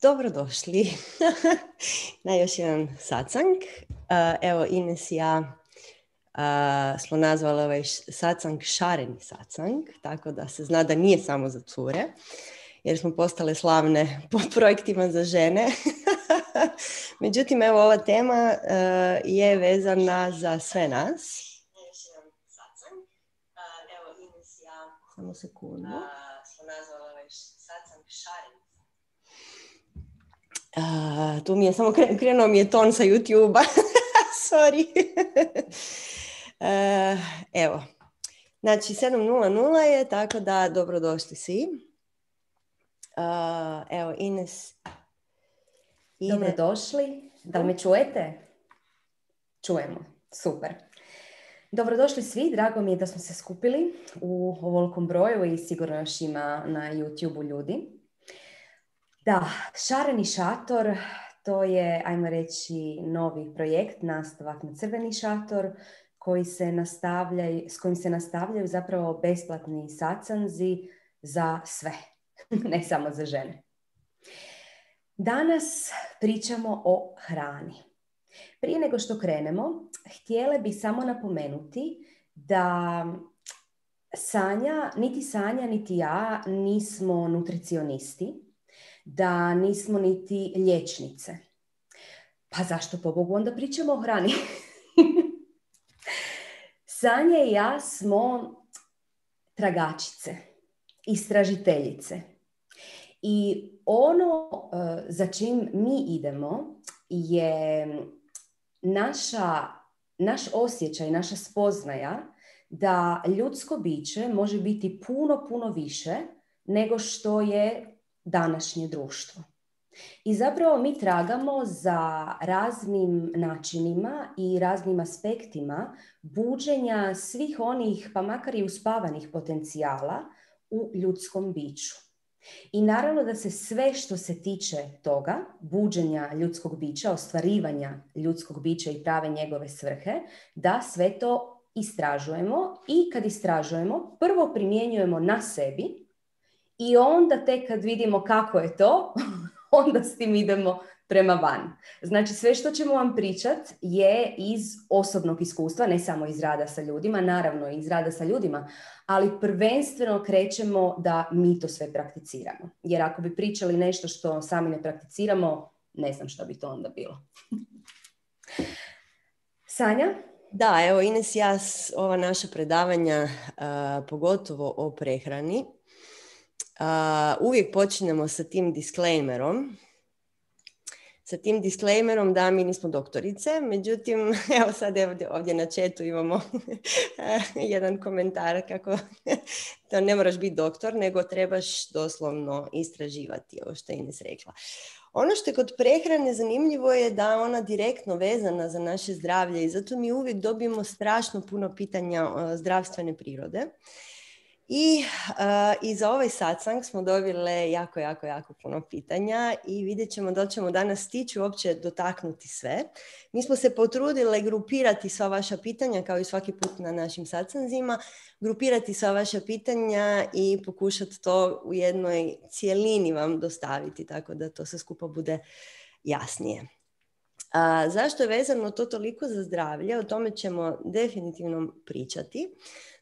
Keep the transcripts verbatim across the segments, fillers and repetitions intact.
Dobrodošli na još jedan satsang. Uh, evo, Ines i ja uh, smo nazvali ovaj satsang šareni satsang, tako da se zna da nije samo za cure, jer smo postale slavne po projektima za žene. Međutim, evo, ova tema uh, je vezana za sve nas. Još jedan satsang. Uh, evo, Ines i ja samo sekundu. Uh, smo nazvali ovaj satsang šareni. Uh, tu mi je samo kren, krenuo mi je ton sa YouTube-a. Sorry. uh, evo. Znači, sedam nula nula je, tako da dobrodošli svi. Uh, evo, Ines. Ines. Dobrodošli. Da li me čujete? Čujemo. Super. Dobrodošli svi. Drago mi je da smo se skupili u ovolikom broju i sigurno još ima na YouTube-u ljudi. Da, šareni šator, to je, ajmo reći, novi projekt, nastavak na crveni šator, koji se nastavljaju, s kojim se nastavljaju zapravo besplatni satsanzi za sve, ne samo za žene. Danas pričamo o hrani. Prije nego što krenemo, htjele bih samo napomenuti da Sanja, niti Sanja, niti ja nismo nutricionisti, da nismo niti liječnice. Pa zašto pobogu onda pričamo o hrani? Sanja i ja smo tragačice, istražiteljice. I ono uh, za čim mi idemo je naša, naš osjećaj, naša spoznaja da ljudsko biće može biti puno, puno više nego što je današnje društvo. I zapravo mi tragamo za raznim načinima i raznim aspektima buđenja svih onih, pa makar i uspavanih potencijala u ljudskom biću. I naravno da se sve što se tiče toga, buđenja ljudskog bića, ostvarivanja ljudskog bića i prave njegove svrhe, da sve to istražujemo i kad istražujemo, prvo primjenjujemo na sebi, i onda tek kad vidimo kako je to, onda s tim idemo prema van. Znači sve što ćemo vam pričati je iz osobnog iskustva, ne samo iz rada sa ljudima, naravno iz rada sa ljudima, ali prvenstveno krećemo da mi to sve prakticiramo. Jer ako bi pričali nešto što sami ne prakticiramo, ne znam što bi to onda bilo. Sanja? Da, evo Ines i ja, ova naša predavanja, uh, pogotovo o prehrani, Uh, uvijek počinjemo sa tim disclaimerom. Sa tim disclaimerom da mi nismo doktorice, međutim, evo sad ovdje, ovdje na chatu imamo jedan komentar kako to ne moraš biti doktor, nego trebaš doslovno istraživati, ovo što je Ines rekla. Ono što je kod prehrane zanimljivo je da ona direktno vezana za naše zdravlje i zato mi uvijek dobijemo strašno puno pitanja zdravstvene prirode. I, uh, i za ovaj satsang smo dobile jako, jako, jako puno pitanja i vidjet ćemo da li ćemo danas stići uopće dotaknuti sve. Mi smo se potrudile grupirati sva vaša pitanja, kao i svaki put na našim satsanzima, grupirati sva vaša pitanja i pokušati to u jednoj cjelini vam dostaviti, tako da to sve skupa bude jasnije. A, zašto je vezano to toliko za zdravlje? O tome ćemo definitivno pričati.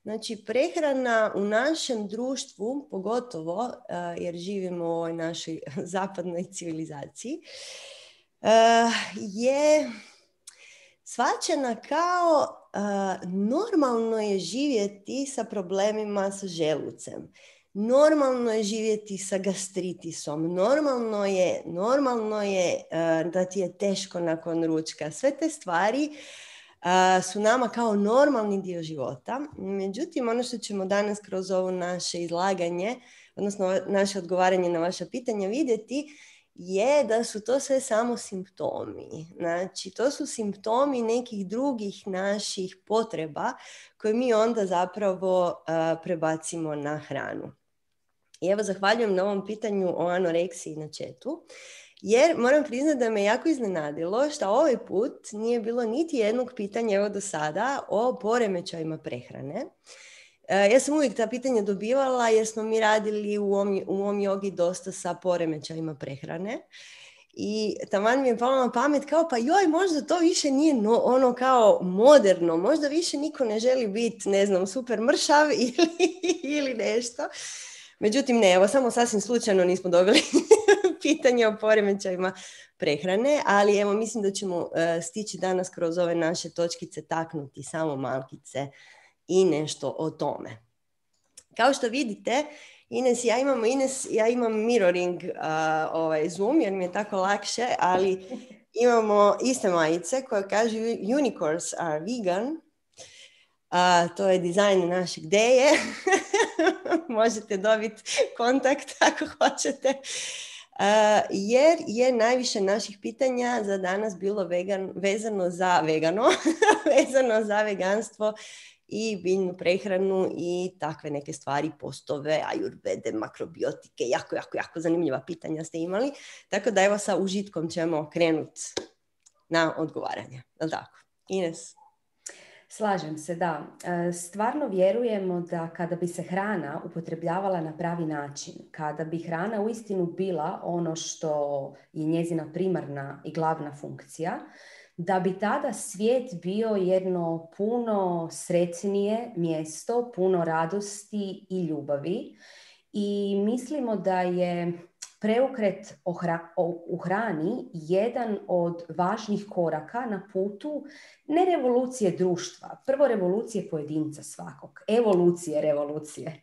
Znači, prehrana u našem društvu, pogotovo uh, jer živimo u ovoj našoj zapadnoj civilizaciji, uh, je shvaćena kao uh, normalno je živjeti sa problemima sa želucem. Normalno je živjeti sa gastritisom. Normalno je, normalno je uh, da ti je teško nakon ručka. Sve te stvari Uh, su nama kao normalni dio života. Međutim, ono što ćemo danas kroz ovo naše izlaganje, odnosno naše odgovaranje na vaša pitanja vidjeti, je da su to sve samo simptomi. Znači, to su simptomi nekih drugih naših potreba koje mi onda zapravo uh, prebacimo na hranu. I evo, zahvaljujem na ovom pitanju o anoreksiji na chatu. Jer moram priznati da me jako iznenadilo što ovaj put nije bilo niti jednog pitanja evo do sada o poremećajima prehrane. Ja sam uvijek ta pitanja dobivala jer smo mi radili u Om, u Om jogi dosta sa poremećajima prehrane. I taman mi je palo na pamet kao pa joj, možda to više nije no, ono kao moderno, možda više niko ne želi biti, ne znam, super mršav ili, ili nešto. Međutim, ne, evo, samo sasvim slučajno nismo dobili pitanje o poremećajima prehrane, ali evo, mislim da ćemo uh, stići danas kroz ove naše točkice taknuti samo malkice i nešto o tome. Kao što vidite, Ines, ja imam, Ines, ja imam mirroring uh, ovaj Zoom jer mi je tako lakše, ali imamo iste majice koje kažu unicorns are vegan. Uh, to je dizajn našeg Deje. Možete dobiti kontakt ako hoćete. Uh, jer je najviše naših pitanja za danas bilo vegan, vezano za vegano, vezano za veganstvo i biljnu prehranu i takve neke stvari, postove, ajurvede, makrobiotike, jako, jako, jako zanimljiva pitanja ste imali. Tako da evo sa užitkom ćemo krenuti na odgovaranje. Jel' tako? Ines? Slažem se, da. Stvarno vjerujemo da kada bi se hrana upotrebljavala na pravi način, kada bi hrana uistinu bila ono što je njezina primarna i glavna funkcija, da bi tada svijet bio jedno puno sretnije mjesto, puno radosti i ljubavi. I mislimo da je preokret u hrani jedan od važnih koraka na putu ne revolucije društva, prvo revolucije pojedinca svakog, evolucije revolucije.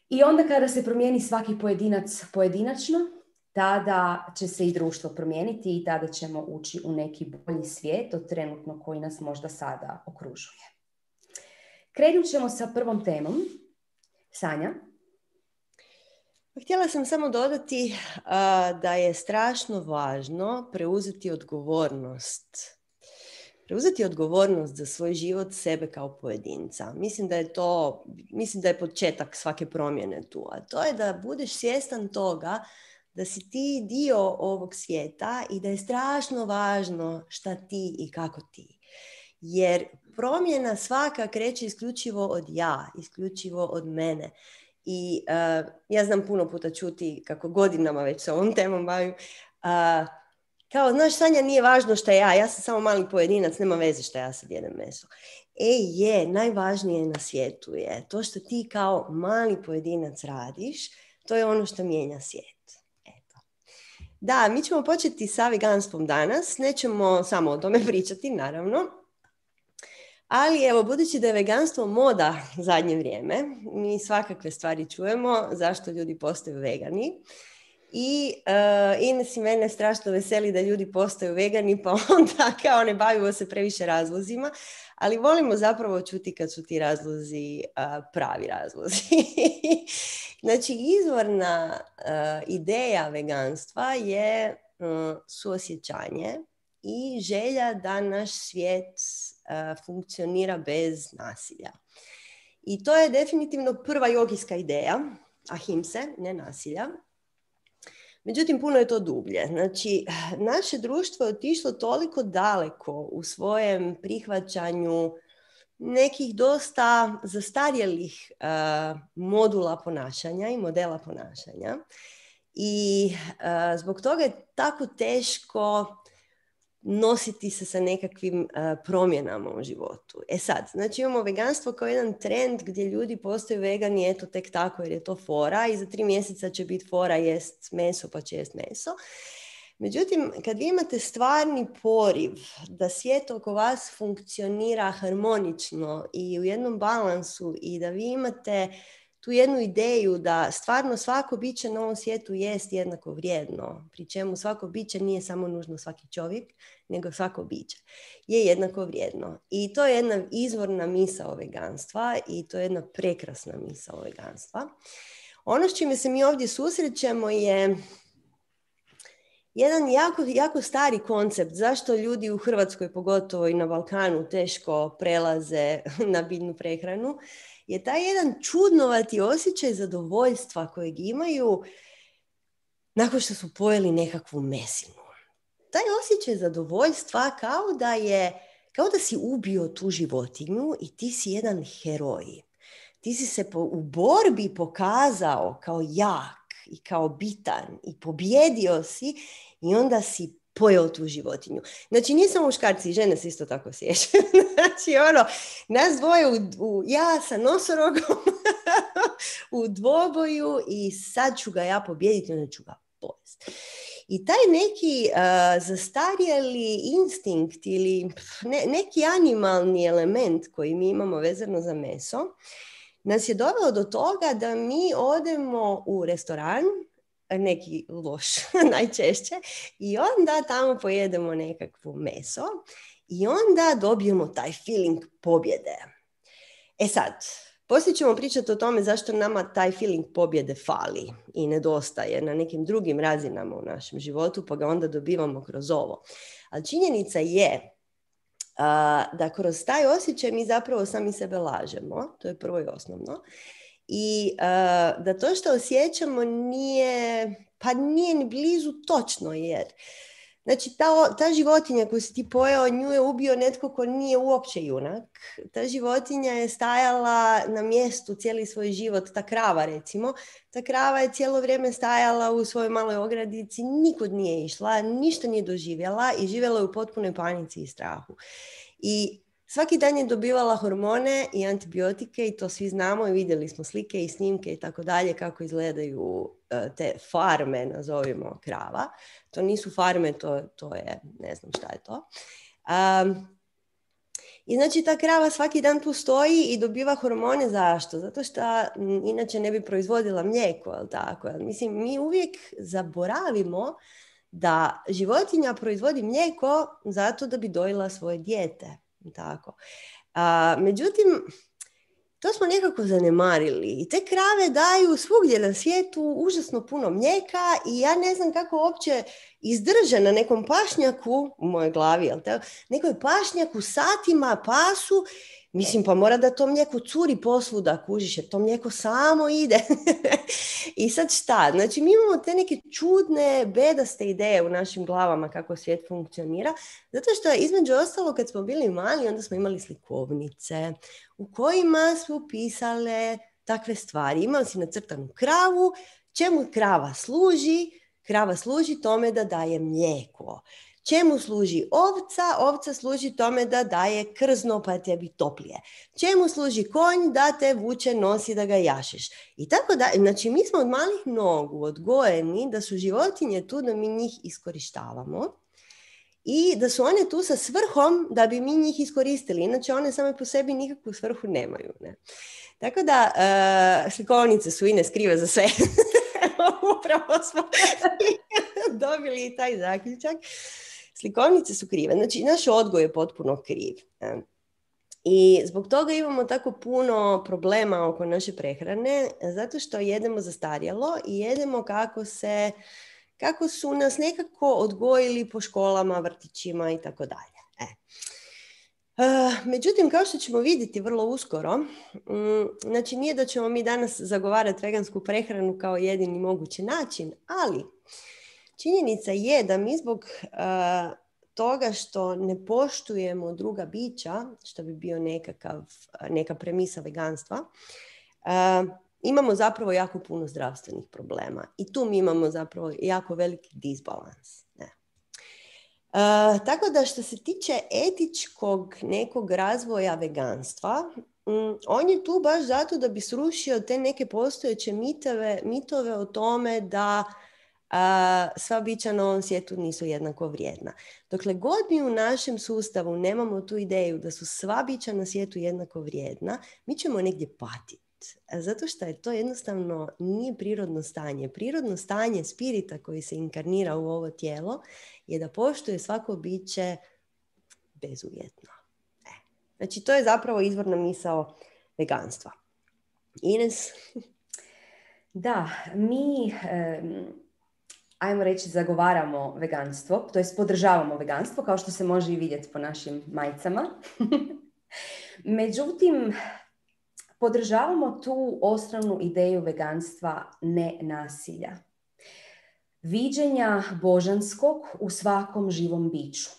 I onda kada se promijeni svaki pojedinac pojedinačno, tada će se i društvo promijeniti i tada ćemo ući u neki bolji svijet od trenutno koji nas možda sada okružuje. Krenut ćemo sa prvom temom. Sanja? Htjela sam samo dodati uh, da je strašno važno preuzeti odgovornost. Preuzeti odgovornost za svoj život, sebe kao pojedinca. Mislim da je to, mislim da je početak svake promjene tu. A to je da budeš svjestan toga da si ti dio ovog svijeta i da je strašno važno šta ti i kako ti. Jer promjena svaka kreće isključivo od ja, isključivo od mene. I uh, ja znam puno puta čuti kako godinama već se ovom temom bavim. Uh, kao, znaš, Sanja, nije važno šta ja, ja sam samo mali pojedinac, nema veze šta ja sad jedem meso. E je, najvažnije na svijetu je to što ti kao mali pojedinac radiš, to je ono što mijenja svijet. Eto. Da, mi ćemo početi sa veganstvom danas, nećemo samo o tome pričati, naravno. Ali evo, budući da je veganstvo moda zadnje vrijeme, mi svakakve stvari čujemo zašto ljudi postaju vegani. I uh, Ines i mene strašno veseli da ljudi postaju vegani, pa onda kao ne bavimo se previše razlozima, ali volimo zapravo čuti kad su ti razlozi uh, pravi razlozi. Znači, izvorna uh, ideja veganstva je uh, suosjećanje i želja da naš svijet uh, funkcionira bez nasilja. I to je definitivno prva jogijska ideja, ahimse, ne nasilja. Međutim, puno je to dublje. Znači, naše društvo je otišlo toliko daleko u svojem prihvaćanju nekih dosta zastarjelih uh, modula ponašanja i modela ponašanja. I uh, zbog toga je tako teško nositi se sa nekakvim uh, promjenama u životu. E sad, znači imamo veganstvo kao jedan trend gdje ljudi postaju vegani, eto tek tako jer je to fora i za tri mjeseca će biti fora jest meso pa će jest meso. Međutim, kad vi imate stvarni poriv da svijet oko vas funkcionira harmonično i u jednom balansu i da vi imate tu jednu ideju da stvarno svako biće na ovom svijetu jest jednako vrijedno, pri čemu svako biće nije samo nužno svaki čovjek, nego svako biće je jednako vrijedno. I to je jedna izvorna misao veganstva i to je jedna prekrasna misao veganstva. Ono s čime se mi ovdje susrećemo je jedan jako, jako stari koncept. Zašto ljudi u Hrvatskoj, pogotovo i na Balkanu, teško prelaze na biljnu prehranu, je taj jedan čudnovati osjećaj zadovoljstva kojeg imaju nakon što su pojeli nekakvu mesinu. Taj osjećaj zadovoljstva kao da je kao da si ubio tu životinju i ti si jedan heroj. Ti si se po, u borbi pokazao kao jak i kao bitan i pobjedio si i onda si pojeo tu životinju. Znači, nije samo muškarci, i žene se isto tako sjećaju. Znači, ono, nas dvoje, u, u, ja sa nosorogom u dvoboju i sad ću ga ja pobijediti, onda ću ga pojesti. I taj neki uh, zastarjeli instinkt ili ne, neki animalni element koji mi imamo vezano za meso, nas je doveo do toga da mi odemo u restoran, neki loš najčešće, i onda tamo pojedemo nekakvo meso i onda dobijemo taj feeling pobjede. E sad, poslije ćemo pričati o tome zašto nama taj feeling pobjede fali i nedostaje na nekim drugim razinama u našem životu, pa ga onda dobivamo kroz ovo. Ali činjenica je Uh, da kroz taj osjećaj mi zapravo sami sebe lažemo, to je prvo i osnovno, i uh, da to što osjećamo nije, pa nije ni blizu točno, jer znači ta, ta životinja koju si ti pojeo, nju je ubio netko ko nije uopće junak. Ta životinja je stajala na mjestu cijeli svoj život, ta krava recimo, ta krava je cijelo vrijeme stajala u svojoj maloj ogradici, nikud nije išla, ništa nije doživjela i živjela je u potpunoj panici i strahu. I svaki dan je dobivala hormone i antibiotike i to svi znamo i vidjeli smo slike i snimke i tako dalje kako izgledaju te farme, nazovimo, krava. To nisu farme, to, to je, ne znam šta je to. Um, I znači ta krava svaki dan tu stoji i dobiva hormone. Zašto? Zato što m, inače ne bi proizvodila mlijeko, jel tako? Mislim, mi uvijek zaboravimo da životinja proizvodi mlijeko zato da bi dojila svoje dijete. Tako. A, međutim, to smo nekako zanemarili i te krave daju svugdje na svijetu užasno puno mlijeka i ja ne znam kako uopće izdrže na nekom pašnjaku, u mojoj glavi, jel te, nekoj pašnjaku satima pasu, mislim pa mora da to mlijeko curi posvuda, kužiš, jer to mlijeko samo ide. I sad šta? Znači mi imamo te neke čudne, bedaste ideje u našim glavama kako svijet funkcionira, zato što između ostalo kad smo bili mali, onda smo imali slikovnice u kojima su pisale takve stvari. Imali si nacrtanu kravu, čemu krava služi? Krava služi tome da daje mlijeko. Čemu služi ovca? Ovca služi tome da daje krzno pa tebi toplije. Čemu služi konj? Da te vuče, nosi, da ga jašeš. I tako da, znači mi smo od malih nogu odgojeni da su životinje tu da mi njih iskorištavamo i da su one tu sa svrhom da bi mi njih iskoristili. Inače one same po sebi nikakvu svrhu nemaju. Ne? Tako da uh, slikovnice su i ne skrive za sve. Upravo smo dobili i taj zaključak. Slikovnice su krive. Znači, naš odgoj je potpuno kriv. I zbog toga imamo tako puno problema oko naše prehrane, zato što jedemo zastarjelo i jedemo kako se, kako su nas nekako odgojili po školama, vrtićima i tako dalje. E. Uh, međutim, kao što ćemo vidjeti vrlo uskoro, um, znači nije da ćemo mi danas zagovarati vegansku prehranu kao jedini mogući način, ali činjenica je da mi zbog uh, toga što ne poštujemo druga bića, što bi bio nekakav, neka premisa veganstva, uh, imamo zapravo jako puno zdravstvenih problema. I tu mi imamo zapravo jako veliki disbalans. Ne. Uh, tako da što se tiče etičkog nekog razvoja veganstva, um, on je tu baš zato da bi srušio te neke postojeće mitove, mitove o tome da a, sva bića na ovom svijetu nisu jednako vrijedna. Dokle god mi u našem sustavu nemamo tu ideju da su sva bića na svijetu jednako vrijedna, mi ćemo negdje patiti. Zato što je to jednostavno nije prirodno stanje. Prirodno stanje spirita koji se inkarnira u ovo tijelo je da poštuje svako biće bezuvjetno. E. Znači to je zapravo izvorna misao veganstva. Ines? Da, mi... Um... ajmo reći, zagovaramo veganstvo, to jest podržavamo veganstvo, kao što se može i vidjeti po našim majicama. Međutim, podržavamo tu osnovnu ideju veganstva ne nasilja. Viđenja božanskog u svakom živom biću.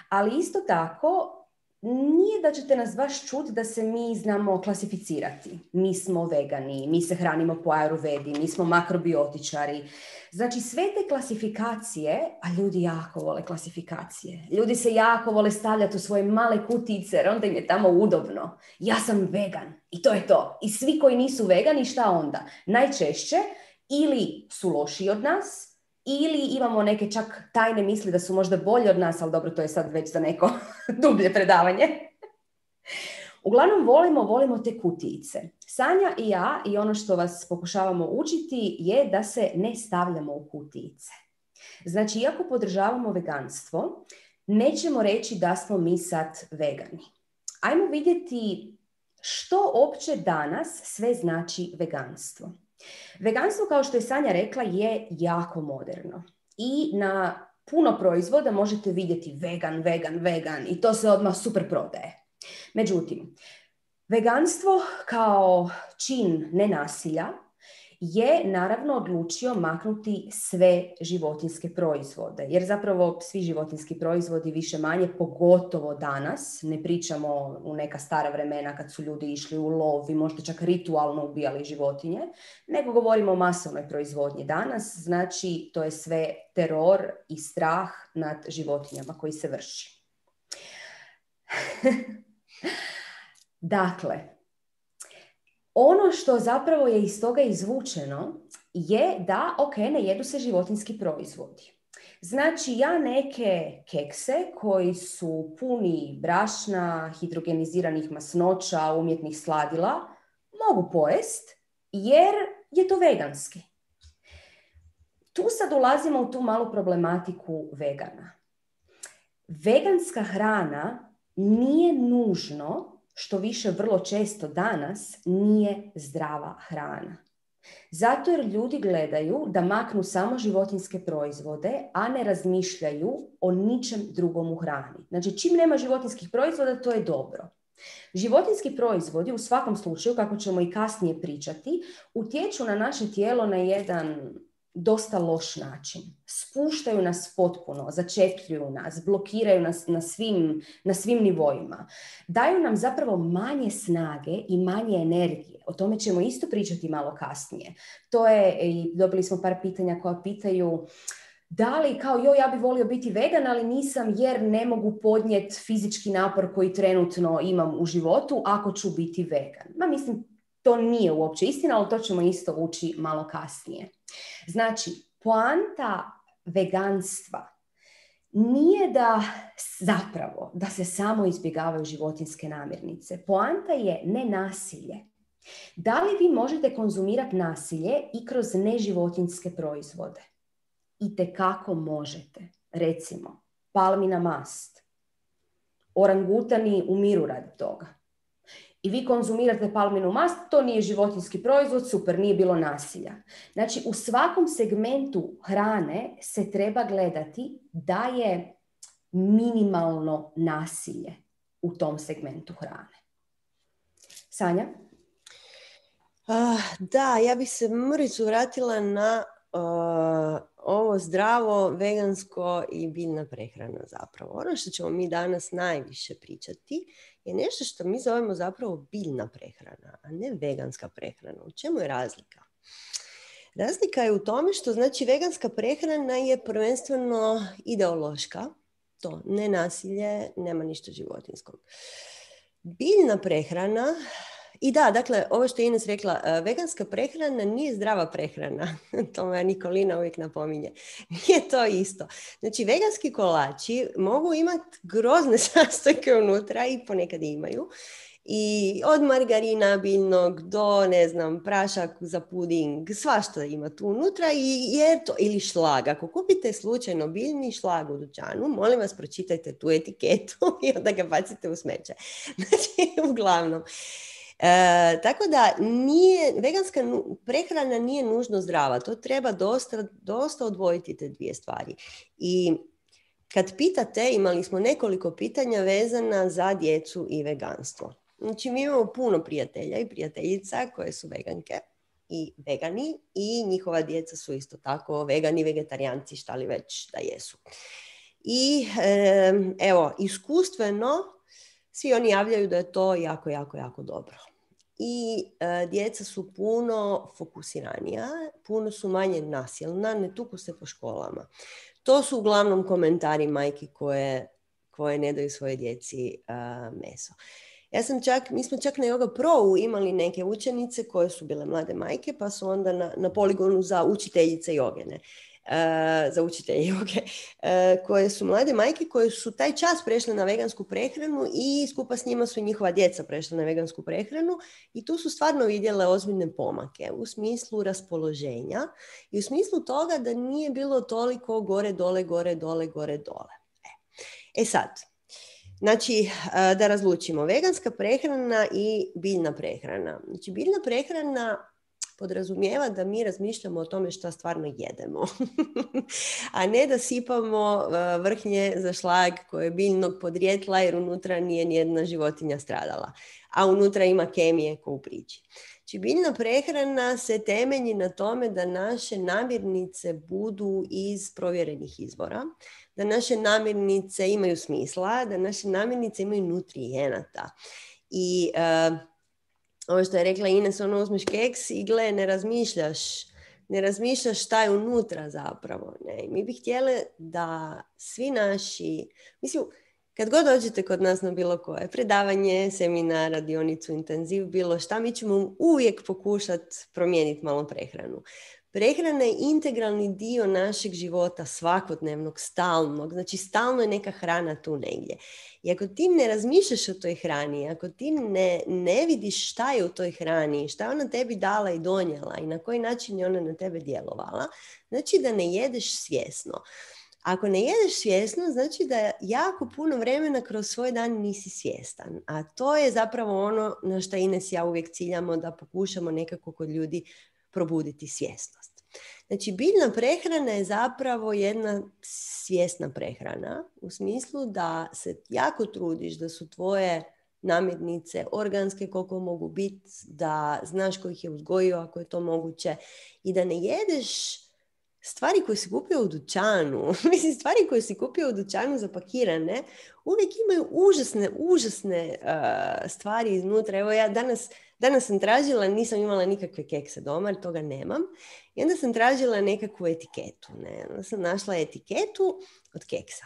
Ali isto tako nije da ćete nas baš čuti da se mi znamo klasificirati. Mi smo vegani, mi se hranimo po ajurvedi, mi smo makrobiotičari. Znači sve te klasifikacije, a ljudi jako vole klasifikacije. Ljudi se jako vole stavljati u svoje male kutice jer onda im je tamo udobno. Ja sam vegan i to je to. I svi koji nisu vegani, šta onda? Najčešće ili su lošiji od nas, ili imamo neke čak tajne misli da su možda bolji od nas, ali dobro, to je sad već za neko dublje predavanje. Uglavnom, volimo, volimo te kutijice. Sanja i ja, i ono što vas pokušavamo učiti, je da se ne stavljamo u kutijice. Znači, iako podržavamo veganstvo, nećemo reći da smo mi sad vegani. Ajmo vidjeti što opće danas sve znači veganstvo. Veganstvo, kao što je Sanja rekla, je jako moderno i na puno proizvoda možete vidjeti vegan, vegan, vegan i to se odmah super prodaje. Međutim, veganstvo kao čin nenasilja je naravno odlučio maknuti sve životinjske proizvode, jer zapravo svi životinjski proizvodi više manje, pogotovo danas, ne pričamo u neka stara vremena kad su ljudi išli u lov i možda čak ritualno ubijali životinje, nego govorimo o masovnoj proizvodnji danas, znači to je sve teror i strah nad životinjama koji se vrši. Dakle, ono što zapravo je iz toga izvučeno je da, ok, ne jedu se životinjski proizvodi. Znači, ja neke kekse koji su puni brašna, hidrogeniziranih masnoća, umjetnih sladila, mogu pojest jer je to veganski. Tu sad ulazimo u tu malu problematiku vegana. Veganska hrana nije nužno, što više vrlo često danas, nije zdrava hrana. Zato jer ljudi gledaju da maknu samo životinjske proizvode, a ne razmišljaju o ničem drugom u hrani. Znači, čim nema životinjskih proizvoda, to je dobro. Životinjski proizvodi, u svakom slučaju, kako ćemo i kasnije pričati, utječu na naše tijelo na jedan dosta loš način. Spuštaju nas potpuno, začepljuju nas, blokiraju nas na svim, na svim nivoima. Daju nam zapravo manje snage i manje energije. O tome ćemo isto pričati malo kasnije. To je, i dobili smo par pitanja koja pitaju da li kao joj ja bi volio biti vegan, ali nisam jer ne mogu podnijeti fizički napor koji trenutno imam u životu ako ću biti vegan. Ma mislim, to nije uopće istina, ali to ćemo isto ući malo kasnije. Znači, poanta veganstva nije da zapravo da se samo izbjegavaju životinjske namirnice. Poanta je nenasilje. Da li vi možete konzumirati nasilje i kroz neživotinjske proizvode? Itekako možete. Recimo, palmina mast. Orangutani umiru radi toga. I vi konzumirate palminu mast, to nije životinjski proizvod, super, nije bilo nasilja. Znači, u svakom segmentu hrane se treba gledati da je minimalno nasilje u tom segmentu hrane. Sanja? Uh, da, ja bih se mrvicu vratila na uh, ovo zdravo, vegansko i biljna prehrana zapravo. Ono što ćemo mi danas najviše pričati je nešto što mi zovemo zapravo biljna prehrana, a ne veganska prehrana. U čemu je razlika? Razlika je u tome što znači veganska prehrana je prvenstveno ideološka, to ne nasilje, nema ništa životinjskog. Biljna prehrana, i da, dakle, ovo što je Ines rekla, veganska prehrana nije zdrava prehrana. To me Nikolina uvijek napominje. Nije to isto. Znači, veganski kolači mogu imati grozne sastojke unutra i ponekad imaju. I od margarina biljnog do, ne znam, prašak za puding, svašta ima tu unutra i jer to, ili šlag. Ako kupite slučajno biljni šlag u dućanu, molim vas pročitajte tu etiketu i onda ga bacite u smeće. Znači, uglavnom. E, tako da nije, veganska prehrana nije nužno zdrava. To treba dosta, dosta odvojiti te dvije stvari. I kad pitate, imali smo nekoliko pitanja vezana za djecu i veganstvo. Znači, mi imamo puno prijatelja i prijateljica koje su veganke i vegani i njihova djeca su isto tako vegani, vegetarijanci, šta li već da jesu. I e, evo, iskustveno svi oni javljaju da je to jako, jako, jako dobro. I e, djeca su puno fokusiranija, puno su manje nasilna, ne tuku se po školama. To su uglavnom komentari majki koje, koje ne daju svoje djeci uh, meso. Ja sam čak, mi smo čak na Yoga Pro imali neke učenice koje su bile mlade majke, pa su onda na, na poligonu za učiteljice jogene, uh, za učitelje joge, uh, koje su mlade majke koje su taj čas prešle na vegansku prehranu i skupa s njima su njihova djeca prešla na vegansku prehranu i tu su stvarno vidjele ozbiljne pomake u smislu raspoloženja i u smislu toga da nije bilo toliko gore, dole, gore, dole, gore, dole. E, e sad, znači, da razlučimo, veganska prehrana i biljna prehrana. Znači, biljna prehrana podrazumijeva da mi razmišljamo o tome šta stvarno jedemo, a ne da sipamo vrhnje za šlag koje je biljnog podrijetla jer unutra nije nijedna životinja stradala, a unutra ima kemije ko u priči. Znači, biljna prehrana se temelji na tome da naše namirnice budu iz provjerenih izvora, da naše namirnice imaju smisla, da naše namirnice imaju nutrijenata. I uh, ovo što je rekla Ines, ono uzmeš keks i gle, ne razmišljaš, ne razmišljaš šta je unutra zapravo. Ne? Mi bi htjeli da svi naši, mislim, kad god dođete kod nas na bilo koje predavanje, seminar, radionicu, intenziv, bilo šta, mi ćemo uvijek pokušati promijeniti malo prehranu. Prehrana je integralni dio našeg života, svakodnevnog, stalnog. Znači, stalno je neka hrana tu negdje. I ako ti ne razmišljaš o toj hrani, ako ti ne, ne vidiš šta je u toj hrani, šta je ona tebi dala i donijela i na koji način je ona na tebe djelovala, znači da ne jedeš svjesno. Ako ne jedeš svjesno, znači da jako puno vremena kroz svoj dan nisi svjestan. A to je zapravo ono na što Ines i ja uvijek ciljamo, da pokušamo nekako kod ljudi probuditi svjesnost. Znači, biljna prehrana je zapravo jedna svjesna prehrana u smislu da se jako trudiš da su tvoje namirnice organske koliko mogu biti, da znaš ko ih je uzgojio ako je to moguće i da ne jedeš stvari koje si kupio u dućanu. Mislim, stvari koje si kupio u dućanu zapakirane uvijek imaju užasne, užasne uh, stvari iznutra. Evo ja danas, danas sam tražila, nisam imala nikakve kekse doma, jer toga nemam. I onda sam tražila nekakvu etiketu. Ne? Onda sam našla etiketu od keksa.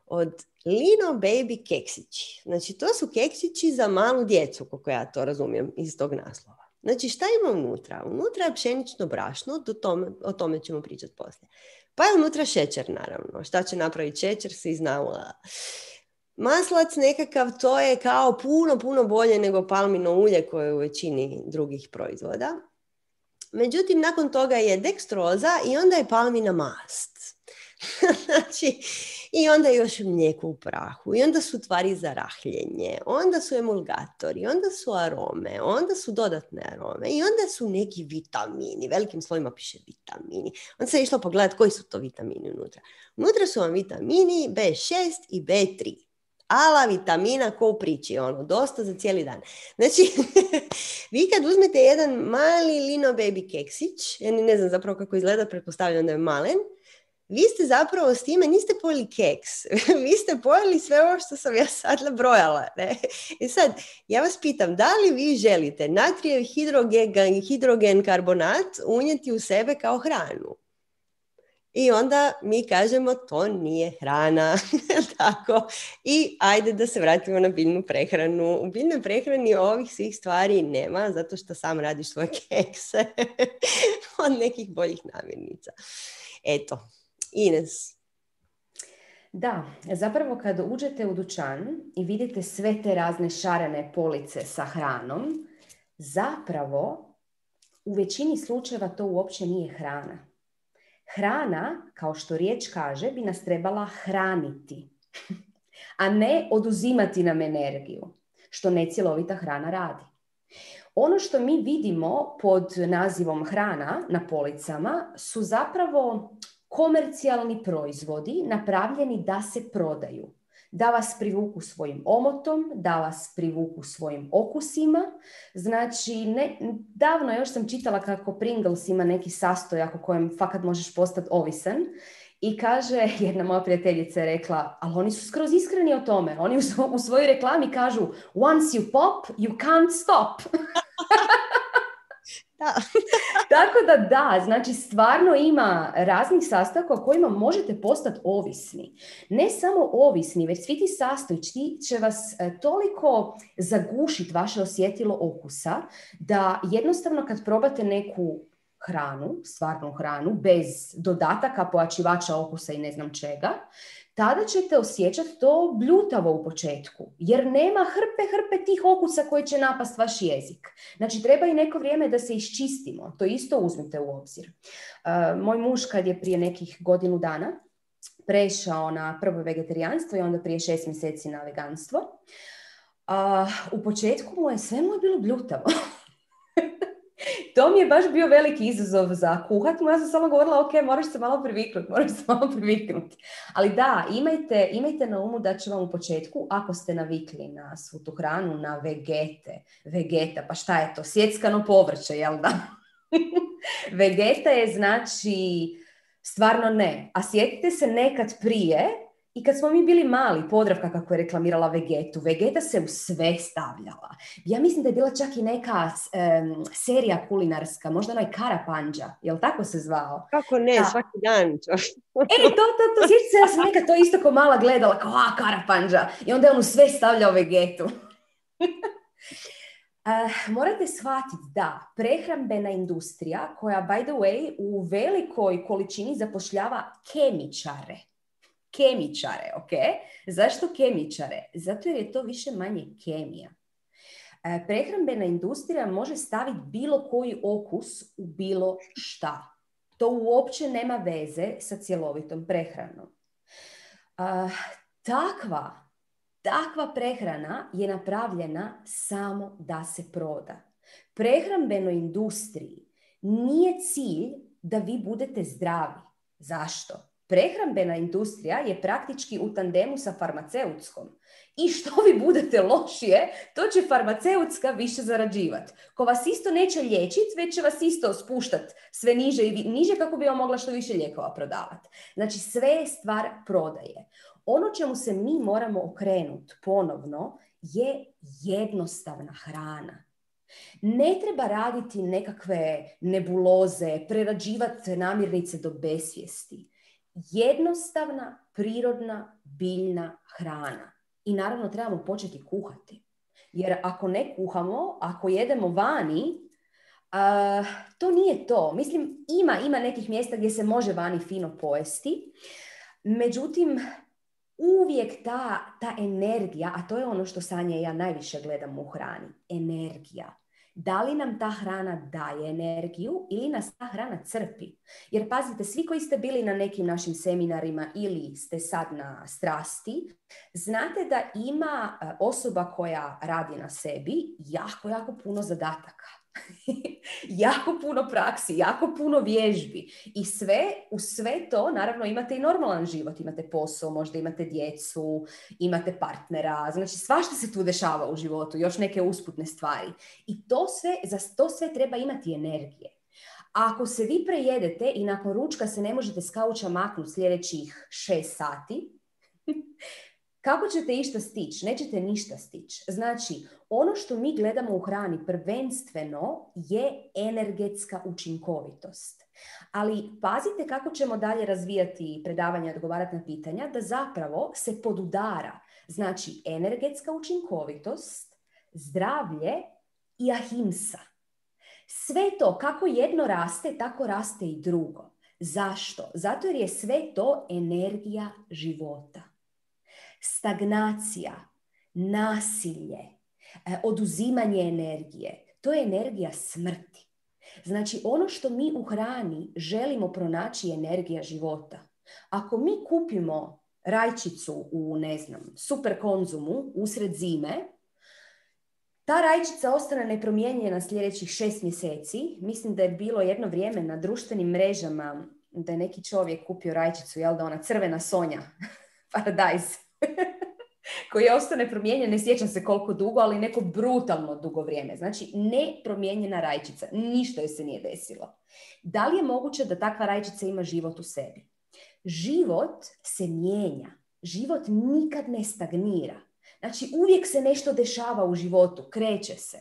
Od Lino Baby keksići. Znači, to su keksići za malu djecu, kako ja to razumijem iz tog naslova. Znači, šta ima unutra? Unutra je pšenično brašno, do tome, o tome ćemo pričati poslije. Pa je unutra šećer, naravno. Šta će napraviti šećer, svi znamo. Maslac nekakav, to je kao puno, puno bolje nego palmino ulje koje je u većini drugih proizvoda. Međutim, nakon toga je dekstroza i onda je palmina mast. Znači, i onda još mlijeko u prahu, i onda su tvari za rahljenje, onda su emulgatori, onda su arome, onda su dodatne arome i onda su neki vitamini, velikim slovima piše vitamini. Onda se je išlo pogledati koji su to vitamini unutra. Unutra su vam vitamini be šest i be tri. Ala vitamina ko u priči, ono, dosta za cijeli dan. Znači, vi kad uzmete jedan mali Lino Baby keksić, ja ne znam zapravo kako izgleda, pretpostavljam da je malen, vi ste zapravo s time, niste pojeli keks, vi ste pojeli sve ovo što sam ja sad nabrojala. Ne? I sad, ja vas pitam, da li vi želite natrijev hidrogen, hidrogen karbonat unijeti u sebe kao hranu? I onda mi kažemo, to nije hrana. Tako. I ajde da se vratimo na biljnu prehranu. U biljnoj prehrani ovih svih stvari nema, zato što sam radiš svoje kekse od nekih boljih namirnica. Eto. Ines. Da, zapravo kad uđete u dućan i vidite sve te razne šarene police sa hranom, zapravo u većini slučajeva to uopće nije hrana. Hrana, kao što riječ kaže, bi nas trebala hraniti, a ne oduzimati nam energiju, što necjelovita hrana radi. Ono što mi vidimo pod nazivom hrana na policama su zapravo komercijalni proizvodi napravljeni da se prodaju, da vas privuku svojim omotom, da vas privuku svojim okusima. Znači, ne, davno još sam čitala kako Pringles ima neki sastojak o kojem fakat možeš postati ovisan I kaže, jedna moja prijateljica je rekla, ali oni su skroz iskreni o tome. Oni u, svo, u svojoj reklami kažu, once you pop, you can't stop. Da. Tako da da, znači stvarno ima raznih sastojaka o kojima možete postati ovisni. Ne samo ovisni, već svi ti sastojci će vas e, toliko zagušiti vaše osjetilo okusa, da jednostavno kad probate neku hranu, stvarnu hranu, bez dodataka, pojačivača okusa i ne znam čega, tada ćete osjećati to bljutavo u početku, jer nema hrpe, hrpe tih okusa koji će napast vaš jezik. Znači, treba i neko vrijeme da se iščistimo. To isto uzmite u obzir. Uh, moj muž, kad je prije nekih godinu dana prešao na prvo vegetarijanstvo i onda prije šest mjeseci na veganstvo, uh, u početku mu je sve mu je bilo bljutavo. To mi je baš bio veliki izazov za kuhat. Ja sam samo govorila, ok, moraš se malo priviknuti, moraš se malo priviknuti. Ali da, imajte, imajte na umu da će vam u početku, ako ste navikli na svu tu hranu, na vegete, vegeta, pa šta je to? Sjeckano povrće, jel da? Vegeta je znači stvarno ne. A sjetite se nekad prije, i kad smo mi bili mali, Podravka kako je reklamirala Vegetu, Vegeta se u sve stavljala. Ja mislim da je bila čak i neka um, serija kulinarska, možda onaj Karapandža, jel tako se zvao? Kako ne, da. Svaki dan. E, to, to, to, sjećam se, ja sam nekad to isto ko mala gledala, kao, a, Karapandža. I onda je on u sve stavljao Vegetu. uh, morate shvatiti da prehrambena industrija, koja, by the way, u velikoj količini zapošljava kemičare, Kemičare, ok? Zašto kemičare? Zato jer je to više manje kemija. E, prehrambena industrija može staviti bilo koji okus u bilo šta. To uopće nema veze sa cjelovitom prehranom. E, takva, takva prehrana je napravljena samo da se proda. Prehrambenoj industriji nije cilj da vi budete zdravi. Zašto? Prehrambena industrija je praktički u tandemu sa farmaceutskom. I što vi budete lošije, to će farmaceutska više zarađivati. Ko vas isto neće liječiti, već će vas isto spuštati sve niže i niže kako bi vam mogla što više lijekova prodavati. Znači, sve je stvar prodaje. Ono čemu se mi moramo okrenuti ponovno je jednostavna hrana. Ne treba raditi nekakve nebuloze, prerađivati namirnice do besvijesti. Jednostavna, prirodna, biljna hrana. I naravno trebamo početi kuhati. Jer ako ne kuhamo, ako jedemo vani, uh, to nije to. Mislim, ima, ima nekih mjesta gdje se može vani fino pojesti. Međutim, uvijek ta, ta energija, a to je ono što Sanja i ja najviše gledamo u hrani, energija. Da li nam ta hrana daje energiju ili nas ta hrana crpi? Jer pazite, svi koji ste bili na nekim našim seminarima ili ste sad na strasti, znate da ima osoba koja radi na sebi jako, jako puno zadataka. Jako puno praksi, jako puno vježbi. I sve, u sve to, naravno, imate i normalan život. Imate posao, možda imate djecu, imate partnera. Znači, svašta se tu dešava u životu, još neke usputne stvari. I to sve, za to sve treba imati energije. A ako se vi prejedete i nakon ručka se ne možete s kauča maknuti sljedećih šest sati, kako ćete išta stići? Nećete ništa stići. Znači, ono što mi gledamo u hrani prvenstveno je energetska učinkovitost. Ali pazite kako ćemo dalje razvijati predavanja i odgovarati na pitanja, da zapravo se podudara. Znači, energetska učinkovitost, zdravlje i ahimsa. Sve to, kako jedno raste, tako raste i drugo. Zašto? Zato jer je sve to energija života. Stagnacija, nasilje, oduzimanje energije, to je energija smrti. Znači, ono što mi u hrani želimo pronaći je energija života. Ako mi kupimo rajčicu u, ne znam, super konzumu usred zime, ta rajčica ostane nepromijenjena sljedećih šest mjeseci. Mislim da je bilo jedno vrijeme na društvenim mrežama da je neki čovjek kupio rajčicu, jel da, ona crvena Sonja, Paradise, koji je ostao nepromijenjen, ne sjećam se koliko dugo, ali neko brutalno dugo vrijeme. Znači, nepromijenjena rajčica. Ništa joj se nije desilo. Da li je moguće da takva rajčica ima život u sebi? život se mijenja. Život nikad ne stagnira. Znači, uvijek se nešto dešava u životu, kreće se.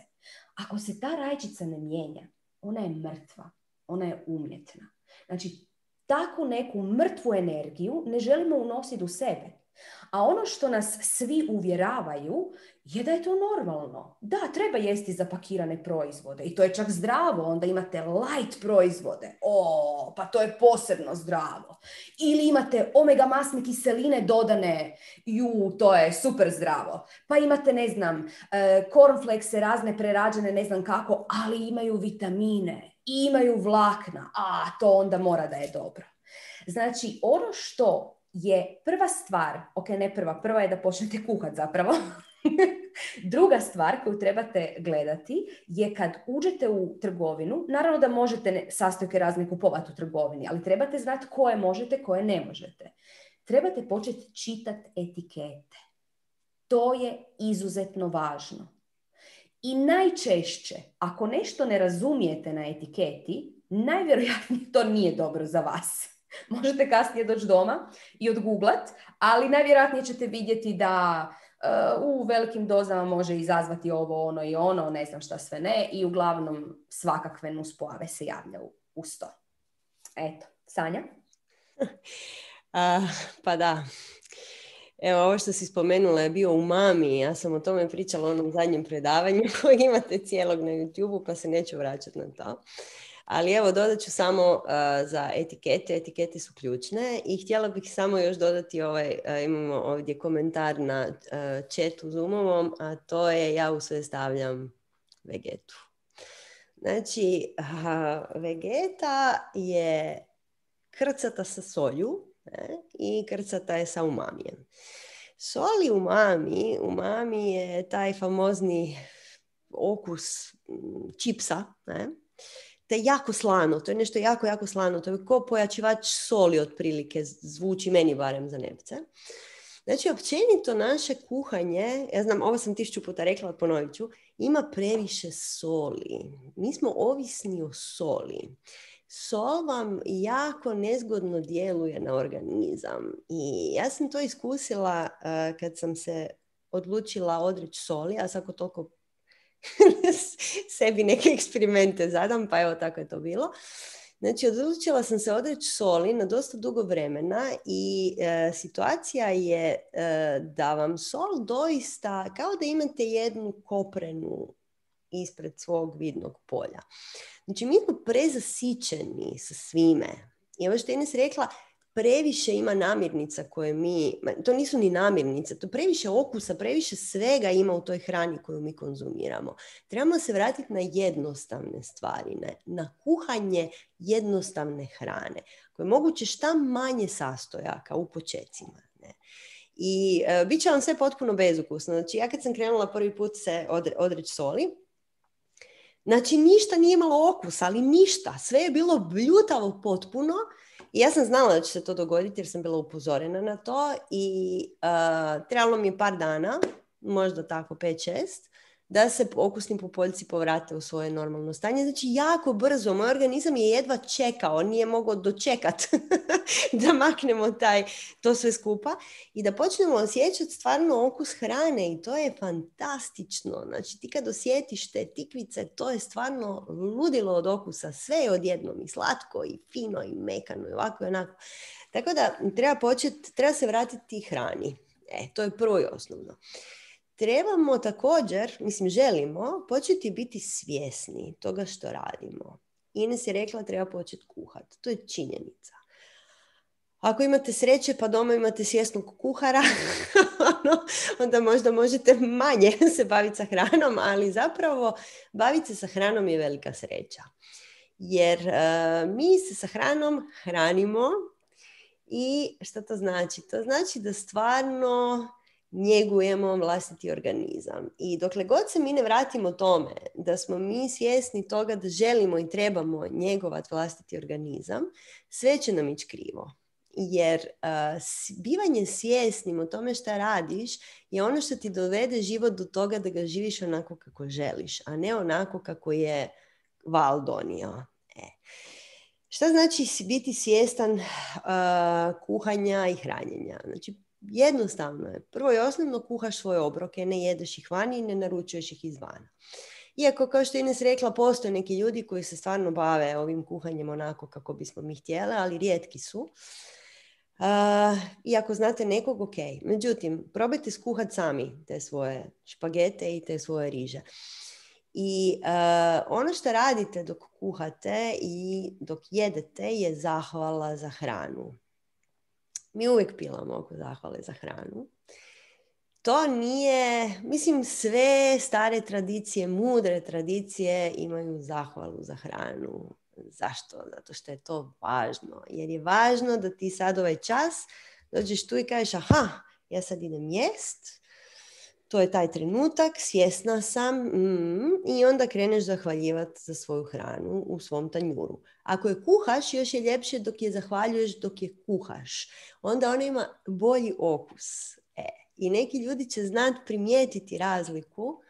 Ako se ta rajčica ne mijenja, ona je mrtva, ona je umjetna. Znači, takvu neku mrtvu energiju ne želimo unositi u sebe. A ono što nas svi uvjeravaju je da je to normalno. Da, treba jesti zapakirane proizvode i to je čak zdravo. Onda imate light proizvode. O, pa to je posebno zdravo. Ili imate omega masne kiseline dodane. Ju, to je super zdravo. Pa imate, ne znam, cornflakese razne prerađene, ne znam kako, ali imaju vitamine i imaju vlakna. A, to onda mora da je dobro. Znači, ono što je prva stvar, ok, ne prva, prva je da počnete kuhati zapravo. Druga stvar koju trebate gledati je kad uđete u trgovinu, naravno da možete sastojke razne kupovati u trgovini, ali trebate znati koje možete, koje ne možete. Trebate početi čitati etikete. To je izuzetno važno. I najčešće, ako nešto ne razumijete na etiketi, najvjerojatnije to nije dobro za vas. Možete kasnije doći doma i odgooglat, ali najvjerojatnije ćete vidjeti da uh, u velikim dozama može izazvati ovo, ono i ono, ne znam šta sve ne, i uglavnom svakakve nuspojave se javljaju uz to. Eto, Sanja? A, pa da. Evo, ovo što si spomenula je bio umami. Ja sam o tome pričala u onom zadnjem predavanju koji imate cijelog na YouTube-u, pa se neću vraćati na to. Ali evo, dodat ću samo uh, za etikete. Etikete su ključne i htjela bih samo još dodati ovaj, uh, imamo ovdje komentar na uh, chatu Zoomovom, a to je ja u sve stavljam vegetu. Znači, uh, vegeta je krcata sa solju, ne? I krcata je sa umamijem. Sol i umami, umami je taj famozni okus čipsa, ne? To je jako slano, to je nešto jako, jako slano. To je kao pojačivač soli otprilike, zvuči meni barem za nepce. Znači, općenito naše kuhanje, ja znam, ovo sam tisuću puta rekla, ponovit ću, ima previše soli. Mi smo ovisni o soli. Sol vam jako nezgodno djeluje na organizam. I ja sam to iskusila uh, kad sam se odlučila odreći soli, a svako toliko sebi neke eksperimente zadam, pa evo tako je to bilo. Znači, odlučila sam se odreći soli na dosta dugo vremena i e, situacija je e, da vam sol doista, kao da imate jednu koprenu ispred svog vidnog polja. Znači, mi smo prezasićeni sa svime. I ovo što je Ines rekla, previše ima namirnica koje mi, to nisu ni namirnice, to previše okusa, previše svega ima u toj hrani koju mi konzumiramo. Trebamo se vratiti na jednostavne stvari, ne? Na kuhanje jednostavne hrane, koje je moguće šta manje sastojaka u počecima. Ne? I e, bit će vam sve potpuno bezukusno. Znači, ja kad sam krenula prvi put se odre, odreći soli, znači ništa nije imalo okusa, ali ništa. Sve je bilo bljutavo potpuno. I ja sam znala da će se to dogoditi jer sam bila upozorena na to i uh, trebalo mi je par dana, možda tako pet šest, da se okusni pupoljci povrate u svoje normalno stanje. Znači jako brzo, moj organizam je jedva čekao, nije mogao dočekati da maknemo taj, to sve skupa i da počnemo osjećati stvarno okus hrane i to je fantastično. Znači ti kad osjetiš te tikvice, to je stvarno ludilo od okusa, sve je odjednom i slatko i fino i mekano i ovako i onako. Tako da treba početi, treba se vratiti hrani. E, to je prvo i osnovno. Trebamo također, mislim želimo, početi biti svjesni toga što radimo. Ines je rekla treba početi kuhati. To je činjenica. Ako imate sreće pa doma imate svjesnog kuhara, onda možda možete manje se baviti sa hranom, ali zapravo baviti se sa hranom je velika sreća. Jer uh, mi se sa hranom hranimo i što to znači? To znači da stvarno njegujemo vlastiti organizam. I dokle god se mi ne vratimo tome da smo mi svjesni toga da želimo i trebamo njegovati vlastiti organizam, sve će nam ići krivo. Jer uh, bivanje svjesnim o tome šta radiš je ono što ti dovede život do toga da ga živiš onako kako želiš, a ne onako kako je val donio. E. Šta znači biti svjestan uh, kuhanja i hranjenja? Znači, jednostavno je. Prvo i osnovno kuhaš svoje obroke, ne jedeš ih vani i ne naručuješ ih izvana. Iako, kao što je Ines rekla, postoje neki ljudi koji se stvarno bave ovim kuhanjem onako kako bismo mi htjeli, ali rijetki su. Uh, I ako znate nekog, ok. Međutim, probajte skuhati sami te svoje špagete i te svoje riže. I uh, ono što radite dok kuhate i dok jedete je zahvala za hranu. Mi uvijek pilamo oko zahvale za hranu. To nije, mislim, sve stare tradicije, mudre tradicije imaju zahvalu za hranu. Zašto? Zato što je to važno. Jer je važno da ti sad ovaj čas dođeš tu i kažeš, aha, ja sad idem jest, to je taj trenutak, svjesna sam, mm, i onda kreneš zahvaljivati za svoju hranu u svom tanjuru. Ako je kuhaš, još je ljepše dok je zahvaljuješ dok je kuhaš. Onda ona ima bolji okus. E, i neki ljudi će znati primijetiti razliku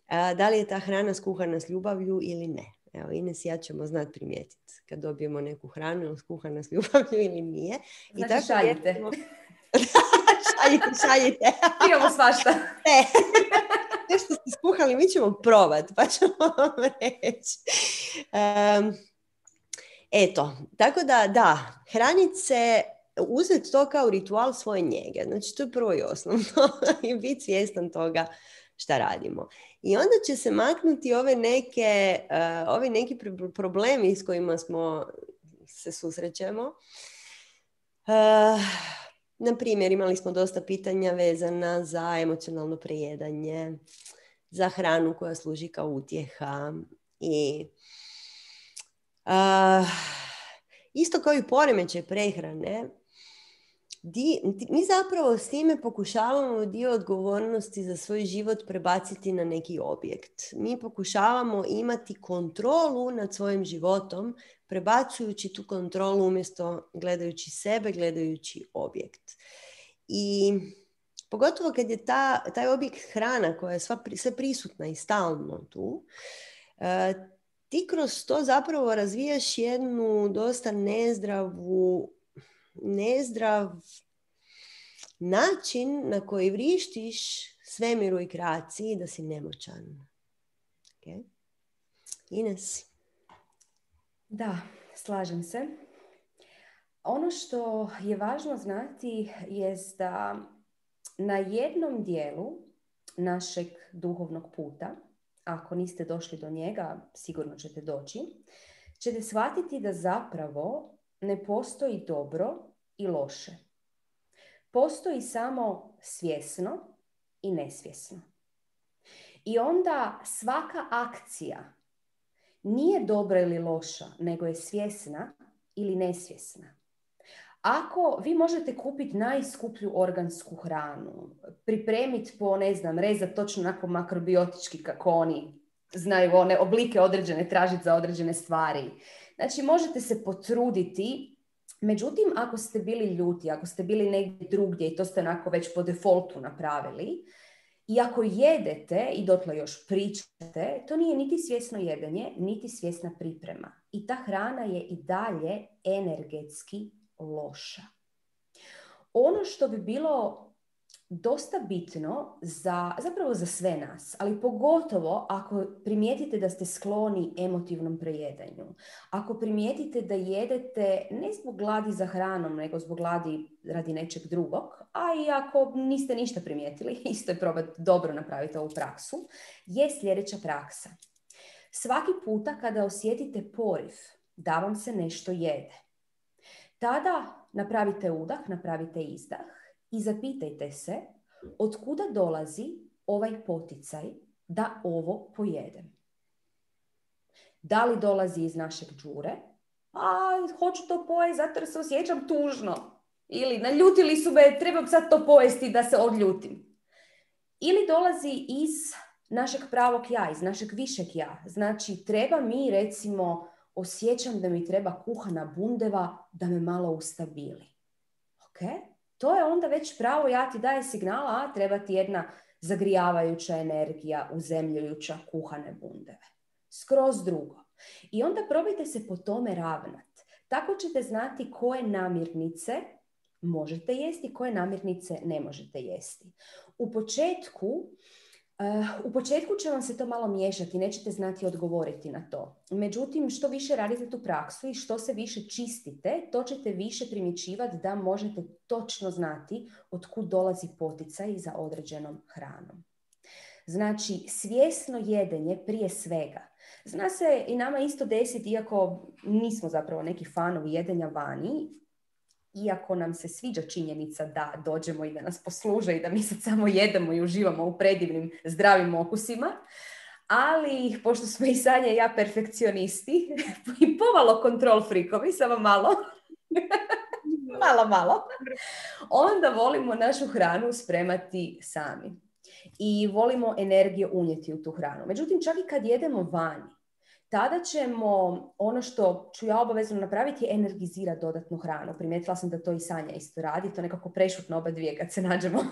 a, da li je ta hrana skuhana s ljubavlju ili ne. Evo, Ines i ja ćemo znati primijetiti kad dobijemo neku hranu, ili skuhana s ljubavlju ili nije. Znači, I tako šaljite. Jedemo... šaljite, šaljite. Imamo svašta. Ne. Sve što ste skuhali, mi ćemo probati, pa ćemo vam reći. Um, eto, tako da, da, hranit se, uzeti to kao ritual svoje njege. Znači, to je prvo i osnovno. I biti svjestan toga šta radimo. I onda će se maknuti ove neke, uh, ovi neki problemi s kojima smo se susrećemo. Uh, na primjer, imali smo dosta pitanja vezana za emocionalno prejedanje, za hranu koja služi kao utjeha i uh, isto kao i poremećaj prehrane. Di, mi zapravo s time pokušavamo dio odgovornosti za svoj život prebaciti na neki objekt. Mi pokušavamo imati kontrolu nad svojim životom, prebacujući tu kontrolu umjesto gledajući sebe, gledajući objekt. I pogotovo kad je ta, taj objekt hrana koja je sva, sve prisutna i stalno tu, uh, ti kroz to zapravo razvijaš jednu dosta nezdravu nezdrav način na koji vrištiš svemiru i kreaciji da si nemoćan. Okay? Ines? Da, slažem se. Ono što je važno znati je da na jednom dijelu našeg duhovnog puta, ako niste došli do njega, sigurno ćete doći, ćete shvatiti da zapravo ne postoji dobro i loše. Postoji samo svjesno i nesvjesno. I onda svaka akcija nije dobra ili loša, nego je svjesna ili nesvjesna. Ako vi možete kupiti najskuplju organsku hranu, pripremiti po, ne znam, rezati točno onako makrobiotički kako oni znaju one oblike određene, tražiti za određene stvari. Znači, možete se potruditi, međutim, ako ste bili ljuti, ako ste bili negdje drugdje i to ste onako već po defaultu napravili, i ako jedete i dotle još pričate, to nije niti svjesno jedenje, niti svjesna priprema. I ta hrana je i dalje energetski loša. Ono što bi bilo dosta bitno za, zapravo za sve nas, ali pogotovo ako primijetite da ste skloni emotivnom prejedanju. Ako primijetite da jedete ne zbog gladi za hranom, nego zbog gladi radi nečeg drugog, a i ako niste ništa primijetili, isto je probati dobro napraviti ovu praksu, je sljedeća praksa. Svaki puta kada osjetite poriv da vam se nešto jede, tada napravite udah, napravite izdah i zapitajte se od kuda dolazi ovaj poticaj da ovo pojedem. Da li dolazi iz našeg đure? A, hoću to pojesti zato jer se osjećam tužno. Ili naljutili su me, trebam sad to pojesti da se odljutim. Ili dolazi iz našeg pravog ja, iz našeg višeg ja. Znači, treba mi, recimo, osjećam da mi treba kuhana bundeva da me malo ustabili. Ok? To je onda već pravo ja ti daje signala, a treba ti jedna zagrijavajuća energija, uzemljujuća kuhane bundeve. Skroz drugo. I onda probajte se po tome ravnat. Tako ćete znati koje namirnice možete jesti, koje namirnice ne možete jesti. U početku, uh, u početku će vam se to malo miješati, nećete znati odgovoriti na to. Međutim, što više radite tu praksu i što se više čistite, to ćete više primjećivati da možete točno znati od kud dolazi poticaj za određenom hranom. Znači, svjesno jedenje prije svega. Zna se i nama isto desiti, iako nismo zapravo neki fanovi jedenja vani, iako nam se sviđa činjenica da dođemo i da nas posluže i da mi sad samo jedemo i uživamo u predivnim zdravim okusima, ali pošto smo i Sanja i ja perfekcionisti i pomalo kontrol frikovi, samo malo, malo, malo, onda volimo našu hranu spremati sami. I volimo energije unijeti u tu hranu. Međutim, čak i kad jedemo vani, tada ćemo, ono što ću ja obavezno napraviti, je energizirati dodatnu hranu. Primijetila sam da to i Sanja isto radi, to nekako prešutno oba dvije kad se nađemo.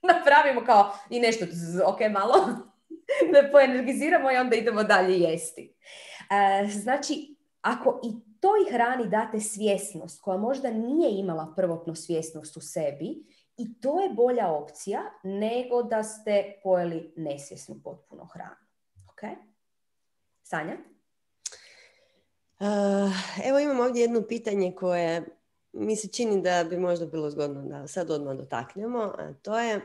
Napravimo kao i nešto, ok, malo, da poenergiziramo i onda idemo dalje jesti. E, znači, ako i toj hrani date svjesnost, koja možda nije imala prvotno svjesnost u sebi, i to je bolja opcija nego da ste pojeli nesvjesnu potpuno hranu. Ok? Sanja? Uh, evo imam ovdje jedno pitanje koje mi se čini da bi možda bilo zgodno da sad odmah dotaknemo. A to je, uh,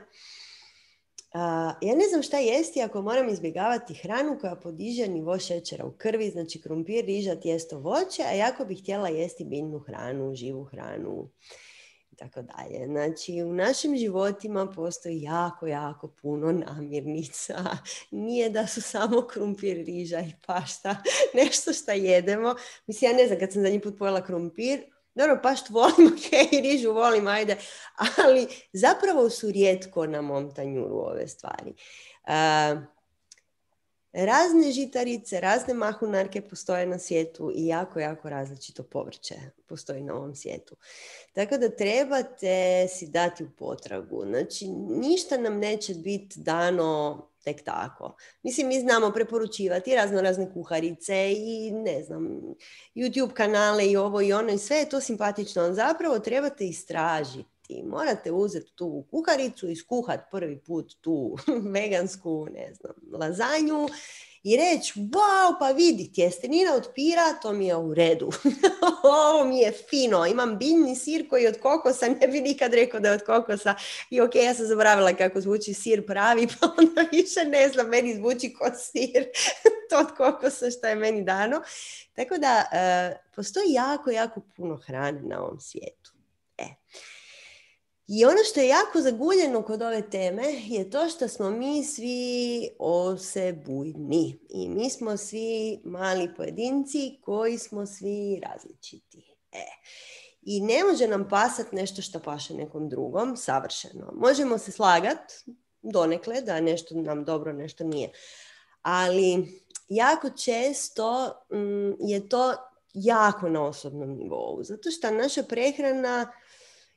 ja ne znam šta jesti ako moram izbjegavati hranu koja podiže nivo šećera u krvi, znači krumpir, riža, tijesto, voće, a jako bih htjela jesti biljnu hranu, živu hranu. Tako dalje. Znači, u našim životima postoji jako, jako puno namirnica. Nije da su samo krumpir, riža i pašta nešto što jedemo. Mislim, ja ne znam, kad sam zadnji put pojela krumpir, dobro, paštu volim, ok, rižu volim, ajde, ali zapravo su rijetko na mom tanjuru ove stvari. Uh, Razne žitarice, razne mahunarke postoje na svijetu i jako, jako različito povrće postoji na ovom svijetu. Tako da trebate si dati u potragu. Znači, ništa nam neće biti dano tek tako. Mislim, mi znamo preporučivati razno razne kuharice i ne znam, YouTube kanale i ovo i ono i sve je to simpatično. Ali zapravo trebate istražiti. Morate uzeti tu kuharicu, iskuhati prvi put tu vegansku, ne znam, lazanju i reći, wow, pa vidi, tjestenina od pira, to mi je u redu. Ovo mi je fino, imam biljni sir koji je od kokosa, ne bi nikad rekao da je od kokosa. I ok, ja sam zaboravila kako zvuči sir pravi, pa onda više ne znam, meni zvuči kod sir to od kokosa što je meni dano. Tako da, uh, postoji jako, jako puno hrane na ovom svijetu. E. I ono što je jako zaguljeno kod ove teme je to što smo mi svi osebujni. I mi smo svi mali pojedinci koji smo svi različiti. E. I ne može nam pasati nešto što paše nekom drugom, savršeno. Možemo se slagati donekle da nešto nam dobro, nešto nije. Ali jako često mm, je to jako na osobnom nivou. Zato što naša prehrana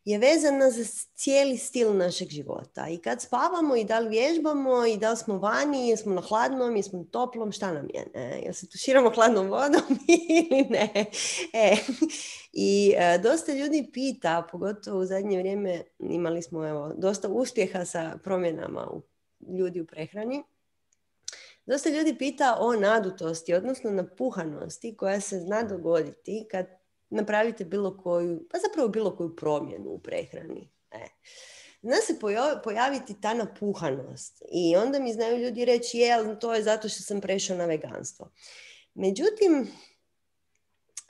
je vezana za cijeli stil našeg života. I kad spavamo i da li vježbamo i da li smo vani, jesmo na hladnom, jesmo na toplom, šta nam je? Ne? Jel se tuširamo hladnom vodom ili ne? E. I e, dosta ljudi pita, pogotovo u zadnje vrijeme imali smo evo, dosta uspjeha sa promjenama u, ljudi u prehrani. Dosta ljudi pita o nadutosti, odnosno napuhanosti koja se zna dogoditi kad napravite bilo koju, pa zapravo bilo koju promjenu u prehrani. E. Zna se pojaviti ta napuhanost i onda mi znaju ljudi reći je, to je zato što sam prešao na veganstvo. Međutim,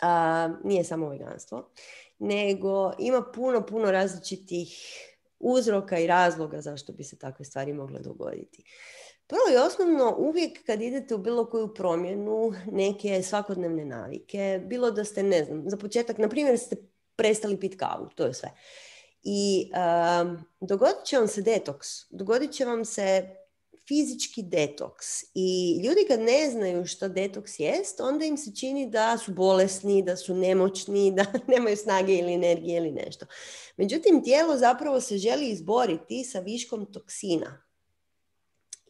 a, nije samo veganstvo, nego ima puno, puno različitih uzroka i razloga zašto bi se takve stvari mogle dogoditi. Prvo i osnovno, uvijek kad idete u bilo koju promjenu, neke svakodnevne navike, bilo da ste, ne znam, za početak, na primjer, ste prestali piti kavu, to je sve. I um, dogodit će vam se detoks, dogodit će vam se fizički detoks. I ljudi kad ne znaju što detoks jest, onda im se čini da su bolesni, da su nemoćni, da nemaju snage ili energije ili nešto. Međutim, tijelo zapravo se želi izboriti sa viškom toksina.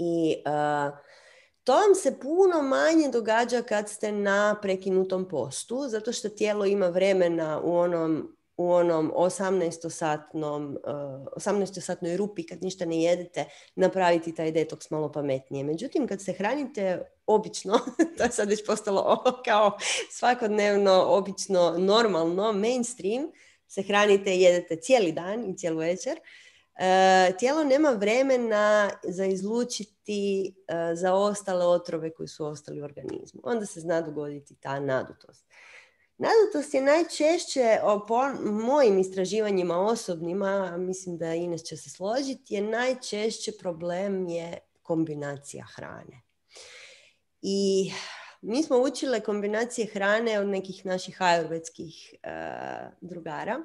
I uh, To vam se puno manje događa kad ste na prekinutom postu, zato što tijelo ima vremena u onom, u onom osamnaestosatnom, uh, osamnaestosatnoj rupi kad ništa ne jedete napraviti taj detoks malo pametnije. Međutim, kad se hranite obično, to je sad već postalo kao svakodnevno, obično, normalno, mainstream, se hranite i jedete cijeli dan i cijelu večer, Uh, tijelo nema vremena za izlučiti uh, za ostale otrove koji su ostali u organizmu. Onda se zna dogoditi ta nadutost. Nadutost je najčešće, po mojim istraživanjima osobnima, mislim da Ines će se složiti, je najčešće problem je kombinacija hrane. I mi smo učile kombinacije hrane od nekih naših ajurvedskih uh, drugara.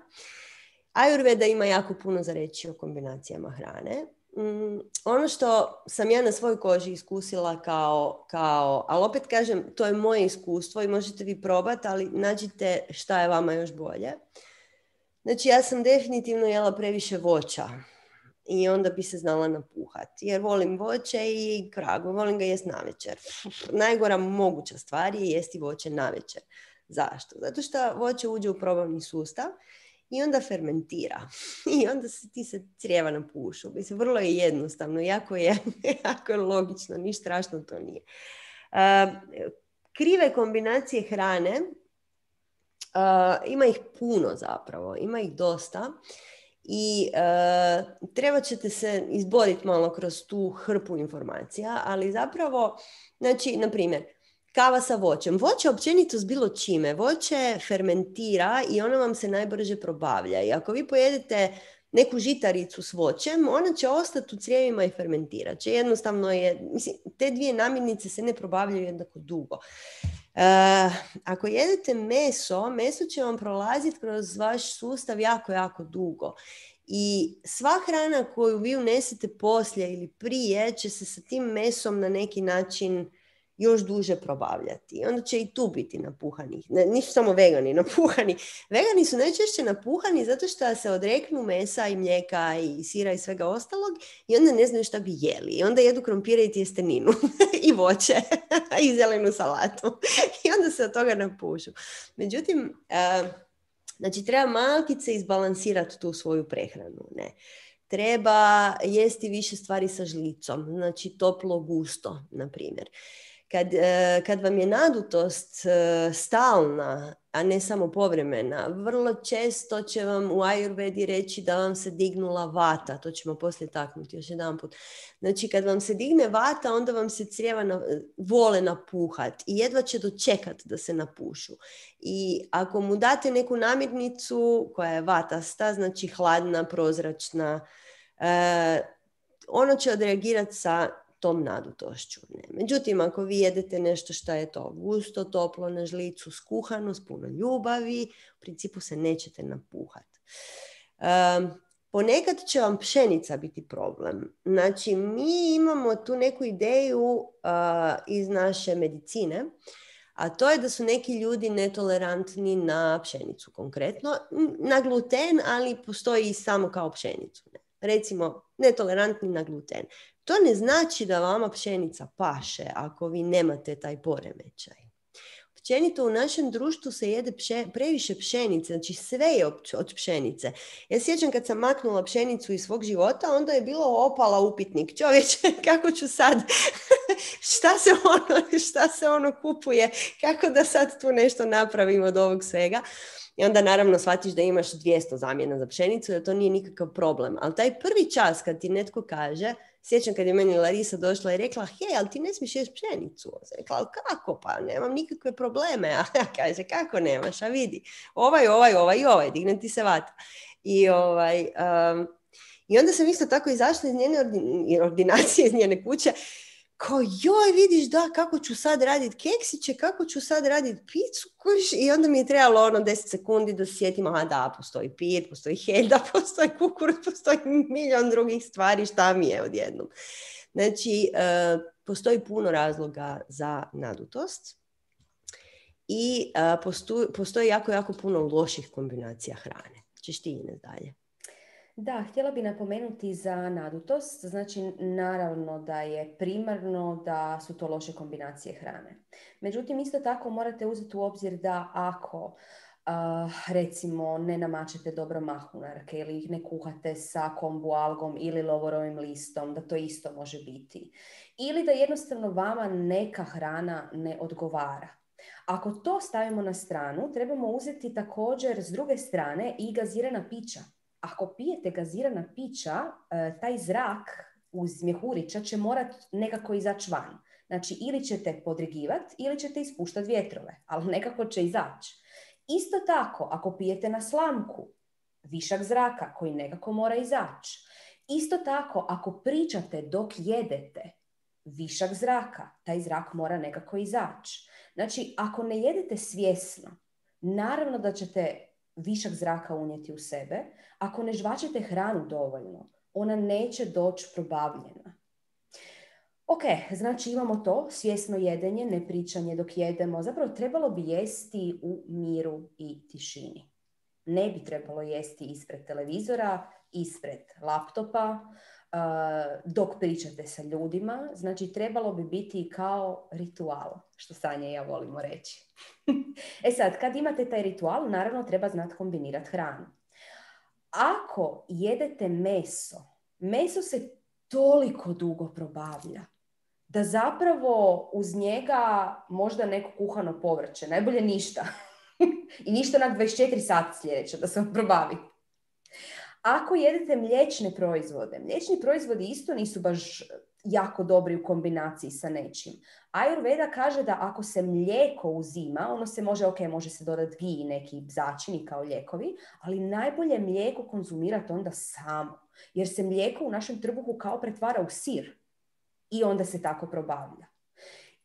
Ajurveda ima jako puno za reći o kombinacijama hrane. Mm, ono što sam ja na svojoj koži iskusila kao, kao, ali opet kažem, to je moje iskustvo i možete vi probati, ali nađite šta je vama još bolje. Znači, ja sam definitivno jela previše voća i onda bi se znala napuhati, jer volim voće i kragu, volim ga jesti navečer. Najgora moguća stvar je jesti voće navečer. Zašto? Zato što voće uđe u probavni sustav i onda fermentira. I onda se, ti se crijeva napušu. Mislim, vrlo je jednostavno, jako je, jako je logično, ništa strašno to nije. Uh, krive kombinacije hrane, uh, ima ih puno zapravo, ima ih dosta. I uh, treba ćete se izboriti malo kroz tu hrpu informacija, ali zapravo, znači, na primjer, kava sa voćem. Voće općenito s bilo čime. Voće fermentira i ono vam se najbrže probavlja. I ako vi pojedete neku žitaricu s voćem, ona će ostati u crijevima i fermentirat će. Jednostavno je, mislim, te dvije namirnice se ne probavljaju jednako dugo. Uh, ako jedete meso, meso će vam prolaziti kroz vaš sustav jako, jako dugo. I sva hrana koju vi unesete poslije ili prije će se sa tim mesom na neki način još duže probavljati. I onda će i tu biti napuhani. Ne, nisu samo vegani napuhani. Vegani su najčešće napuhani zato što se odreknu mesa i mlijeka i sira i svega ostalog i onda ne znaju šta bi jeli. I onda jedu krompire i tjesteninu i voće i zelenu salatu. I onda se od toga napušu. Međutim, uh, znači treba malkice izbalansirati tu svoju prehranu. Ne? Treba jesti više stvari sa žlicom. Znači toplo, gusto, na primjer. Kad, kad vam je nadutost stalna, a ne samo povremena, vrlo često će vam u ajurvedi reći da vam se dignula vata. To ćemo poslije taknuti još jedan put. Znači, kad vam se digne vata, onda vam se crijeva na, vole napuhat i jedva će dočekati da se napušu. I ako mu date neku namirnicu koja je vatasta, znači hladna, prozračna, eh, ono će odreagirati sa tom nadutošću. Ne. Međutim, ako vi jedete nešto što je to gusto, toplo, na žlicu, skuhano, s puno ljubavi, u principu se nećete napuhati. Um, ponekad će vam pšenica biti problem. Znači, mi imamo tu neku ideju uh, iz naše medicine, a to je da su neki ljudi netolerantni na pšenicu konkretno, na gluten, ali postoji i samo kao pšenicu. Ne. Recimo, netolerantni na gluten. To ne znači da vama pšenica paše ako vi nemate taj poremećaj. Općenito u našem društvu se jede pše, previše pšenice, znači sve je od pšenice. Ja sjećam kad sam maknula pšenicu iz svog života, onda je bilo opala upitnik. Čovječe, kako ću sad, šta se ono, šta se ono kupuje, kako da sad tu nešto napravim od ovog svega. I onda naravno shvatiš da imaš dvjesto zamjena za pšenicu, da to nije nikakav problem. Ali taj prvi čas kad ti netko kaže, sjećam kad je meni Larisa došla i rekla, hej, ali ti ne smiješ jesti pšenicu. Ja rekla, ali kako? Pa nemam nikakve probleme. A ja kaže, kako nemaš? A vidi, ovaj, ovaj, ovaj i ovaj, digne ti se vata. I, ovaj, um, i onda sam isto tako izašla iz njene ordinacije, iz njene kuće, kao, joj, vidiš, da, kako ću sad raditi keksiće, kako ću sad raditi picu, kuš? I onda mi je trebalo ono deset sekundi da se sjetim, a da, postoji pir, postoji helda, postoji kukuruz, postoji milion drugih stvari, šta mi je odjednom. Znači, uh, postoji puno razloga za nadutost i uh, postoji, postoji jako, jako puno loših kombinacija hrane. Češ ti, Ines, dalje? Da, htjela bi napomenuti za nadutost. Znači, naravno da je primarno da su to loše kombinacije hrane. Međutim, isto tako morate uzeti u obzir da ako uh, recimo ne namačete dobro mahunarke ili ih ne kuhate sa kombu algom ili lovorovim listom, da to isto može biti. Ili da jednostavno vama neka hrana ne odgovara. Ako to stavimo na stranu, trebamo uzeti također s druge strane i gazirana pića. Ako pijete gazirana pića, taj zrak uz mjehurića će morati nekako izaći van. Znači, ili ćete podrigivati ili ćete ispuštati vjetrove, ali nekako će izaći. Isto tako, ako pijete na slamku, višak zraka koji nekako mora izaći. Isto tako, ako pričate dok jedete, višak zraka, taj zrak mora nekako izaći. Znači, ako ne jedete svjesno, naravno da ćete višak zraka unijeti u sebe. Ako ne žvačete hranu dovoljno, ona neće doći probavljena. Ok, znači imamo to, svjesno jedenje, ne pričanje dok jedemo. Zapravo trebalo bi jesti u miru i tišini. Ne bi trebalo jesti ispred televizora, ispred laptopa, dok pričate sa ljudima. Znači, trebalo bi biti kao ritual, što Sanja i ja volimo reći. E sad, kad imate taj ritual, naravno treba znati kombinirati hranu. Ako jedete meso, meso se toliko dugo probavlja da zapravo uz njega možda neko kuhano povrće, najbolje ništa. I ništa na dvadeset četiri sata sljedeće da se vam probavi. Ako jedete mliječne proizvode, mliječni proizvodi isto nisu baš jako dobri u kombinaciji sa nečim. Ayurveda kaže da ako se mlijeko uzima, ono se može, ok, može se dodati gi i neki začini kao lijekovi, ali najbolje mlijeko konzumirati onda samo, jer se mlijeko u našem trbuhu kao pretvara u sir i onda se tako probavlja.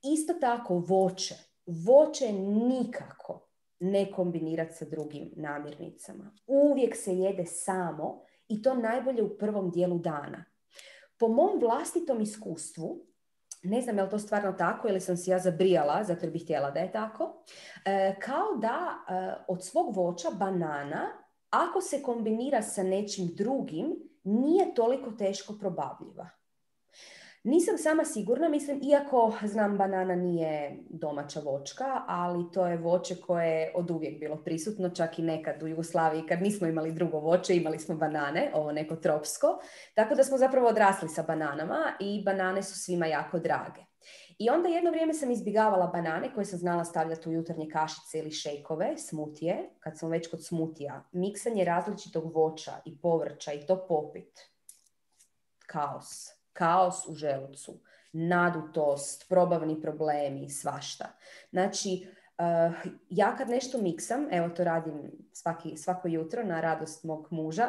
Isto tako voće. Voće nikako ne kombinirati sa drugim namirnicama. Uvijek se jede samo i to najbolje u prvom dijelu dana. Po mom vlastitom iskustvu, ne znam je li to stvarno tako ili sam si ja zabrijala, zato jer bih htjela da je tako, e, kao da e, od svog voća banana, ako se kombinira sa nečim drugim, nije toliko teško probavljiva. Nisam sama sigurna, mislim, iako znam banana nije domaća voćka, ali to je voće koje je od uvijek bilo prisutno, čak i nekad u Jugoslaviji kad nismo imali drugo voće, imali smo banane, ovo neko tropsko, tako da smo zapravo odrasli sa bananama i banane su svima jako drage. I onda jedno vrijeme sam izbjegavala banane koje sam znala stavljati u jutarnje kašice ili šejkove, smutije, kad sam već kod smutija. Miksanje različitog voća i povrća i to popit. Kaos. Kaos u želucu, nadutost, probavni problemi, svašta. Znači, uh, ja kad nešto miksam, evo to radim svaki, svako jutro na radost mog muža,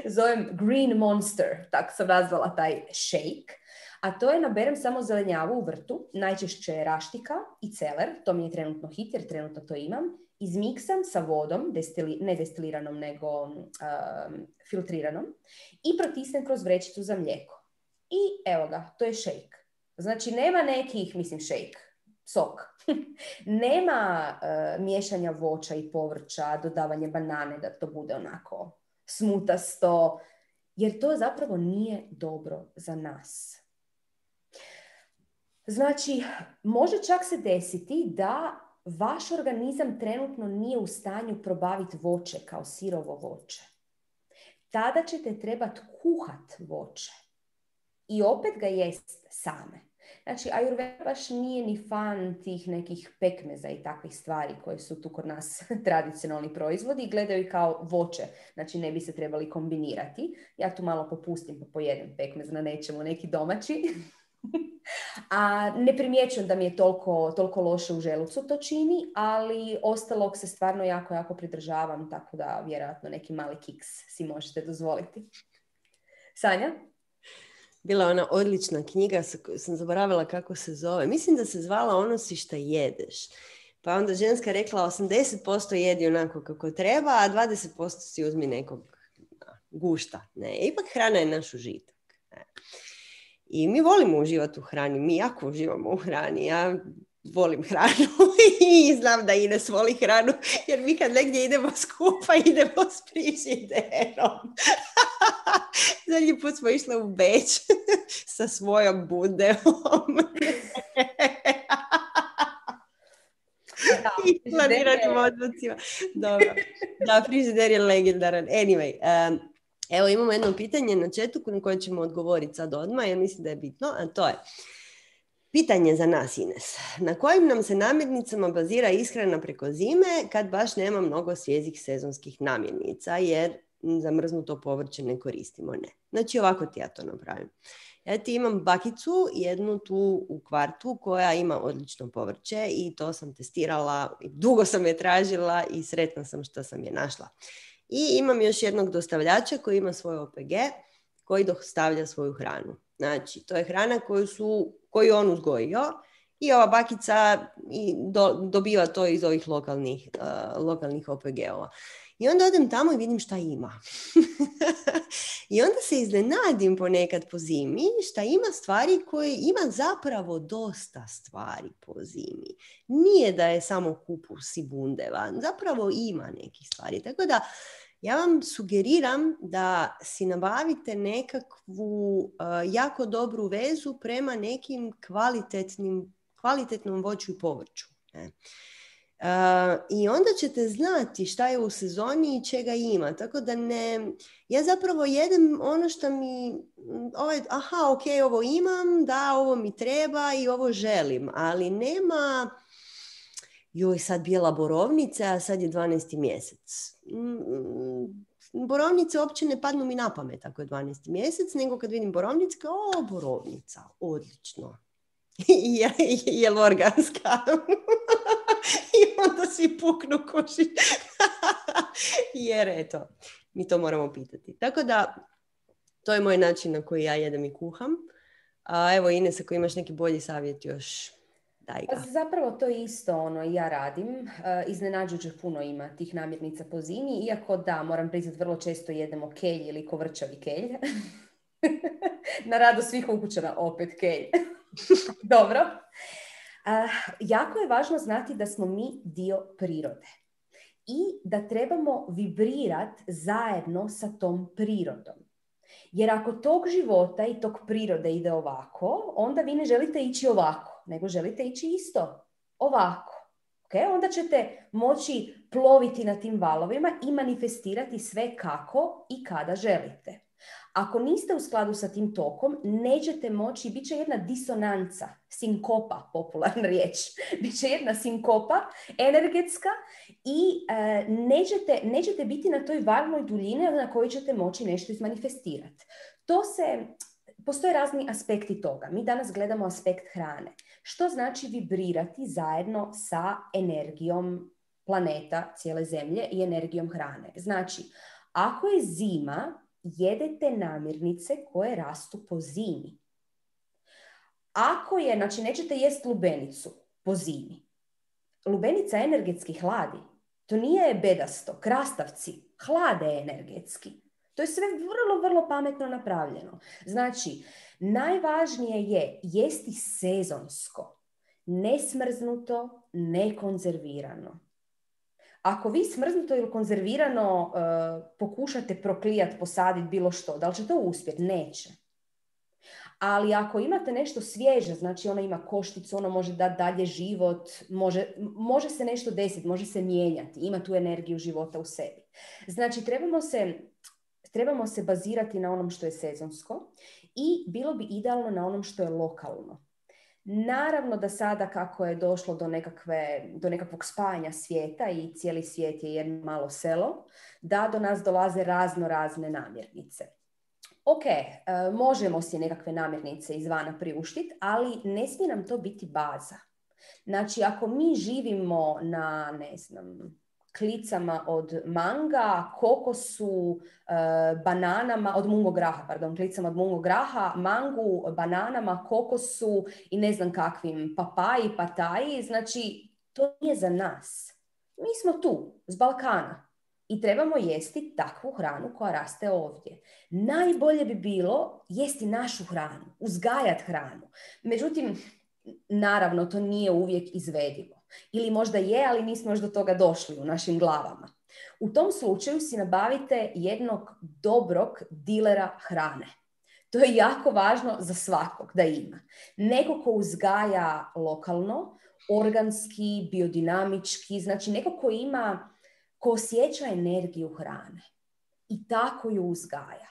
zovem Green Monster, tako sam nazvala taj shake, a to je naberem samo zelenjavu u vrtu, najčešće je raštika i celer, to mi je trenutno hit jer trenutno to imam, izmiksam sa vodom, destili, ne destiliranom nego um, filtriranom i protisnem kroz vrećicu za mlijeko. I evo ga, to je shake. Znači nema nekih, mislim shake, sok. Nema uh, miješanja voća i povrća, dodavanje banane da to bude onako smutasto, jer to zapravo nije dobro za nas. Znači, može čak se desiti da vaš organizam trenutno nije u stanju probaviti voće kao sirovo voće. Tada ćete trebati kuhat voće i opet ga jest same. Znači, Ayurveda baš nije ni fan tih nekih pekmeza i takvih stvari koje su tu kod nas tradicionalni proizvodi i gledaju ih kao voće. Znači, ne bi se trebali kombinirati. Ja tu malo popustim pa pojedem pekmez na nečemu, neki domaći. A ne primjećujem da mi je toliko, toliko loše u želucu to čini, ali ostalog se stvarno jako, jako pridržavam, tako da vjerojatno neki mali kiks si možete dozvoliti. Sanja? Bila ona odlična knjiga, sam zaboravila kako se zove. Mislim da se zvala Ono si šta jedeš. Pa onda ženska rekla osamdeset posto jedi onako kako treba, a dvadeset posto si uzmi nekog gušta. Ne, ipak hrana je naš užitak. Ne. I mi volimo uživati u hrani, mi jako uživamo u hrani. Ja volim hranu i znam da Ines voli hranu, jer mi kad negdje idemo skupa, idemo s frižiderom. Zadnji put smo išli u Beč sa svojom bundeom. I planiranim odmocima. Dobro. Da, frižider je legendaran. Anyway, um, evo imamo jedno pitanje na chatu na koje ćemo odgovoriti sad odmah, jer mislim da je bitno, a to je pitanje za nas, Ines. Na kojim nam se namirnicama bazira ishrana preko zime kad baš nema mnogo svježih sezonskih namirnica, jer zamrznuto povrće ne koristimo? Ne. Znači ovako ti ja to napravim. Ja ti imam bakicu, jednu tu u kvartu koja ima odlično povrće i to sam testirala, dugo sam je tražila i sretna sam što sam je našla. I imam još jednog dostavljača koji ima svoj O P G koji dostavlja svoju hranu. Znači, to je hrana koju, su, koju on uzgojio i ova bakica i do, dobiva to iz ovih lokalnih, uh, lokalnih O P G-ova. I onda odem tamo i vidim šta ima. I onda se iznenadim ponekad po zimi šta ima stvari koje ima zapravo dosta stvari po zimi. Nije da je samo kupus i bundeva, zapravo ima nekih stvari. Tako da ja vam sugeriram da si nabavite nekakvu uh, jako dobru vezu prema nekim kvalitetnim, kvalitetnom voću i povrću. Ne? Uh, I onda ćete znati šta je u sezoni i čega ima. Tako da ne... Ja zapravo jedem ono što mi... Ovaj, aha, ok, ovo imam, da, ovo mi treba i ovo želim. Ali nema... Joj, sad bijela borovnica, a sad je dvanaesti mjesec. Borovnice uopće ne padnu mi na pamet ako je dvanaesti mjesec, nego kad vidim borovnice, kao, o, borovnica, odlično. je, je li organska? I onda svi puknu koši. Jer eto, mi to moramo pitati. Tako da, to je moj način na koji ja jedem i kuham. A evo, Ines, ako imaš neki bolji savjet još, daj ga. Zapravo to je isto ono ja radim. Iznenađujuće puno ima tih namirnica po zimi, iako da, moram priznati, vrlo često jedemo kelj ili kovrčavi kelj. Na radu svih ukućana opet kelj. Dobro. Uh, jako je važno znati da smo mi dio prirode i da trebamo vibrirati zajedno sa tom prirodom. Jer ako tog života i tog prirode ide ovako, onda vi ne želite ići ovako, nego želite ići isto ovako. Okay? Onda ćete moći ploviti na tim valovima i manifestirati sve kako i kada želite. Ako niste u skladu sa tim tokom, nećete moći, bit će jedna disonanca, sinkopa, popularna riječ, bit će jedna sinkopa energetska i e, nećete, nećete biti na toj valnoj duljini na kojoj ćete moći nešto izmanifestirati. To se, postoje razni aspekti toga. Mi danas gledamo aspekt hrane. Što znači vibrirati zajedno sa energijom planeta, cijele zemlje i energijom hrane? Znači, ako je zima, jedete namirnice koje rastu po zimi. Ako je, znači nećete jest lubenicu po zimi. Lubenica energetski hladi. To nije bedasto, krastavci hlade energetski. To je sve vrlo, vrlo pametno napravljeno. Znači, najvažnije je jesti sezonsko, nesmrznuto, nekonzervirano. Ako vi smrznuto ili konzervirano uh, pokušate proklijati, posaditi bilo što, da li će to uspjeti? Neće. Ali ako imate nešto svježe, znači ono ima košticu, ono može dati dalje život, može, može se nešto desiti, može se mijenjati, ima tu energiju života u sebi. Znači trebamo se, trebamo se bazirati na onom što je sezonsko i bilo bi idealno na onom što je lokalno. Naravno da sada kako je došlo do, nekakve, do nekakvog spajanja svijeta i cijeli svijet je jedno malo selo, da do nas dolaze razno razne namirnice. Ok, možemo si nekakve namirnice izvana priuštiti, ali ne smije nam to biti baza. Znači ako mi živimo na, ne znam, klicama od manga, kokosu, bananama, od mungo graha, pardon, klicama od mungo graha, mangu, bananama, kokosu i ne znam kakvim papaji, pataji, znači to nije za nas. Mi smo tu, s Balkana i trebamo jesti takvu hranu koja raste ovdje. Najbolje bi bilo jesti našu hranu, uzgajati hranu. Međutim, naravno to nije uvijek izvedivo. Ili možda je, ali nismo još do toga došli u našim glavama. U tom slučaju si nabavite jednog dobrog dilera hrane. To je jako važno za svakog da ima. Neko ko uzgaja lokalno, organski, biodinamički, znači neko ko ima, ko osjeća energiju hrane i tako ju uzgaja.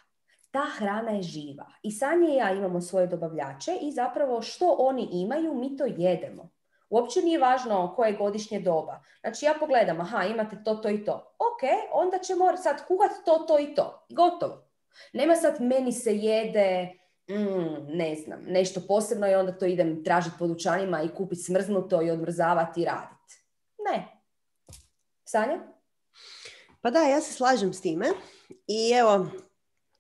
Ta hrana je živa. I Sanja i ja imamo svoje dobavljače i zapravo što oni imaju, mi to jedemo. Uopće nije važno koje je godišnje doba. Znači ja pogledam, aha, imate to, to i to. Ok, onda ćemo sad kuhati to, to i to. Gotovo. Nema sad meni se jede, mm, ne znam, nešto posebno i onda to idem tražiti po dućanima i kupiti smrznuto i odmrzavati i raditi. Ne. Sanja? Pa da, ja se slažem s time. I evo,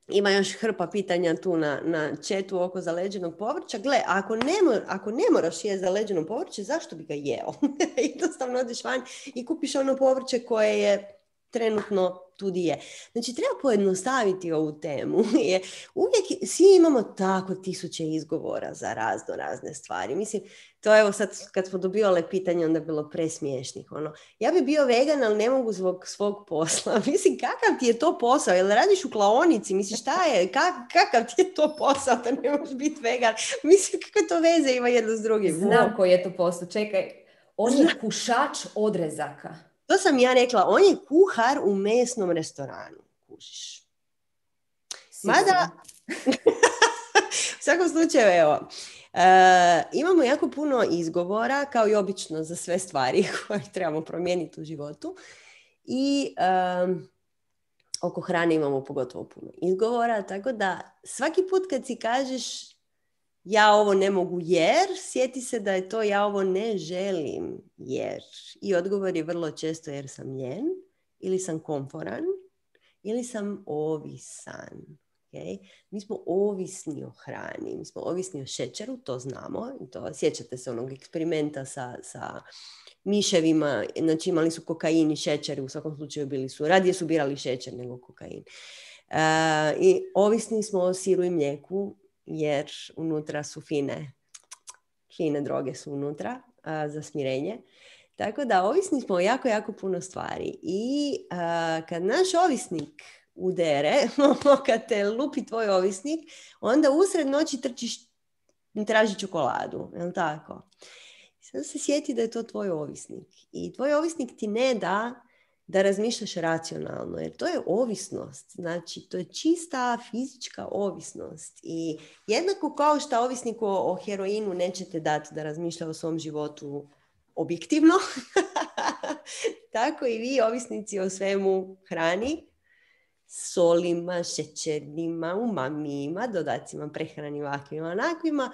ima još hrpa pitanja tu na, na chatu oko zaleđenog povrća. Gle, ako ne, ako ne moraš jesti zaleđeno povrće, zašto bi ga jeo? Jednostavno odeš van i kupiš ono povrće koje je trenutno tu di je. Znači, treba pojednostaviti ovu temu. Uvijek svi imamo tako tisuće izgovora za razno razne stvari. Mislim, to evo sad kad smo dobivale pitanje, onda je bilo presmiješnih. Ono, ja bi bio vegan, ali ne mogu zbog svog posla. Mislim, kakav ti je to posao? Jel radiš u klaonici? Mislim, šta je? Kak, kakav ti je to posao da ne možeš biti vegan? Mislim, kakve to veze ima jedno s drugim? Znam koji je to posao. Čekaj, on je kušač odrezaka. To sam ja rekla, on je kuhar u mesnom restoranu. Kužiš. Mada, u svakom slučaju, evo, uh, imamo jako puno izgovora, kao i obično za sve stvari koje trebamo promijeniti u životu. I um, oko hrane imamo pogotovo puno izgovora, tako da svaki put kad si kažeš ja ovo ne mogu jer, sjeti se da je to ja ovo ne želim jer. I odgovor je vrlo često jer sam ljen, ili sam komforan, ili sam ovisan. Okay? Mi smo ovisni o hrani, mi smo ovisni o šećeru, to znamo. To, sjećate se onog eksperimenta sa, sa miševima, znači imali su kokain i šećer, u svakom slučaju bili su, radije su birali šećer nego kokain. Uh, I ovisni smo o siru i mlijeku, jer unutra su fine, fine droge su unutra a, za smirenje. Tako da ovisni smo o jako, jako puno stvari. I a, kad naš ovisnik udere, kad te lupi tvoj ovisnik, onda usred noći trčiš, traži čokoladu. Je li tako? Sad se sjeti da je to tvoj ovisnik. I tvoj ovisnik ti ne da da razmišljaš racionalno, jer to je ovisnost. Znači, to je čista fizička ovisnost. I jednako kao što ovisniku o, o heroinu nećete dati da razmišlja o svom životu objektivno, tako i vi, ovisnici o svemu hrani, solima, šećernima, umamima, dodacima prehrani ovakvima, onakvima,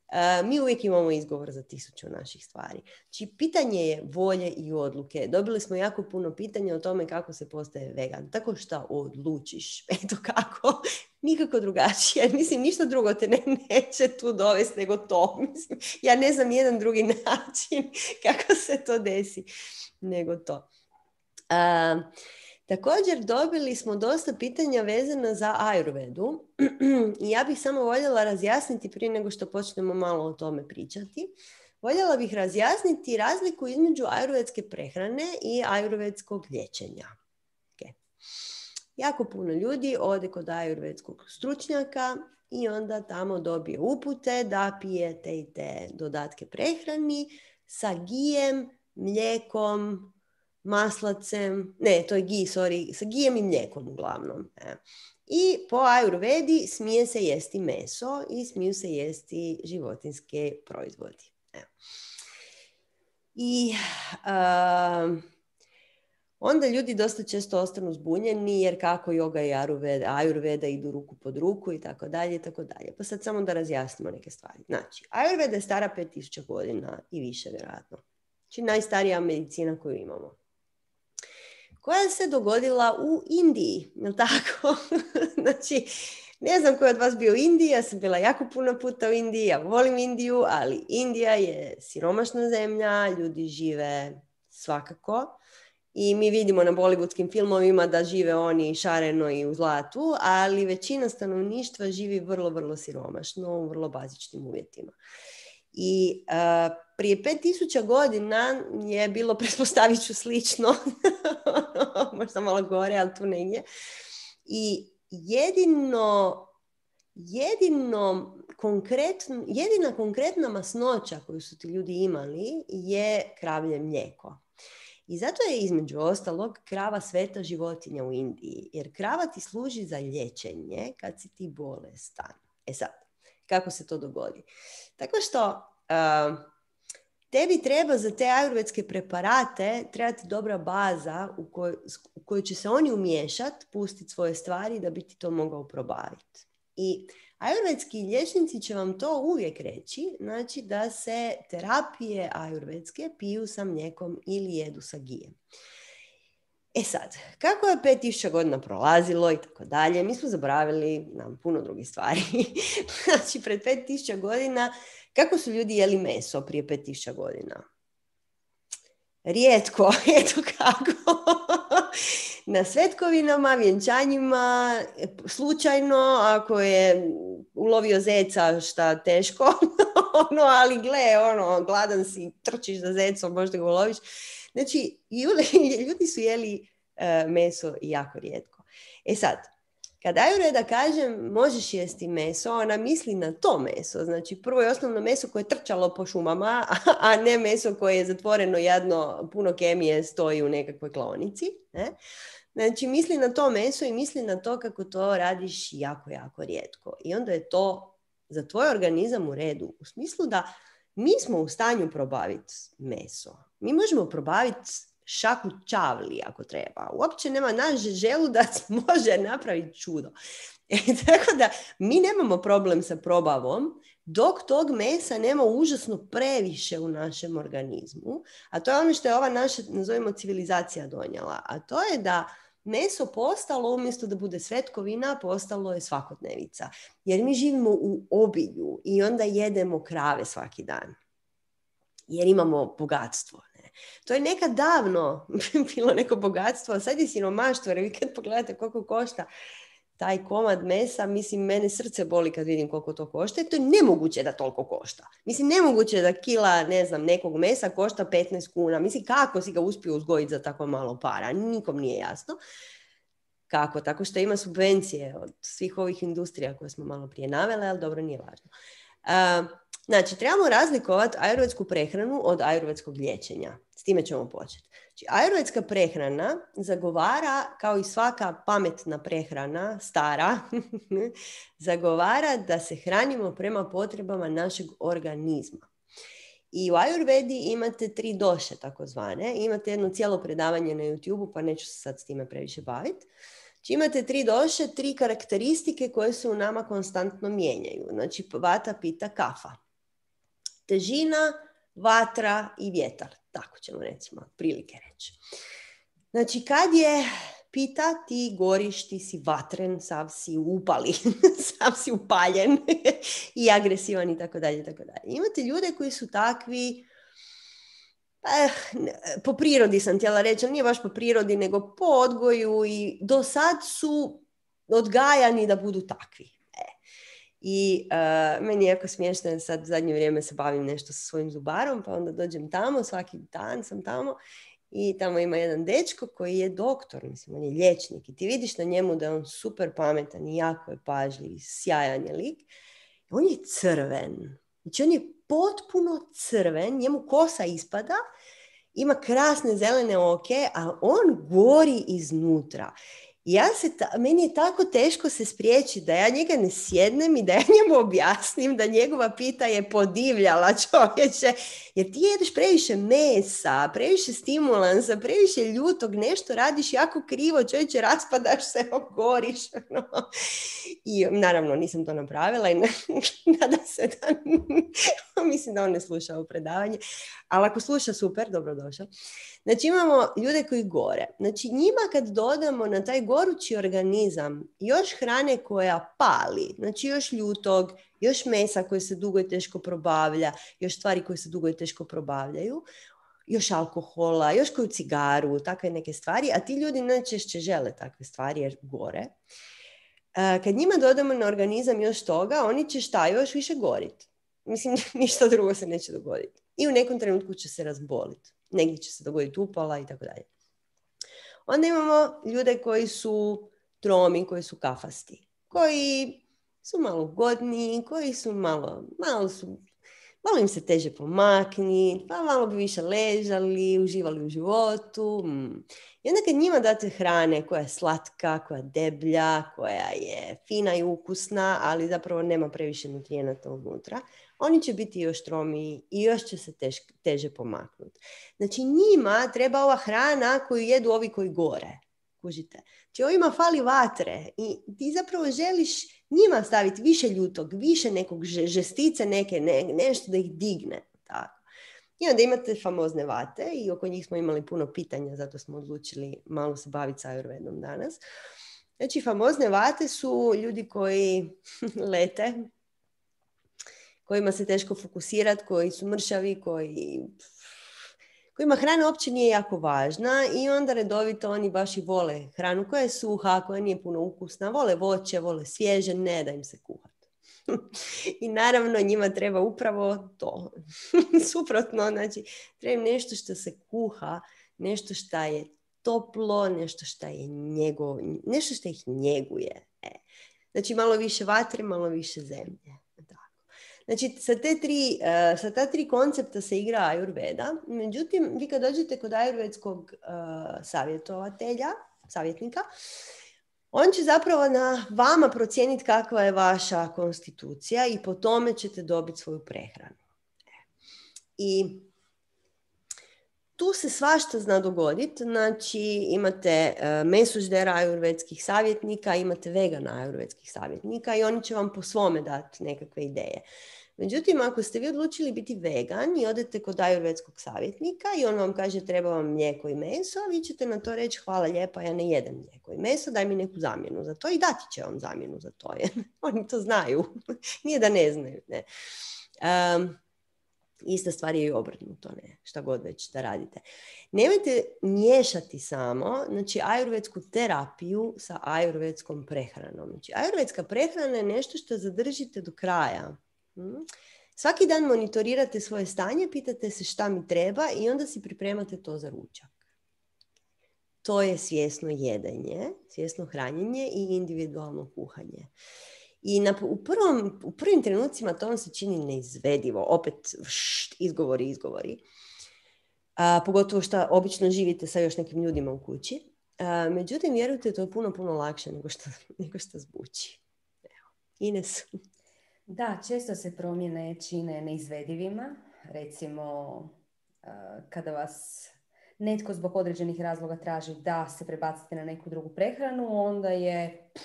Uh, mi uvijek imamo izgovor za tisuću naših stvari. Znači, pitanje je volje i odluke. Dobili smo jako puno pitanja o tome kako se postaje vegan. Tako što odlučiš. Eto kako. Nikako drugačije. Mislim, ništa drugo te ne, neće tu dovesti nego to. Mislim, ja ne znam jedan drugi način kako se to desi nego to. Uh, Također dobili smo dosta pitanja vezana za Ayurvedu i ja bih samo voljela razjasniti prije nego što počnemo malo o tome pričati. Voljela bih razjasniti razliku između ajurvedske prehrane i ajurvedskog liječenja. Okay. Jako puno ljudi ode kod ajurvedskog stručnjaka i onda tamo dobije upute da pije te i te dodatke prehrani sa gijem, mlijekom, maslacem, ne, to je gi, sorry, sa gijem i mlijekom uglavnom. E. I po ajurvedi smije se jesti meso i smiju se jesti životinske proizvodi. E. I uh, onda ljudi dosta često ostanu zbunjeni jer kako yoga i ajurveda, ajurveda idu ruku pod ruku i tako dalje i tako dalje. Pa sad samo da razjasnimo neke stvari. Znači, ajurveda je stara pet tisuća godina i više vjerojatno. Znači najstarija medicina koju imamo. Koja se dogodila u Indiji, je li tako? Znači, ne znam ko je od vas bio u Indiji, ja sam bila jako puno puta u Indiji, ja volim Indiju, ali Indija je siromašna zemlja, ljudi žive svakako i mi vidimo na bollywoodskim filmovima da žive oni šareno i u zlatu, ali većina stanovništva živi vrlo, vrlo siromašno, u vrlo bazičnim uvjetima. I uh, prije pet tisuća godina je bilo, pretpostavit ću, slično, možda malo gore, ali tu negdje. I jedino, jedino konkretno, jedina konkretna masnoća koju su ti ljudi imali je kravlje mlijeko. I zato je između ostalog krava sveta životinja u Indiji, jer krava ti služi za liječenje kad si ti bolestan. E sad, kako se to dogodi? Tako što uh, tebi treba za te ajurvedske preparate trebati dobra baza u, koj, u kojoj će se oni umiješati, pustiti svoje stvari da bi ti to mogao probaviti. I ajurvedski liječnici će vam to uvijek reći, znači da se terapije ajurvedske piju sa mlijekom ili jedu sa gijem. E sad, kako je pet tisuća godina prolazilo i tako dalje, mi smo zaboravili nam puno drugih stvari. Znači, pred pet tisuća godina, kako su ljudi jeli meso prije pet tisuća godina? Rijetko, eto kako. Na svetkovinama, vjenčanjima, slučajno, ako je ulovio zeca, šta teško, ono, ali gle, ono, gladan si, trčiš za zecom, možda ga uloviš. Znači, ljudi su jeli uh, meso jako rijetko. E sad, kad Ajurveda kaže možeš jesti meso, ona misli na to meso. Znači, prvo je osnovno meso koje je trčalo po šumama, a ne meso koje je zatvoreno jadno, puno kemije stoji u nekakvoj klaonici. Ne? Znači, misli na to meso i misli na to kako to radiš jako, jako rijetko. I onda je to za tvoj organizam u redu. U smislu da mi smo u stanju probaviti meso. Mi možemo probaviti šaku čavli ako treba. Uopće nema, naš želudac može napraviti čudo. E, tako da mi nemamo problem sa probavom dok tog mesa nema užasno previše u našem organizmu. A to je ono što je ova naša, nazovimo, civilizacija donijela. A to je da meso postalo, umjesto da bude svetkovina, postalo je svakodnevica. Jer mi živimo u obilju i onda jedemo krave svaki dan. Jer imamo bogatstvo. Ne? To je nekad davno bilo neko bogatstvo, a sad je siromaštvo. Jer vi kad pogledate koliko košta taj komad mesa, mislim, mene srce boli kad vidim koliko to košta. I to je nemoguće da toliko košta. Mislim, nemoguće da kila, ne znam, nekog mesa košta petnaest kuna. Mislim, kako si ga uspio uzgojiti za tako malo para? Nikom nije jasno. Kako? Tako što ima subvencije od svih ovih industrija koje smo malo prije navele, ali dobro, nije važno. Uh, znači, trebamo razlikovati ajurvedsku prehranu od ajurvedskog liječenja. S time ćemo početi. Znači, ajurvedska prehrana zagovara, kao i svaka pametna prehrana, stara, zagovara da se hranimo prema potrebama našeg organizma. I u ajurvedi imate tri doše, takozvane. Imate jedno cijelo predavanje na YouTube, pa neću se sad s time previše baviti. Znači, imate tri doše, tri karakteristike koje se u nama konstantno mijenjaju. Znači, vata, pita, kafa. Težina, vatra i vjetar. Tako ćemo, recimo, prilike reći. Znači, kad je pita, ti goriš, ti si vatren, sav si upali, sav si upaljen i agresivan i tako dalje, tako dalje. Imate ljude koji su takvi, eh, po prirodi sam htjela reći, nije baš po prirodi, nego po odgoju i do sad su odgajani da budu takvi. I uh, meni je jako smiješno, jer sad u zadnje vrijeme se bavim nešto sa svojim zubarom, pa onda dođem tamo, svaki dan sam tamo i tamo ima jedan dečko koji je doktor, mislim, on je liječnik i ti vidiš na njemu da je on super pametan i jako je pažljiv, sjajan je lik. On je crven, znači on je potpuno crven, njemu kosa ispada, ima krasne zelene oke, a on gori iznutra. Ja se ta, meni je tako teško se spriječiti da ja njega ne sjednem i da ja njemu objasnim da njegova pita je podivljala, čovječe, jer ti jedeš previše mesa, previše stimulansa, previše ljutog, nešto radiš jako krivo, čovječe, raspadaš se, ogoriš. No. I naravno nisam to napravila i nadam se da mislim da on ne sluša ovo predavanje, ali ako sluša, super, dobrodošao. Znači imamo ljude koji gore. Znači njima kad dodamo na taj gorući organizam još hrane koja pali, znači još ljutog, još mesa koje se dugo i teško probavlja, još stvari koje se dugo i teško probavljaju, još alkohola, još koju cigaru, takve neke stvari, a ti ljudi najčešće žele takve stvari jer gore. Kad njima dodamo na organizam još toga, oni će šta još više goriti. mislim, ništa drugo se neće dogoditi. I u nekom trenutku će se razboliti. Negdje će se dogoditi upala i tako dalje. Onda imamo ljude koji su tromi, koji su kafasti, koji su malo ugodniji, koji su malo, malo su, malo im se teže pomakni, pa malo bi više ležali, uživali u životu. Mm. I onda kad njima date hrane koja je slatka, koja je deblja, koja je fina i ukusna, ali zapravo nema previše nutrijenata unutra, oni će biti još tromiji i još će se tež, teže pomaknuti. Znači njima treba ova hrana koju jedu ovi koji gore. Kužite. Znači ovima fali vatre i ti zapravo želiš njima staviti više ljutog, više nekog žestice, neke, ne, nešto da ih digne. Tako. I onda imate famozne vate i oko njih smo imali puno pitanja, zato smo odlučili malo se baviti s Ayurvedom danas. Znači famozne vate su ljudi koji lete, kojima se teško fokusirati, koji su mršavi, koji... kojima hrana uopće nije jako važna i onda redovito oni baš i vole hranu koja je suha, koja nije puno ukusna, vole voće, vole svježe, ne da im se kuhati. I naravno njima treba upravo to. Suprotno, znači treba im nešto što se kuha, nešto što je toplo, nešto što je njegov, nešto što ih njeguje. E. Znači malo više vatre, malo više zemlje. Znači, sa, te tri, uh, sa ta tri koncepta se igra Ayurveda. Međutim, vi kad dođete kod ajurvedskog uh, savjetovatelja, savjetnika, on će zapravo na vama procijeniti kakva je vaša konstitucija i po tome ćete dobiti svoju prehranu. I tu se svašta zna dogoditi. Znači, imate uh, mesoždera ajurvedskih savjetnika, imate vegana ajurvedskih savjetnika i oni će vam po svome dati nekakve ideje. Međutim, ako ste vi odlučili biti vegan i odete kod ajurvedskog savjetnika i on vam kaže treba vam mlijeko i meso, vi ćete na to reći hvala lijepa, ja ne jedem mlijeko i meso, daj mi neku zamjenu za to i dati će vam zamjenu za to. Jer oni to znaju. Nije da ne znaju. Ne. Um, ista stvar je i obrnuto, ne, šta god već da radite. Nemojte miješati samo, znači, ajurvedsku terapiju sa ajurvedskom prehranom. Znači, ajurvedska prehrana je nešto što zadržite do kraja. Hmm. Svaki dan monitorirate svoje stanje, pitate se šta mi treba i onda si pripremate to za ručak. To je svjesno jedenje, svjesno hranjenje i individualno kuhanje. I na, u, prvom, u prvim trenucima to vam se čini neizvedivo. Opet št, izgovori, izgovori. A, pogotovo što obično živite sa još nekim ljudima u kući. A, međutim, vjerujte, to je puno, puno lakše nego što, nego što zvuči. Evo. Ines. Da, često se promjene čine neizvedivima. Recimo, kada vas netko zbog određenih razloga traži da se prebacite na neku drugu prehranu, onda je pff,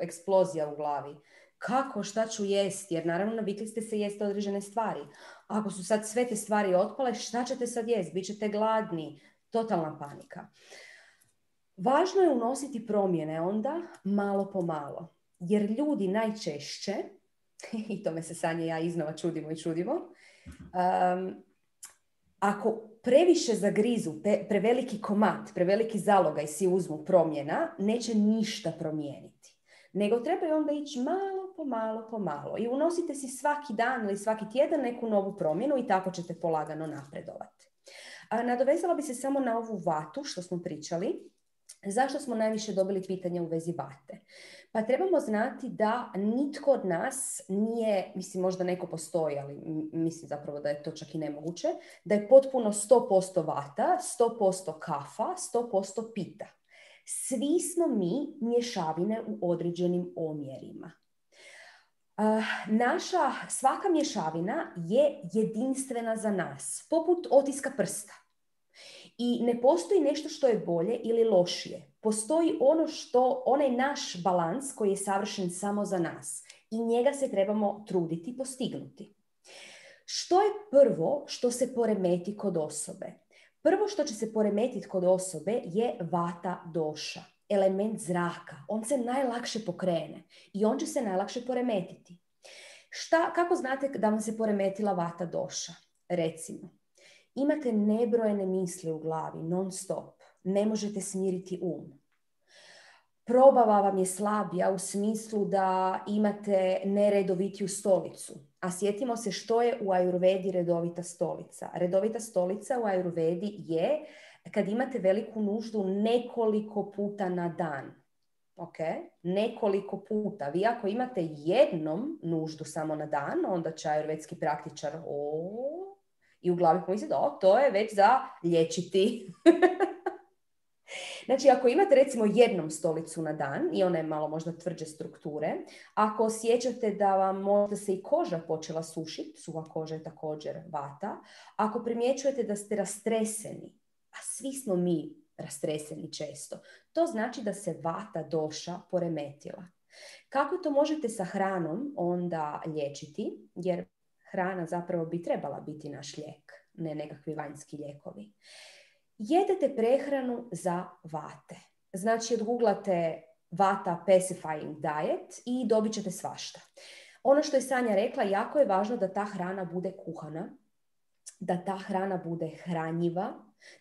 eksplozija u glavi. Kako, šta ću jesti? Jer naravno navikli ste se jesti određene stvari. Ako su sad sve te stvari otpale, šta ćete sad jesti? Bićete gladni. Totalna panika. Važno je unositi promjene onda malo po malo. Jer ljudi najčešće, i tome se Sanja i ja iznova čudimo i čudimo, um, ako previše zagrizu, pe, preveliki komad, preveliki zalogaj si uzmu promjena, neće ništa promijeniti. Nego treba onda ići malo po malo po malo. I unosite si svaki dan ili svaki tjedan neku novu promjenu i tako ćete polagano napredovati. A nadovezala bi se samo na ovu vatu što smo pričali. Zašto smo najviše dobili pitanja u vezi vate? Pa trebamo znati da nitko od nas nije, mislim možda neko postoji, ali mislim zapravo da je to čak i nemoguće, da je potpuno sto posto vata, sto posto kafa, sto posto pita. Svi smo mi mješavine u određenim omjerima. Uh, naša svaka mješavina je jedinstvena za nas, poput otiska prsta. I ne postoji nešto što je bolje ili lošije. Postoji ono što, onaj naš balans koji je savršen samo za nas. I njega se trebamo truditi postignuti. Što je prvo što se poremeti kod osobe? Prvo što će se poremetiti kod osobe je vata doša, element zraka. On se najlakše pokrene i on će se najlakše poremetiti. Šta, kako znate da vam se poremetila vata doša? Recimo, imate nebrojene misli u glavi, non stop. Ne možete smiriti um. probava vam je slabija u smislu da imate neredovitiju stolicu. A sjetimo se što je u ajurvedi redovita stolica. Redovita stolica u ajurvedi je kad imate veliku nuždu nekoliko puta na dan. Okay? Nekoliko puta. Vi ako imate jednom nuždu samo na dan, onda će ajurvedski praktičar o, i u glavi pomisli da to je već za liječiti. Znači, ako imate recimo jednom stolicu na dan i ona je malo možda tvrđe strukture, ako osjećate da vam možda se i koža počela sušiti, suha koža je također vata, ako primjećujete da ste rastreseni, a svi smo mi rastreseni često, to znači da se vata doša poremetila. Kako to možete sa hranom onda liječiti? Jer hrana zapravo bi trebala biti naš lijek, ne nekakvi vanjski lijekovi. Jedete prehranu za vate. Znači, odguglate vata pacifying diet i dobit ćete svašta. Ono što je Sanja rekla, jako je važno da ta hrana bude kuhana, da ta hrana bude hranjiva,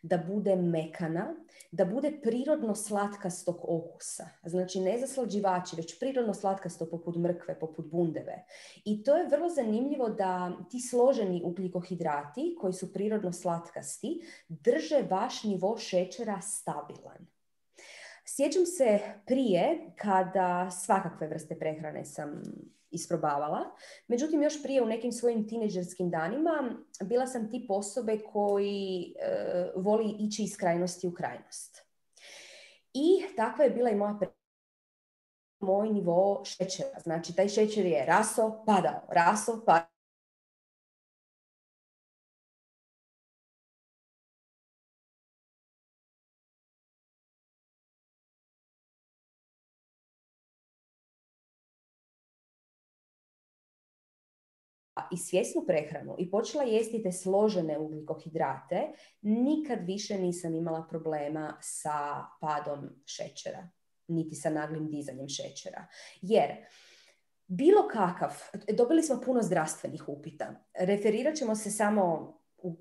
da bude mekana, da bude prirodno slatkastog okusa. Znači, ne zaslađivači, već prirodno slatkasto poput mrkve, poput bundeve. I to je vrlo zanimljivo da ti složeni ugljikohidrati, koji su prirodno slatkasti, drže vaš nivo šećera stabilan. Sjećam se prije, kada svakakve vrste prehrane sam isprobavala. Međutim, još prije u nekim svojim tinejdžerskim danima bila sam tip osobe koji e, voli ići iz krajnosti u krajnost. I takva je bila i moja pre... moj nivo šećera. Znači, taj šećer je raso, padao, raso, padao. I svjesnu prehranu i počela jesti te složene ugljikohidrate, nikad više nisam imala problema sa padom šećera, niti sa naglim dizanjem šećera. Jer bilo kakav, dobili smo puno zdravstvenih upita. Referirat ćemo se samo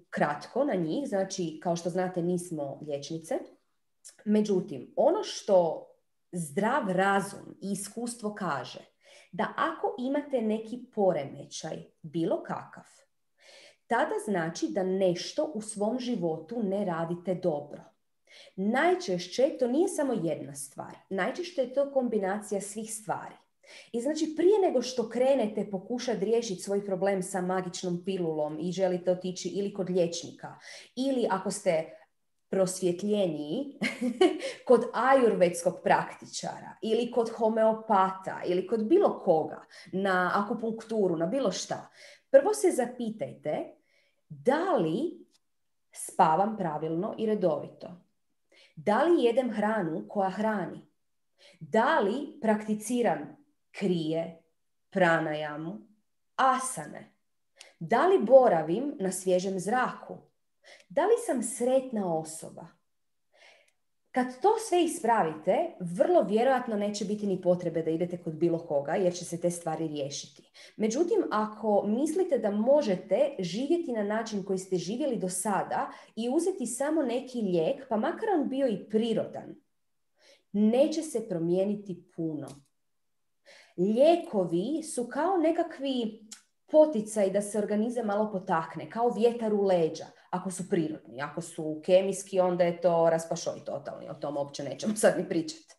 kratko na njih, znači kao što znate nismo liječnice. Međutim, ono što zdrav razum i iskustvo kaže, da ako imate neki poremećaj, bilo kakav, tada znači da nešto u svom životu ne radite dobro. Najčešće to nije samo jedna stvar. Najčešće je to kombinacija svih stvari. I znači prije nego što krenete pokušati riješiti svoj problem sa magičnom pilulom i želite otići ili kod liječnika, ili ako ste prosvjetljeniji kod ajurvedskog praktičara ili kod homeopata ili kod bilo koga na akupunkturu, na bilo šta. Prvo se zapitajte da li spavam pravilno i redovito. Da li jedem hranu koja hrani? Da li prakticiram krije, pranajamu, asane? Da li boravim na svježem zraku? Da li sam sretna osoba? Kad to sve ispravite, vrlo vjerojatno neće biti ni potrebe da idete kod bilo koga, jer će se te stvari riješiti. Međutim, ako mislite da možete živjeti na način koji ste živjeli do sada i uzeti samo neki lijek, pa makar on bio i prirodan, neće se promijeniti puno. Lijekovi su kao nekakvi poticaj da se organizam malo potakne, kao vjetar u leđa, ako su prirodni. Ako su kemijski, onda je to raspašoj totalni, o tom uopće nećemo sad ni pričati.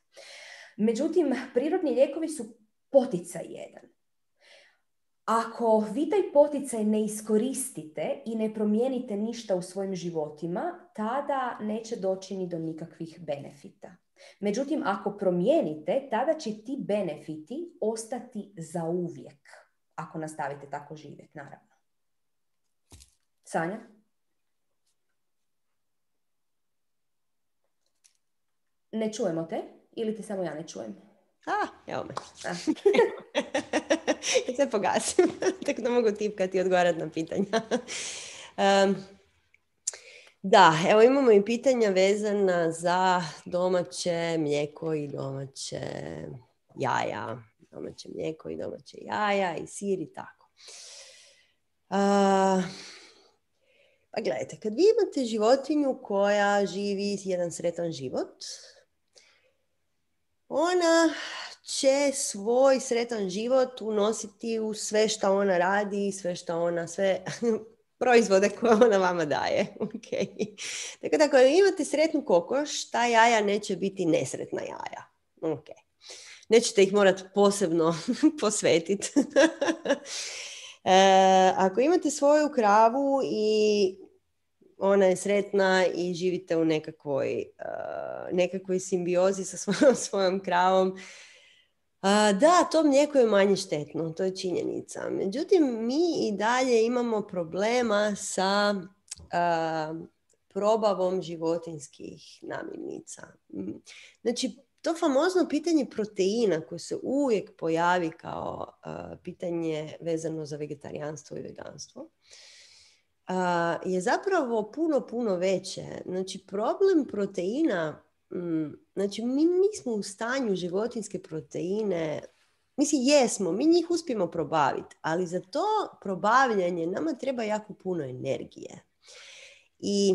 Međutim, prirodni lijekovi su poticaj jedan. Ako vi taj poticaj ne iskoristite i ne promijenite ništa u svojim životima, tada neće doći ni do nikakvih benefita. Međutim, ako promijenite, tada će ti benefiti ostati zauvijek. Ako nastavite tako živjeti, naravno. Sanja? Ne čujemo te? Ili ti samo ja ne čujem? A, evo me. Ja se pogasim. Tako da mogu tipkati i odgovarati na pitanja. Um, da, evo imamo i pitanja vezana za domaće mlijeko i domaće jaja. Domaće mlijeko i domaće jaja i sir i tako. Uh, pa gledajte, kad vi imate životinju koja živi jedan sretan život, ona će svoj sretan život unositi u sve što ona radi, sve što ona, sve proizvode koje ona vama daje. Okay. Tako da ako imate sretnu kokoš, ta jaja neće biti nesretna jaja. Okay. Nećete ih morati posebno posvetiti. e, ako imate svoju kravu i ona je sretna i živite u nekakvoj, uh, nekakvoj simbiozi sa svojom, svojom kravom, uh, da, to mlijeko je manje štetno, to je činjenica. Međutim, mi i dalje imamo problema sa uh, probavom životinjskih namirnica. Znači, to famozno pitanje proteina koje se uvijek pojavi kao uh, pitanje vezano za vegetarijanstvo i veganstvo uh, je zapravo puno, puno veće. Znači, problem proteina, mm, znači mi nismo u stanju životinjske proteine, mislim jesmo, mi njih uspijemo probaviti, ali za to probavljanje nama treba jako puno energije. I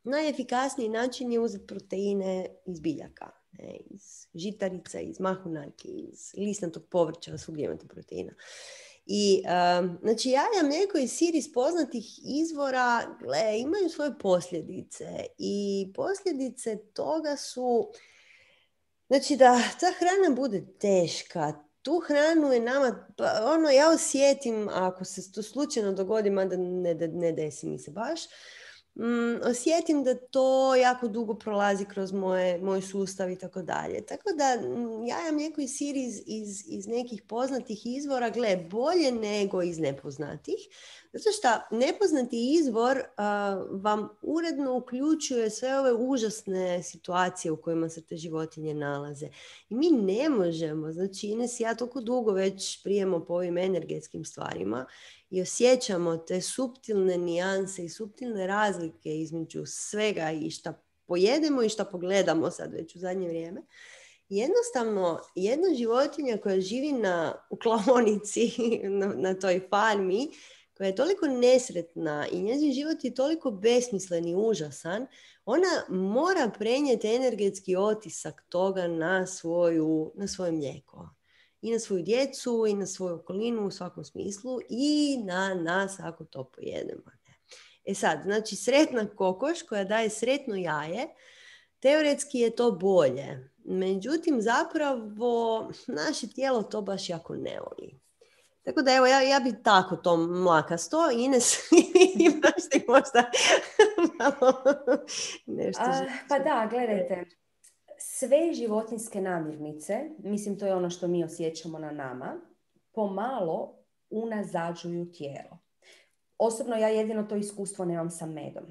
najefikasniji način je uzeti proteine iz biljaka, ne, iz žitarica, iz mahunarki, iz listnatog povrća, svugdje imate proteina. I, um, znači, jaja, mlijeko i sir iz poznatih izvora, gle, imaju svoje posljedice i posljedice toga su, znači, da ta hrana bude teška. Tu hranu je nama, pa, ono, ja osjetim, ako se to slučajno dogodi, mada ne, ne desi mi se baš, Mm, osjetim da to jako dugo prolazi kroz moje, moj sustav i tako dalje. Tako da jaja, mlijeko i sir iz, iz, iz nekih poznatih izvora, gle, bolje nego iz nepoznatih. Zato što nepoznati izvor uh, vam uredno uključuje sve ove užasne situacije u kojima se te životinje nalaze. I mi ne možemo, znači Ines i ja toliko dugo već prijemo po ovim energetskim stvarima i osjećamo te suptilne nijanse i suptilne razlike između svega i šta pojedemo i šta pogledamo sad već u zadnje vrijeme. Jednostavno, jedna životinja koja živi na, u klaonici, na, na toj farmi, koja je toliko nesretna i njezin život je toliko besmislen i užasan, ona mora prenijeti energetski otisak toga na, svoju, na svoje mlijeko. I na svoju djecu, i na svoju okolinu u svakom smislu, i na nas ako to pojedemo. E sad, znači sretna kokoš koja daje sretno jaje, teoretski je to bolje. Međutim, zapravo naše tijelo to baš jako ne voli. Tako da evo, ja, ja bi tako to mlakasto. Ines, imaš ti možda malo nešto. A, pa da, gledajte. Sve životinjske namirnice, mislim to je ono što mi osjećamo na nama, pomalo unazađuju tijelo. Osobno ja jedino to iskustvo nemam sa medom.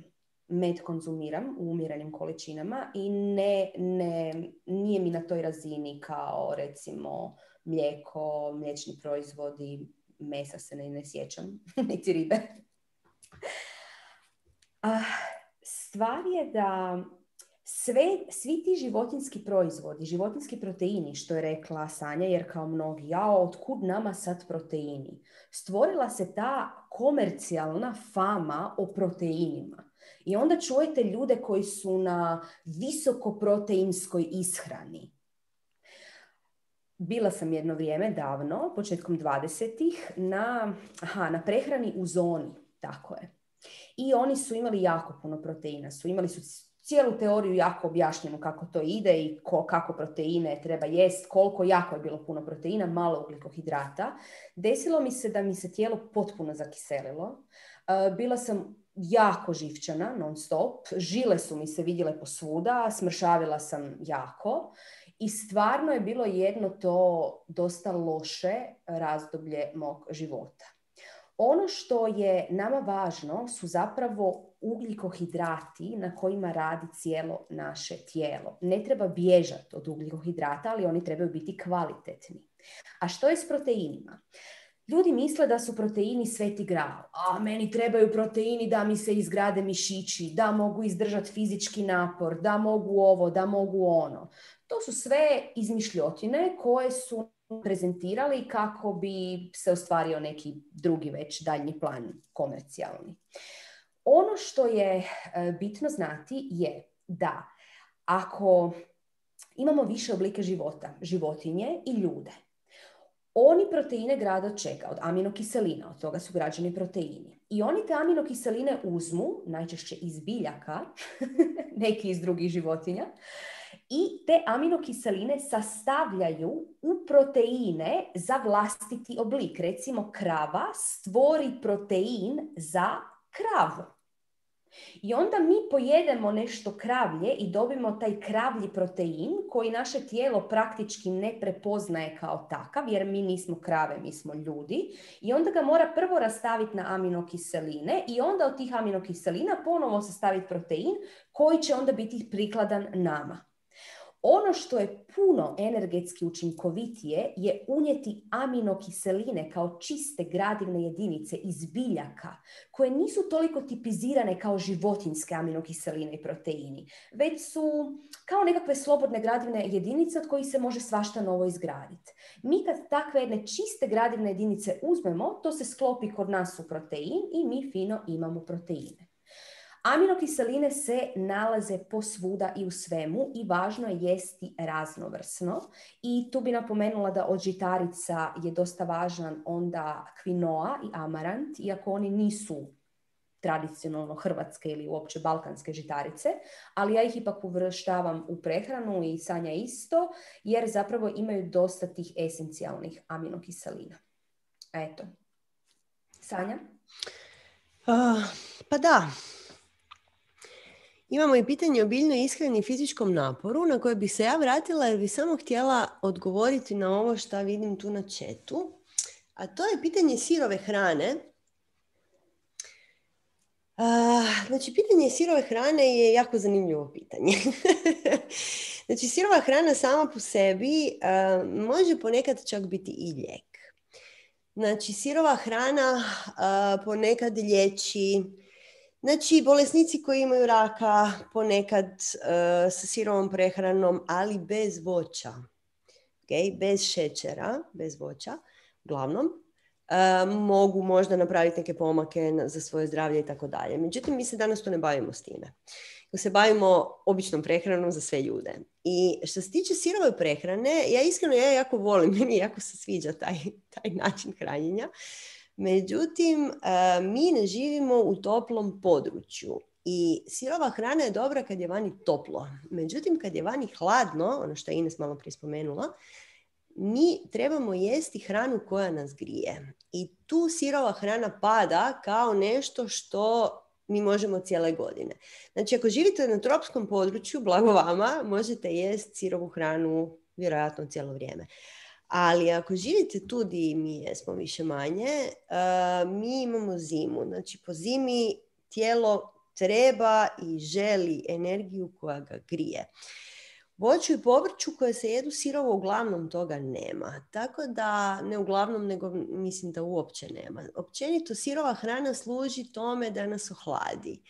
Med konzumiram u umjerenim količinama i ne, ne, nije mi na toj razini kao recimo mlijeko, mliječni proizvodi, mesa se ne, ne sjećam, niti ribe. A, stvar je da Sve, svi ti životinjski proizvodi, životinjski proteini, što je rekla Sanja, jer kao mnogi, jao, otkud nama sad proteini? Stvorila se ta komercijalna fama o proteinima. I onda čujete ljude koji su na visokoproteinskoj ishrani. Bila sam jedno vrijeme davno, početkom dvadesetih, na, aha, na prehrani u zoni, tako je. I oni su imali jako puno proteina, su imali su cijelu teoriju jako objašnjeno kako to ide i ko, kako proteine treba jest, koliko jako je bilo puno proteina, malo ugljikohidrata. Desilo mi se da mi se tijelo potpuno zakiselilo. Uh, bila sam jako živčana, non stop. Žile su mi se vidjele posvuda, smršavila sam jako. I stvarno je bilo jedno to dosta loše razdoblje mog života. Ono što je nama važno su zapravo ugljikohidrati na kojima radi cijelo naše tijelo. Ne treba bježati od ugljikohidrata, ali oni trebaju biti kvalitetni. A što je s proteinima? Ljudi misle da su proteini sveti gral. A meni trebaju proteini da mi se izgrade mišići, da mogu izdržati fizički napor, da mogu ovo, da mogu ono. To su sve izmišljotine koje su prezentirali kako bi se ostvario neki drugi već daljnji plan komercijalni. Ono što je bitno znati je da ako imamo više oblike života, životinje i ljude. Oni proteine grade od čega? Od aminokiselina, od toga su građeni proteini. I oni te aminokiseline uzmu, najčešće iz biljaka, neki iz drugih životinja, i te aminokiseline sastavljaju u proteine za vlastiti oblik. Recimo, krava stvori protein za kravu. I onda mi pojedemo nešto kravlje i dobimo taj kravlji protein koji naše tijelo praktički ne prepoznaje kao takav, jer mi nismo krave, mi smo ljudi. I onda ga mora prvo rastaviti na aminokiseline i onda od tih aminokiselina ponovo sastaviti protein koji će onda biti prikladan nama. Ono što je puno energetski učinkovitije je unijeti aminokiseline kao čiste gradivne jedinice iz biljaka koje nisu toliko tipizirane kao životinjske aminokiseline i proteini, već su kao nekakve slobodne gradivne jedinice od kojih se može svašta novo izgraditi. Mi kad takve jedne čiste gradivne jedinice uzmemo, to se sklopi kod nas u protein i mi fino imamo proteine. Aminokiseline se nalaze posvuda i u svemu i važno je jesti raznovrsno. I tu bi napomenula da od žitarica je dosta važan onda kvinoa i amarant, iako oni nisu tradicionalno hrvatske ili uopće balkanske žitarice, ali ja ih ipak uvrštavam u prehranu i Sanja isto, jer zapravo imaju dosta tih esencijalnih aminokiselina. Eto. Sanja? Uh, pa da. Imamo i pitanje o biljnoj ishrani i fizičkom naporu na koje bi se ja vratila jer bi samo htjela odgovoriti na ovo što vidim tu na chatu. A to je pitanje sirove hrane. Uh, znači, pitanje sirove hrane je jako zanimljivo pitanje. Znači, sirova hrana sama po sebi uh, može ponekad čak biti i lijek. Znači, sirova hrana uh, ponekad liječi. Znači, bolesnici koji imaju raka ponekad uh, sa sirovom prehranom, ali bez voća, okay? Bez šećera, bez voća, uglavnom, uh, mogu možda napraviti neke pomake na, za svoje zdravlje i tako dalje. Međutim, mi se danas tu ne bavimo s time. Se bavimo običnom prehranom za sve ljude. I što se tiče sirove prehrane, ja iskreno ja jako volim, meni jako se sviđa taj, taj način hranjenja. Međutim, mi ne živimo u toplom području i sirova hrana je dobra kad je vani toplo. Međutim, kad je vani hladno, ono što je Ines malo prije spomenula, mi trebamo jesti hranu koja nas grije. I tu sirova hrana pada kao nešto što mi možemo cijele godine. Znači, ako živite na tropskom području, blago vama, možete jesti sirovu hranu vjerojatno cijelo vrijeme. Ali ako živite tu gdje mi jesmo više manje, uh, mi imamo zimu. Znači, po zimi tijelo treba i želi energiju koja ga grije. Voću i povrću koje se jedu sirovo uglavnom toga nema. Tako da, ne uglavnom, nego mislim da uopće nema. Općenito sirova hrana služi tome da nas ohladi.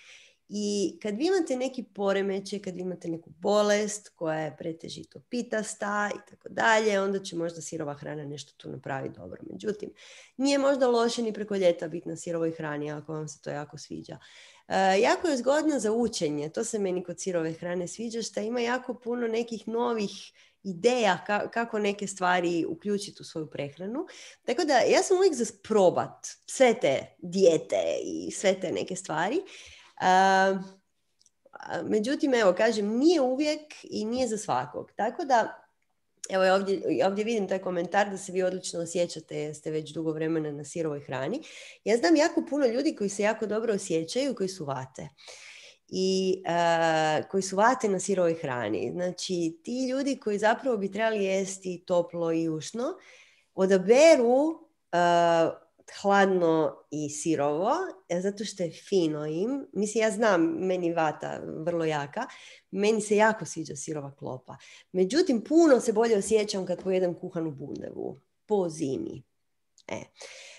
I kad vi imate neki poremećaj, kad vi imate neku bolest koja je pretežito pitasta i tako dalje, onda će možda sirova hrana nešto tu napraviti dobro. Međutim, nije možda loše ni preko ljeta biti na sirovoj hrani ako vam se to jako sviđa. E, jako je zgodno za učenje, to se meni kod sirove hrane sviđa, što ima jako puno nekih novih ideja ka, kako neke stvari uključiti u svoju prehranu. Tako da ja sam uvijek za probat sve te dijete i sve te neke stvari. Uh, međutim, evo, kažem, nije uvijek i nije za svakog. Tako da, evo, ja ovdje, ovdje vidim taj komentar da se vi odlično osjećate, jer ste već dugo vremena na sirovoj hrani. Ja znam jako puno ljudi koji se jako dobro osjećaju, koji su vate. I uh, koji su vate na sirovoj hrani. Znači, ti ljudi koji zapravo bi trebali jesti toplo i ušno, odaberu uh, hladno i sirovo, zato što je fino im. Mislim, ja znam, meni vata vrlo jaka, meni se jako sviđa sirova klopa. Međutim, puno se bolje osjećam kad pojedem kuhanu bundevu po zimi. E.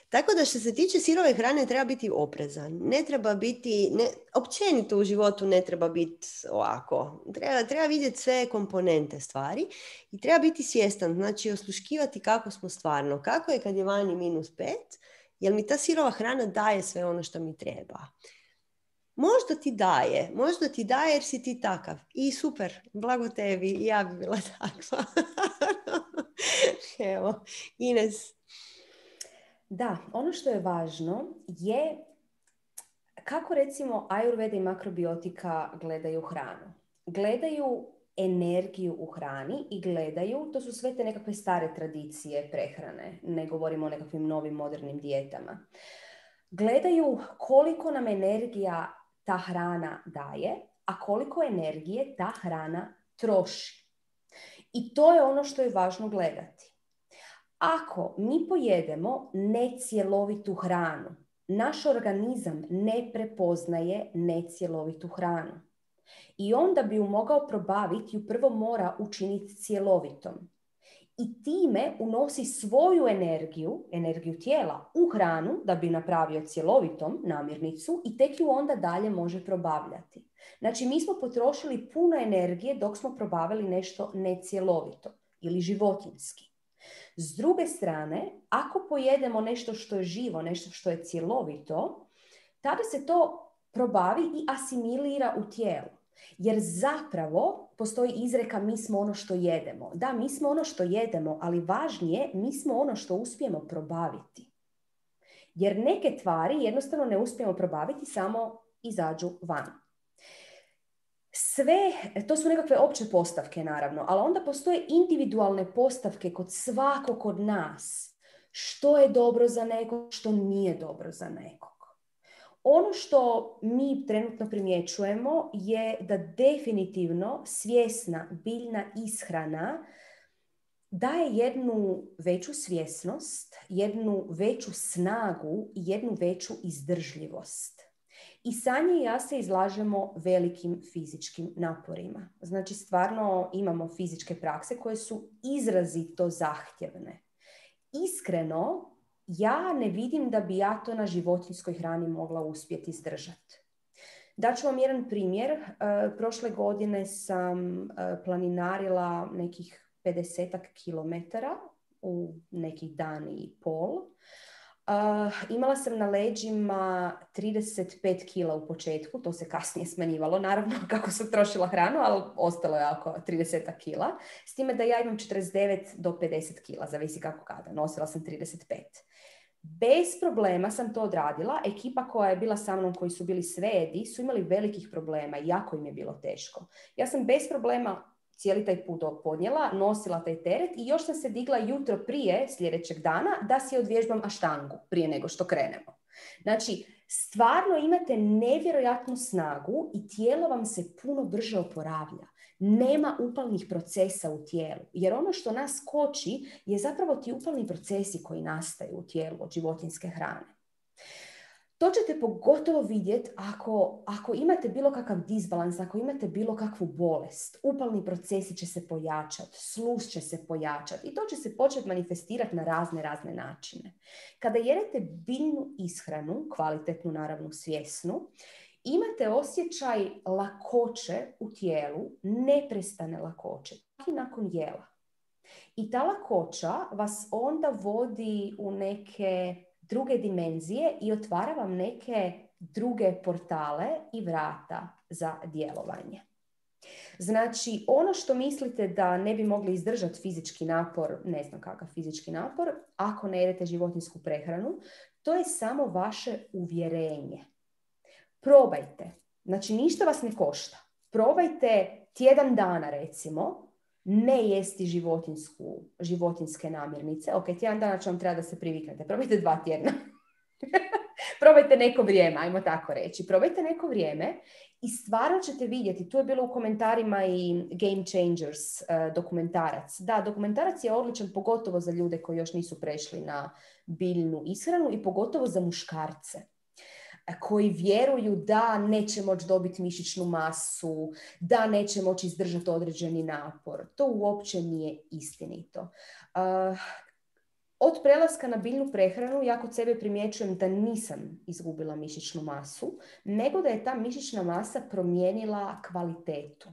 Tako da što se tiče sirove hrane treba biti oprezan. Ne treba biti, ne, općenito u životu ne treba biti ovako. Treba, treba vidjeti sve komponente stvari i treba biti svjestan, znači osluškivati kako smo stvarno. Kako je kad je vani minus pet, jer mi ta sirova hrana daje sve ono što mi treba. možda ti daje, možda ti daje jer si ti takav. I super, blago tebi, i ja bi bila takva. Evo, Ines. Da, ono što je važno je kako recimo Ayurveda i makrobiotika gledaju hranu. Gledaju energiju u hrani i gledaju, to su sve te nekakve stare tradicije prehrane, ne govorimo o nekakvim novim modernim dijetama. Gledaju koliko nam energija ta hrana daje, a koliko energije ta hrana troši. I to je ono što je važno gledati. Ako mi pojedemo necjelovitu hranu, naš organizam ne prepoznaje necjelovitu hranu. I onda bi ju mogao probaviti, ju prvo mora učiniti cjelovitom. I time unosi svoju energiju, energiju tijela, u hranu da bi napravio cjelovitom namirnicu i tek ju onda dalje može probavljati. Znači, mi smo potrošili puno energije dok smo probavili nešto necjelovito ili životinjski. S druge strane, ako pojedemo nešto što je živo, nešto što je cjelovito, tada se to probavi i asimilira u tijelu. Jer zapravo postoji izreka mi smo ono što jedemo. Da, mi smo ono što jedemo, ali važnije, mi smo ono što uspijemo probaviti. Jer neke tvari jednostavno ne uspijemo probaviti, samo izađu van. Sve, to su nekakve opće postavke naravno, ali onda postoje individualne postavke kod svakog od nas. Što je dobro za nekog, što nije dobro za nekog. Ono što mi trenutno primjećujemo je da definitivno svjesna biljna ishrana daje jednu veću svjesnost, jednu veću snagu i jednu veću izdržljivost. I Sanja i ja se izlažemo velikim fizičkim naporima. Znači, stvarno imamo fizičke prakse koje su izrazito zahtjevne. Iskreno, ja ne vidim da bi ja to na životinjskoj hrani mogla uspjeti izdržati. Daću vam jedan primjer. E, prošle godine sam e, planinarila nekih pedesetak kilometara u nekih dan i pol. Uh, imala sam na leđima trideset pet kila u početku, to se kasnije smanjivalo, naravno kako sam trošila hranu, ali ostalo je oko trideset kila. S time da ja imam četrdeset devet do pedeset kila, zavisi kako kada, nosila sam trideset pet. Bez problema sam to odradila. Ekipa koja je bila sa mnom, koji su bili svedi, su imali velikih problema i jako im je bilo teško. Ja sam bez problema cijeli taj put podnijela, nosila taj teret i još sam se digla jutro prije sljedećeg dana da si odvježbam aštangu prije nego što krenemo. Znači, stvarno imate nevjerojatnu snagu i tijelo vam se puno brže oporavlja. Nema upalnih procesa u tijelu, jer ono što nas koči je zapravo ti upalni procesi koji nastaju u tijelu od životinjske hrane. To ćete pogotovo vidjeti ako, ako imate bilo kakav disbalans, ako imate bilo kakvu bolest. Upalni procesi će se pojačati, sluz će se pojačati i to će se početi manifestirati na razne, razne načine. Kada jedete biljnu ishranu, kvalitetnu, naravno svjesnu, imate osjećaj lakoće u tijelu, neprestane lakoće, čak i nakon jela. I ta lakoća vas onda vodi u neke druge dimenzije i otvara vam neke druge portale i vrata za djelovanje. Znači, ono što mislite da ne bi mogli izdržati fizički napor, ne znam kakav fizički napor, ako ne jedete životinjsku prehranu, to je samo vaše uvjerenje. Probajte. Znači, ništa vas ne košta. Probajte tjedan dana, recimo, ne jesti životinjsku, životinjske namirnice. Ok, tjedan dana će vam treba da se priviknete. Probajte dva tjedna. Probajte neko vrijeme, ajmo tako reći. Probajte neko vrijeme i stvarno ćete vidjeti, tu je bilo u komentarima i Game Changers uh, dokumentarac. Da, dokumentarac je odličan pogotovo za ljude koji još nisu prešli na biljnu ishranu i pogotovo za muškarce koji vjeruju da neće moći dobiti mišićnu masu, da neće moći izdržati određeni napor. To uopće nije istinito. Uh, od prelaska na biljnu prehranu ja kod sebe primjećujem da nisam izgubila mišićnu masu, nego da je ta mišićna masa promijenila kvalitetu.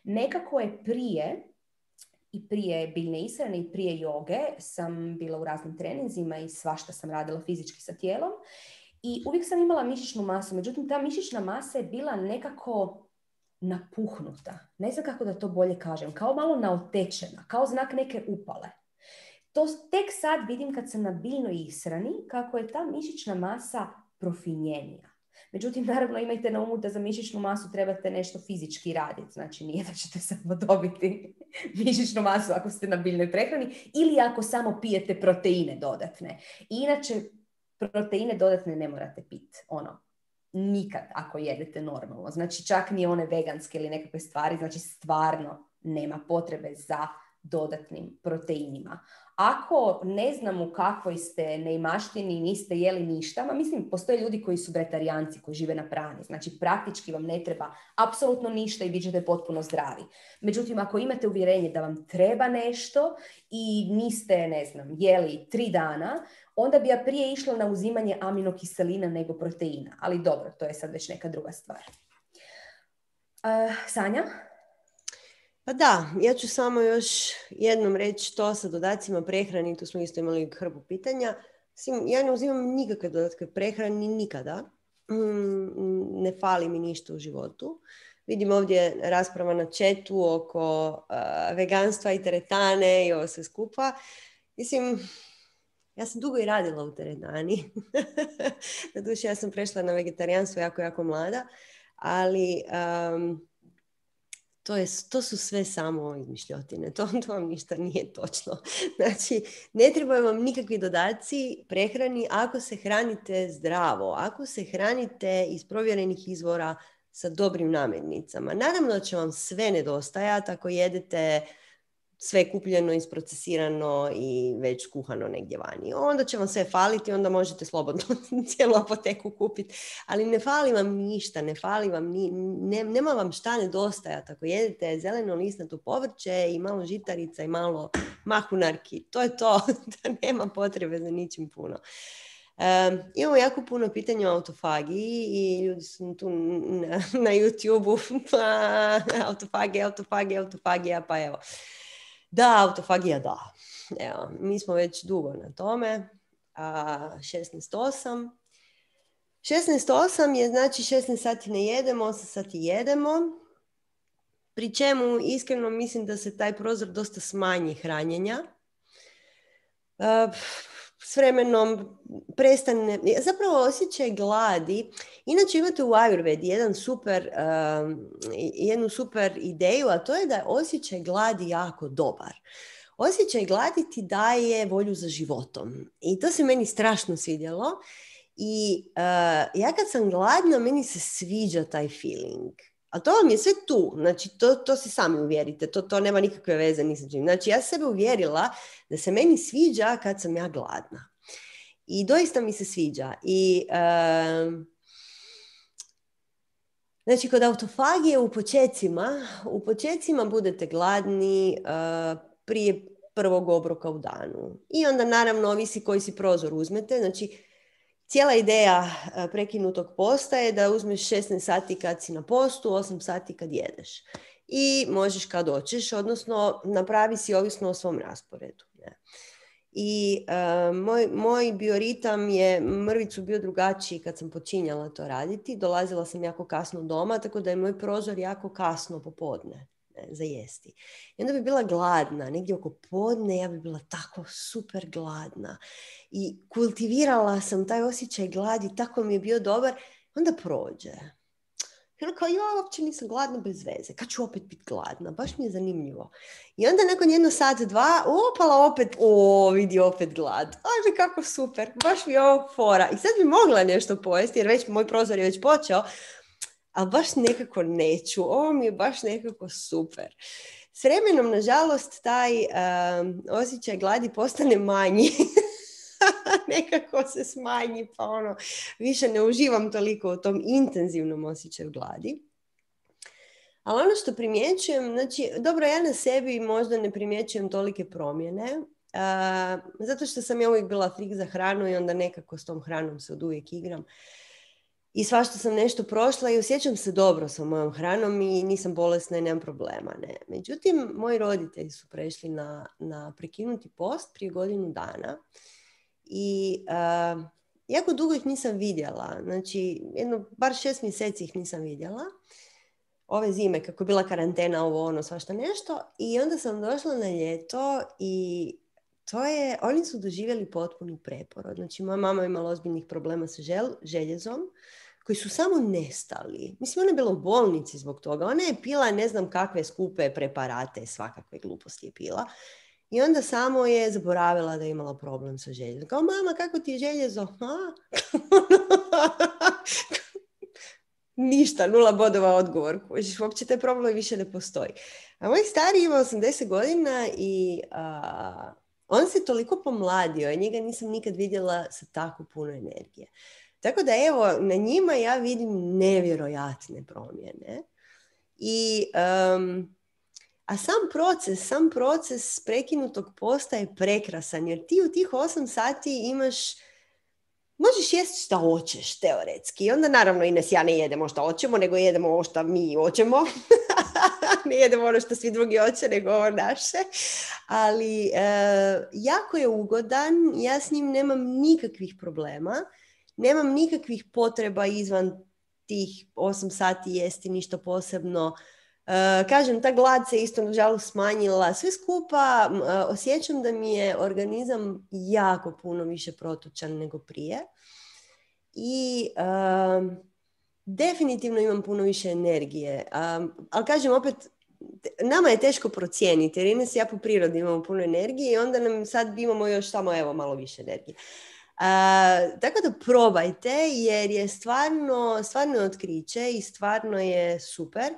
Nekako je prije, i prije biljne ishrane i prije joge sam bila u raznim treninzima i svašta sam radila fizički sa tijelom. I uvijek sam imala mišićnu masu, međutim ta mišićna masa je bila nekako napuhnuta. Ne znam kako da to bolje kažem. Kao malo naotečena, kao znak neke upale. To tek sad vidim kad sam na biljnoj ishrani kako je ta mišićna masa profinjenija. Međutim, naravno imajte na umu da za mišićnu masu trebate nešto fizički raditi. Znači nije da ćete samo dobiti mišićnu masu ako ste na biljnoj prehrani ili ako samo pijete proteine dodatne. I inače, proteine dodatne ne morate piti. Ono, nikad ako jedete normalno. Znači čak ni one veganske ili nekakve stvari. Znači stvarno nema potrebe za dodatnim proteinima. Ako ne znam u kakvoj ste neimaštini i niste jeli ništa, ma mislim, postoje ljudi koji su vegetarijanci, koji žive na prani. Znači, praktički vam ne treba apsolutno ništa i bit ćete potpuno zdravi. Međutim, ako imate uvjerenje da vam treba nešto i niste, ne znam, jeli tri dana, onda bi ja prije išla na uzimanje aminokiselina nego proteina. Ali dobro, to je sad već neka druga stvar. Uh, Sanja? Pa da, ja ću samo još jednom reći to sa dodacima prehrani, tu smo isto imali hrpu pitanja. Ja ne uzimam nikakve dodatke prehrani nikada, ne fali mi ništa u životu. Vidim ovdje rasprava na chatu oko uh, veganstva i teretane i ovo sve skupa. Mislim, ja sam dugo i radila u teretani. Naduše, ja sam prešla na vegetarijanstvo jako, jako mlada, ali... Um, To, je, to su sve samo izmišljotine, to, to vam ništa nije točno. Znači, ne trebaju vam nikakvi dodaci prehrani ako se hranite zdravo, ako se hranite iz provjerenih izvora sa dobrim namirnicama. Naravno da će vam sve nedostajati ako jedete sve kupljeno, isprocesirano i već kuhano negdje vani. Onda će vam sve faliti, onda možete slobodno cijelu apoteku kupiti. Ali ne fali vam ništa, ne fali vam, ni, ne, nema vam šta nedostajati. Ako jedete zeleno listnato povrće i malo žitarica i malo mahunarki, to je to, da nema potrebe za ničim puno. Um, imamo jako puno pitanja o autofagiji i ljudi su tu na, na YouTube-u, pa autofagija, autofagija, autofagija, pa evo. Da, autofagija da. Evo, mi smo već dugo na tome. A, šesnaest osam. šesnaest osam je znači šesnaest sati ne jedemo, osam sati jedemo. Pri čemu iskreno mislim da se taj prozor dosta smanji hranjenja. A, s vremenom prestane, zapravo osjećaj gladi. Inače imate u Ayurvedi jedan super, um, jednu super ideju, a to je da je osjećaj gladi jako dobar. Osjećaj gladi ti daje volju za životom. I to se meni strašno svidjelo. I uh, ja kad sam gladna, meni se sviđa taj feeling. A to vam je sve tu, znači to, to si sami uvjerite, to, to nema nikakve veze ni sa čim. Znači ja sebe uvjerila da se meni sviđa kad sam ja gladna. I doista mi se sviđa. I, uh, znači kod autofagije u počecima, u počecima budete gladni uh, prije prvog obroka u danu. I onda naravno ovisi koji si prozor uzmete, znači cijela ideja prekinutog posta je da uzmeš šesnaest sati kad si na postu, osam sati kad jedeš. I možeš kad hoćeš, odnosno napravi si ovisno o svom rasporedu. Ne? I uh, moj, moj bioritam je mrvicu bio drugačiji kad sam počinjala to raditi. Dolazila sam jako kasno doma, tako da je moj prozor jako kasno popodne za jesti. I onda bi bila gladna, negdje oko podne ja bi bila tako super gladna. I kultivirala sam taj osjećaj gladi, tako mi je bio dobar, onda prođe. I onda kao, ja uopće nisam gladna bez veze, kad ću opet biti gladna, baš mi je zanimljivo. I onda nakon jedno sat, dva, opala opet, o, vidi opet glad. Ajme, kako super, baš mi je ovo fora. I sad bi mogla nešto pojesti, jer već moj prozor je već počeo, ali baš nekako neću. Ovo mi je baš nekako super. S vremenom, nažalost, taj um, osjećaj gladi postane manji. Nekako se smanji, pa ono, više ne uživam toliko u tom intenzivnom osjećaju gladi. Ali ono što primjećujem, znači, dobro, ja na sebi možda ne primjećujem tolike promjene, uh, zato što sam ja uvijek bila frik za hranu i onda nekako s tom hranom se od uvijek igram. I svašta sam nešto prošla i osjećam se dobro sa mojom hranom i nisam bolesna i nemam problema. Ne. Međutim, moji roditelji su prešli na, na prekinuti post prije godinu dana i uh, jako dugo ih nisam vidjela. Znači, jedno, bar šest mjeseci ih nisam vidjela. Ove zime, kako je bila karantena, ovo, ono, svašta nešto. I onda sam došla na ljeto i to je, oni su doživjeli potpuni preporod. Znači, moja mama je imala ozbiljnih problema sa žel, željezom, koji su samo nestali. Mislim, ona je bila u bolnici zbog toga. Ona je pila ne znam kakve skupe preparate, svakakve gluposti je pila. I onda samo je zaboravila da je imala problem sa željezom. Kao, mama, kako ti je željezo? Ništa, nula bodova odgovor. Uopće taj problem više ne postoji. A moj stari ima osamdeset godina i a, on se toliko pomladio i njega nisam nikad vidjela sa tako puno energije. Tako da evo, na njima ja vidim nevjerojatne promjene. I, um, a sam proces, sam proces prekinutog posta je prekrasan, jer ti u tih osam sati imaš, možeš jesti šta hoćeš, teoretski. I onda naravno Ines ja ne jedemo šta hoćemo, nego jedemo ovo šta mi hoćemo. Ne jedemo ono što svi drugi hoće, nego ovo naše. Ali e, jako je ugodan, ja s njim nemam nikakvih problema. Nemam nikakvih potreba izvan tih osam sati jesti ništa posebno. Uh, kažem, ta glad se isto nažalost smanjila. Sve skupa uh, osjećam da mi je organizam jako puno više protočan nego prije. I uh, definitivno imam puno više energije. Um, ali kažem opet, nama je teško procijeniti, jer Ines i ja po prirodi imamo puno energije i onda nam sad imamo još samo evo malo više energije. Uh, tako da probajte, jer je stvarno, stvarno otkriće i stvarno je super.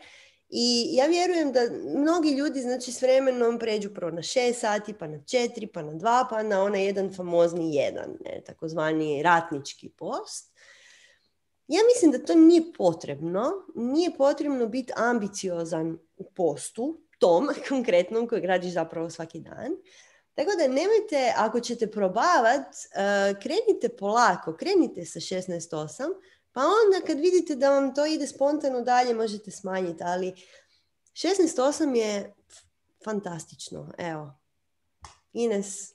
I ja vjerujem da mnogi ljudi, znači, s vremenom pređu prvo na šest sati, pa na četiri, pa na dva, pa na onaj jedan famozni jedan, ne, takozvani ratnički post. Ja mislim da to nije potrebno. Nije potrebno biti ambiciozan u postu, tom konkretnom kojeg radiš zapravo svaki dan. Tako da nemojte, ako ćete probavati, uh, krenite polako, krenite sa šesnaest osam, pa onda kad vidite da vam to ide spontano dalje, možete smanjiti, ali šesnaest osam je fantastično. Evo, Ines.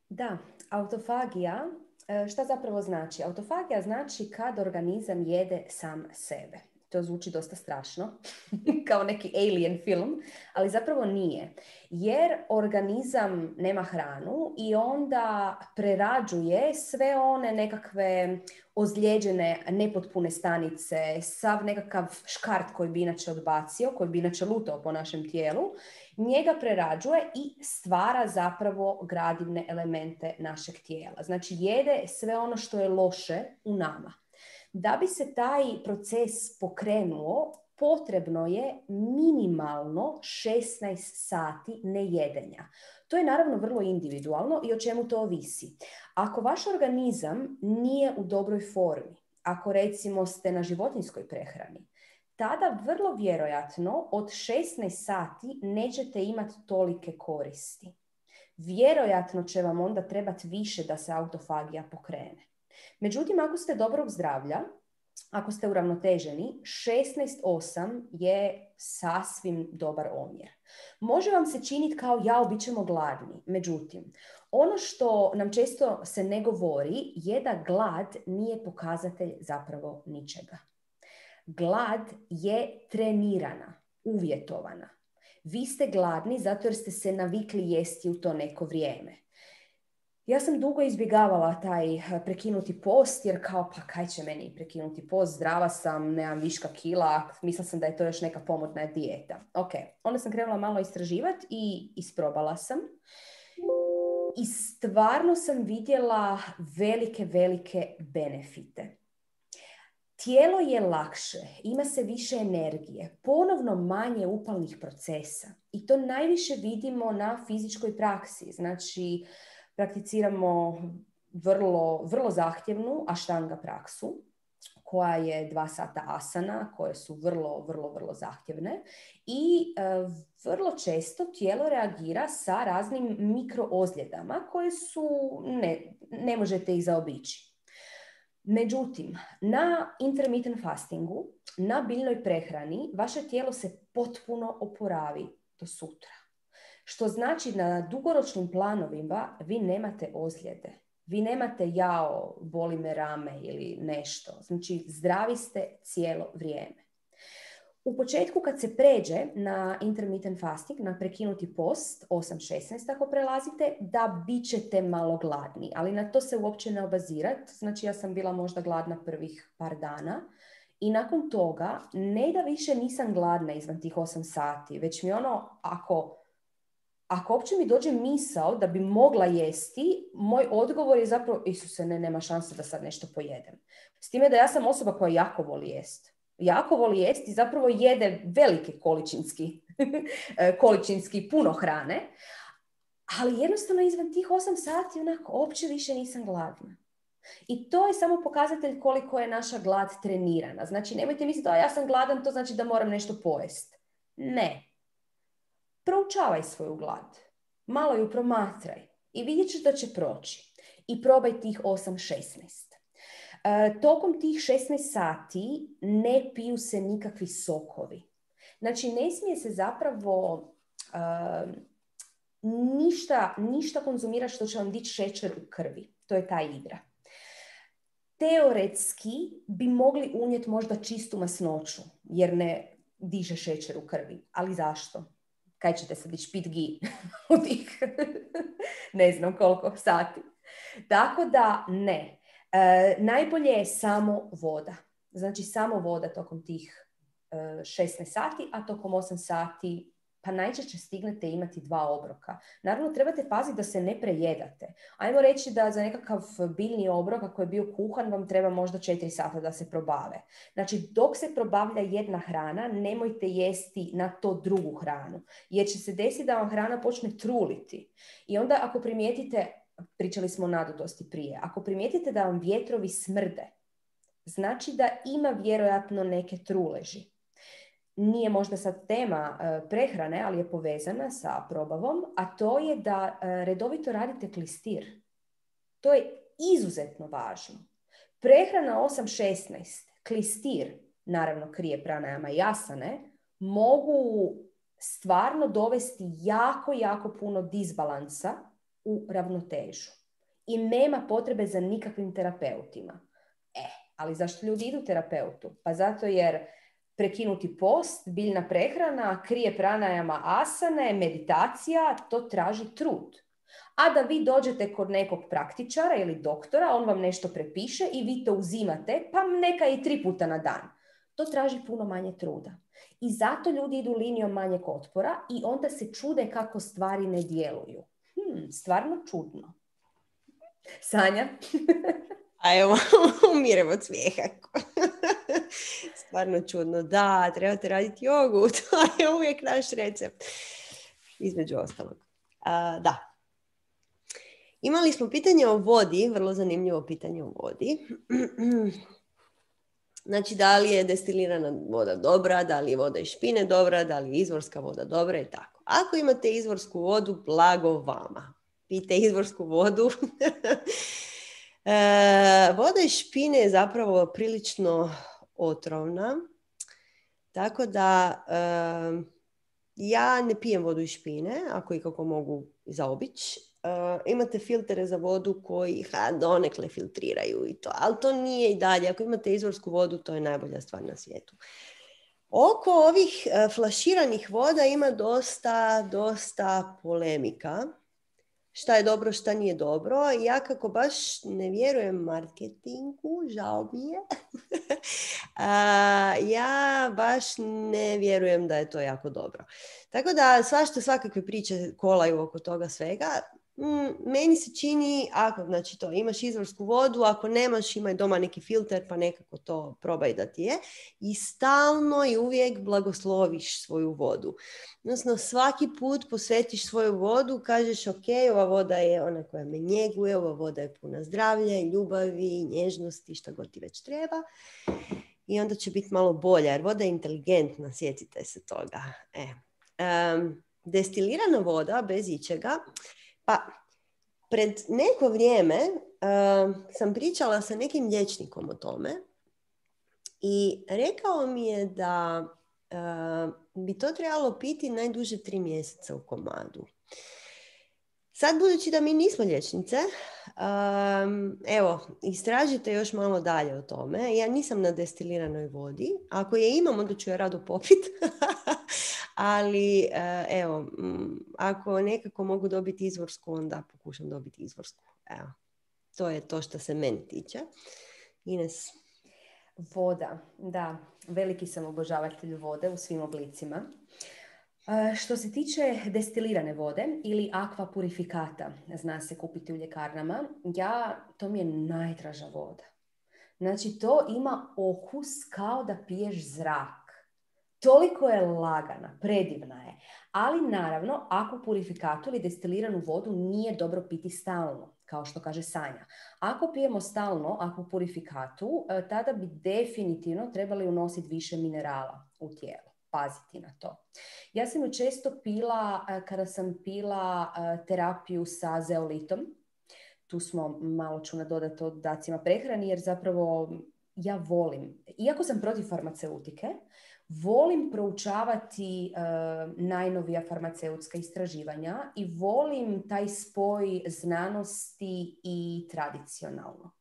Da, autofagija, šta zapravo znači? Autofagija znači kad organizam jede sam sebe. To zvuči dosta strašno, kao neki alien film, ali zapravo nije. Jer organizam nema hranu i onda prerađuje sve one nekakve ozlijeđene, nepotpune stanice, sav nekakav škart koji bi inače odbacio, koji bi inače lutao po našem tijelu, njega prerađuje i stvara zapravo gradivne elemente našeg tijela. Znači jede sve ono što je loše u nama. Da bi se taj proces pokrenuo, potrebno je minimalno šesnaest sati nejedenja. To je naravno vrlo individualno i o čemu to ovisi. Ako vaš organizam nije u dobroj formi, ako recimo ste na životinjskoj prehrani, tada vrlo vjerojatno od šesnaest sati nećete imati tolike koristi. Vjerojatno će vam onda trebati više da se autofagija pokrene. Međutim, ako ste dobrog zdravlja, ako ste uravnoteženi, šesnaest osam je sasvim dobar omjer. Može vam se činiti kao jao, bit ćemo gladni. Međutim, ono što nam često se ne govori je da glad nije pokazatelj zapravo ničega. Glad je trenirana, uvjetovana. Vi ste gladni zato jer ste se navikli jesti u to neko vrijeme. Ja sam dugo izbjegavala taj prekinuti post, jer kao, pa kaj će meni prekinuti post, zdrava sam, nemam viška kila, mislila sam da je to još neka pomodna dijeta. Ok, onda sam krenula malo istraživati i isprobala sam. I stvarno sam vidjela velike, velike benefite. Tijelo je lakše, ima se više energije, ponovno manje upalnih procesa. I to najviše vidimo na fizičkoj praksi. Znači, prakticiramo vrlo, vrlo zahtjevnu aštanga praksu, koja je dva sata asana, koje su vrlo, vrlo, vrlo zahtjevne. I e, vrlo često tijelo reagira sa raznim mikroozljedama koje su, ne, ne možete ih zaobići. Međutim, na intermittent fastingu, na biljnoj prehrani, vaše tijelo se potpuno oporavi do sutra. Što znači da na dugoročnim planovima vi nemate ozljede. Vi nemate jao, boli me rame ili nešto. Znači, zdravi ste cijelo vrijeme. U početku kad se pređe na intermittent fasting, na prekinuti post, osam šesnaest ako prelazite, da bit ćete malo gladni, ali na to se uopće ne obazirati. Znači ja sam bila možda gladna prvih par dana i nakon toga ne da više nisam gladna izvan tih osam sati, već mi ono, ako, ako uopće mi dođe misao da bi mogla jesti, moj odgovor je zapravo, Isuse, ne, nema šanse da sad nešto pojedem. S time da ja sam osoba koja jako voli jesti. Jako voli jesti i zapravo jede velike količinski, količinski puno hrane, ali jednostavno izvan tih osam sati onako uopće više nisam gladna. I to je samo pokazatelj koliko je naša glad trenirana. Znači, nemojte misliti da ja sam gladan, to znači da moram nešto pojesti. Ne. Proučavaj svoju glad. Malo ju promatraj i vidjet ćeš da će proći. I probaj tih osam šesnaest. E, tokom tih šesnaest sati ne piju se nikakvi sokovi. Znači, ne smije se zapravo uh, ništa, ništa konzumirati što će vam dići šećer u krvi. To je ta igra. Teoretski bi mogli unijeti možda čistu masnoću, jer ne diže šećer u krvi. Ali zašto? Kaj ćete sad ići pit gi u tih ne znam koliko sati. Tako da ne. E, najbolje je samo voda. Znači samo voda tokom tih e, šesnaest sati, a tokom osam sati pa najčešće stignete imati dva obroka. Naravno, trebate paziti da se ne prejedate. Ajmo reći da za nekakav biljni obrok, ako je bio kuhan, vam treba možda četiri sata da se probave. Znači, dok se probavlja jedna hrana, nemojte jesti na to drugu hranu. Jer će se desiti da vam hrana počne truliti. I onda ako primijetite, pričali smo o nadutosti prije, ako primijetite da vam vjetrovi smrde, znači da ima vjerojatno neke truleži. Nije možda sad tema e, prehrane, ali je povezana sa probavom, a to je da e, redovito radite klistir. To je izuzetno važno. Prehrana osam šesnaest, klistir, naravno krije pranajama i asane, mogu stvarno dovesti jako, jako puno disbalansa u ravnotežu. I nema potrebe za nikakvim terapeutima. E, ali zašto ljudi idu terapeutu? Pa zato jer prekinuti post, biljna prehrana, krije pranajama asane, meditacija, to traži trud. A da vi dođete kod nekog praktičara ili doktora, on vam nešto prepiše i vi to uzimate, pa neka i tri puta na dan. To traži puno manje truda. I zato ljudi idu linijom manjeg otpora i onda se čude kako stvari ne djeluju. Hmm, stvarno čudno. Sanja? A evo, umirem od smijeha. Stvarno čudno. Da, trebate raditi jogu. To je uvijek naš recept. Između ostalog. A, da. Imali smo pitanje o vodi. Vrlo zanimljivo pitanje o vodi. Znači, da li je destilirana voda dobra, da li je voda iz špine dobra, da li je izvorska voda dobra i tako. Ako imate izvorsku vodu, blago vama. Pijte izvorsku vodu. e, voda iz špine je zapravo prilično otrovna. Tako da e, ja ne pijem vodu iz špine, ako i kako mogu zaobići. Uh, imate filtere za vodu koji ha, donekle filtriraju i to, ali to nije i dalje. Ako imate izvorsku vodu, to je najbolja stvar na svijetu. Oko ovih uh, flaširanih voda ima dosta, dosta polemika. Šta je dobro, šta nije dobro. Ja kako baš ne vjerujem marketingu, žao mi je. uh, ja baš ne vjerujem da je to jako dobro. Tako da svašta, svakakve priče kolaju oko toga svega. Mm, meni se čini, ako znači to, imaš izvorsku vodu, ako nemaš, imaj doma neki filter pa nekako to probaj da ti je. I stalno i uvijek blagosloviš svoju vodu. Odnosno svaki put posvetiš svoju vodu, kažeš ok, ova voda je ona koja me njeguje, ova voda je puna zdravlja, ljubavi, nježnosti, šta god ti već treba. I onda će biti malo bolja, jer voda je inteligentna, sjetite se toga. E. Um, destilirana voda bez ičega. Pa, pred neko vrijeme uh, sam pričala sa nekim liječnikom o tome i rekao mi je da uh, bi to trebalo piti najduže tri mjeseca u komadu. Sad, budući da mi nismo liječnice, um, evo, istražite još malo dalje o tome. Ja nisam na destiliranoj vodi. Ako je imam, onda ću je rado popit. Ali, uh, evo, m, ako nekako mogu dobiti izvorsku, onda pokušam dobiti izvorsku. Evo, to je to što se meni tiče. Ines? Voda, da. Veliki sam obožavatelj vode u svim oblicima. Što se tiče destilirane vode ili aqua purificata, zna se kupiti u ljekarnama, ja, to mi je najdraža voda. Znači, to ima okus kao da piješ zrak. Toliko je lagana, predivna je. Ali naravno, aqua purificatu ili destiliranu vodu nije dobro piti stalno, kao što kaže Sanja. Ako pijemo stalno aqua purificatu, tada bi definitivno trebali unositi više minerala u tijelo. Paziti na to. Ja sam ju često pila kada sam pila terapiju sa zeolitom. Tu smo malo ću nadodati o dodacima prehrani, jer zapravo ja volim, iako sam protiv farmaceutike, volim proučavati uh, najnovija farmaceutska istraživanja i volim taj spoj znanosti i tradicionalnog.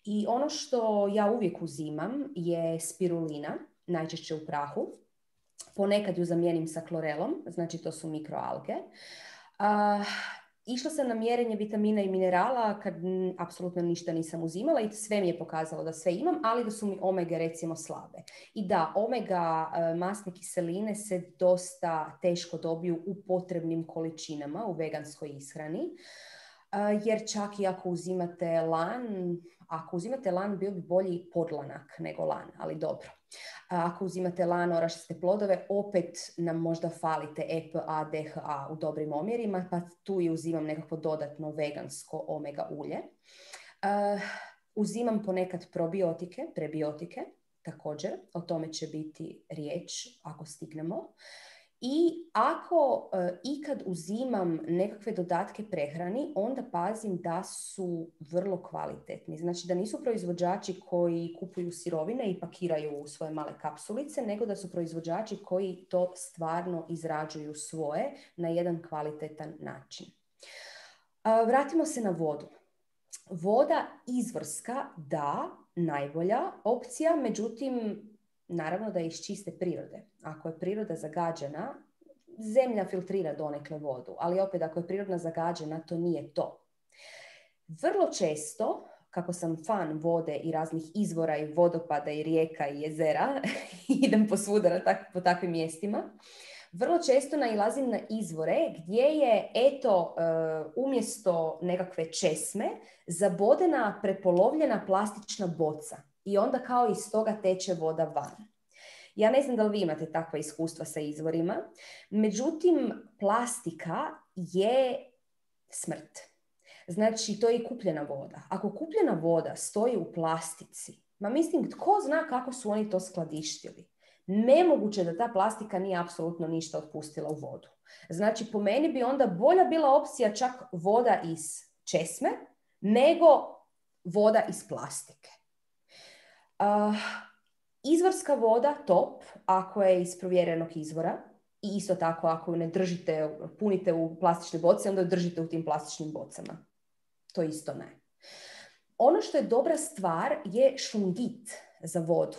I ono što ja uvijek uzimam je spirulina, najčešće u prahu. Ponekad ju zamijenim sa klorelom, znači to su mikroalge. Uh, išla sam na mjerenje vitamina i minerala kad m, apsolutno ništa nisam uzimala i sve mi je pokazalo da sve imam, ali da su mi omege recimo slabe. I da, omega uh, masne kiseline se dosta teško dobiju u potrebnim količinama u veganskoj ishrani. Uh, jer čak i ako uzimate lan, ako uzimate lan bio bi bolji podlanak nego lan, ali dobro. Ako uzimate lan, orašaste plodove, opet nam možda falite E P A, D H A u dobrim omjerima, pa tu i uzimam nekako dodatno vegansko omega ulje. Uh, uzimam ponekad probiotike, prebiotike, također, o tome će biti riječ ako stignemo. I ako uh, ikad uzimam nekakve dodatke prehrani, onda pazim da su vrlo kvalitetni. Znači da nisu proizvođači koji kupuju sirovine i pakiraju u svoje male kapsulice, nego da su proizvođači koji to stvarno izrađuju svoje na jedan kvalitetan način. Uh, vratimo se na vodu. Voda izvorska, da, najbolja opcija, međutim, naravno da je iz čiste prirode. Ako je priroda zagađena, zemlja filtrira donekle vodu, ali opet ako je prirodna zagađena, to nije to. Vrlo često, kako sam fan vode i raznih izvora i vodopada i rijeka i jezera, idem posvuda na tak, po takvim mjestima, vrlo često nailazim na izvore gdje je, eto, umjesto nekakve česme, zabodena prepolovljena plastična boca. I onda kao iz toga teče voda van. Ja ne znam da li vi imate takva iskustva sa izvorima, međutim, plastika je smrt. Znači, to je i kupljena voda. Ako kupljena voda stoji u plastici, ma mislim, tko zna kako su oni to skladištili? Nemoguće da ta plastika nije apsolutno ništa otpustila u vodu. Znači, po meni bi onda bolja bila opcija čak voda iz česme, nego voda iz plastike. Uh, izvorska voda top ako je iz provjerenog izvora i isto tako ako ju ne držite, punite u plastične boce, onda ju držite u tim plastičnim bocama. To isto ne. Ono što je dobra stvar je šungit za vodu.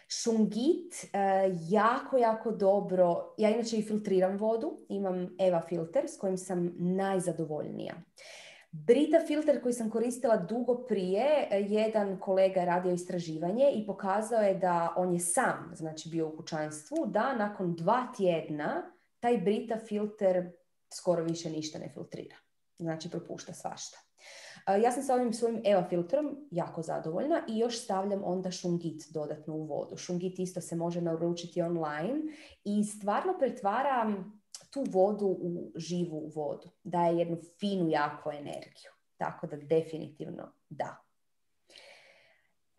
Šungit uh, jako, jako dobro, ja inače i filtriram vodu, imam Eva filter s kojim sam najzadovoljnija. Brita filter koji sam koristila dugo prije, jedan kolega je radio istraživanje i pokazao je da on je sam, znači bio u kućanstvu, da nakon dva tjedna taj Brita filter skoro više ništa ne filtrira. Znači propušta svašta. Ja sam sa ovim svojim Eva filtrom jako zadovoljna i još stavljam onda šungit dodatno u vodu. Šungit isto se može naručiti online i stvarno pretvaram tu vodu u živu vodu. Daje jednu finu, jaku energiju. Tako da definitivno da.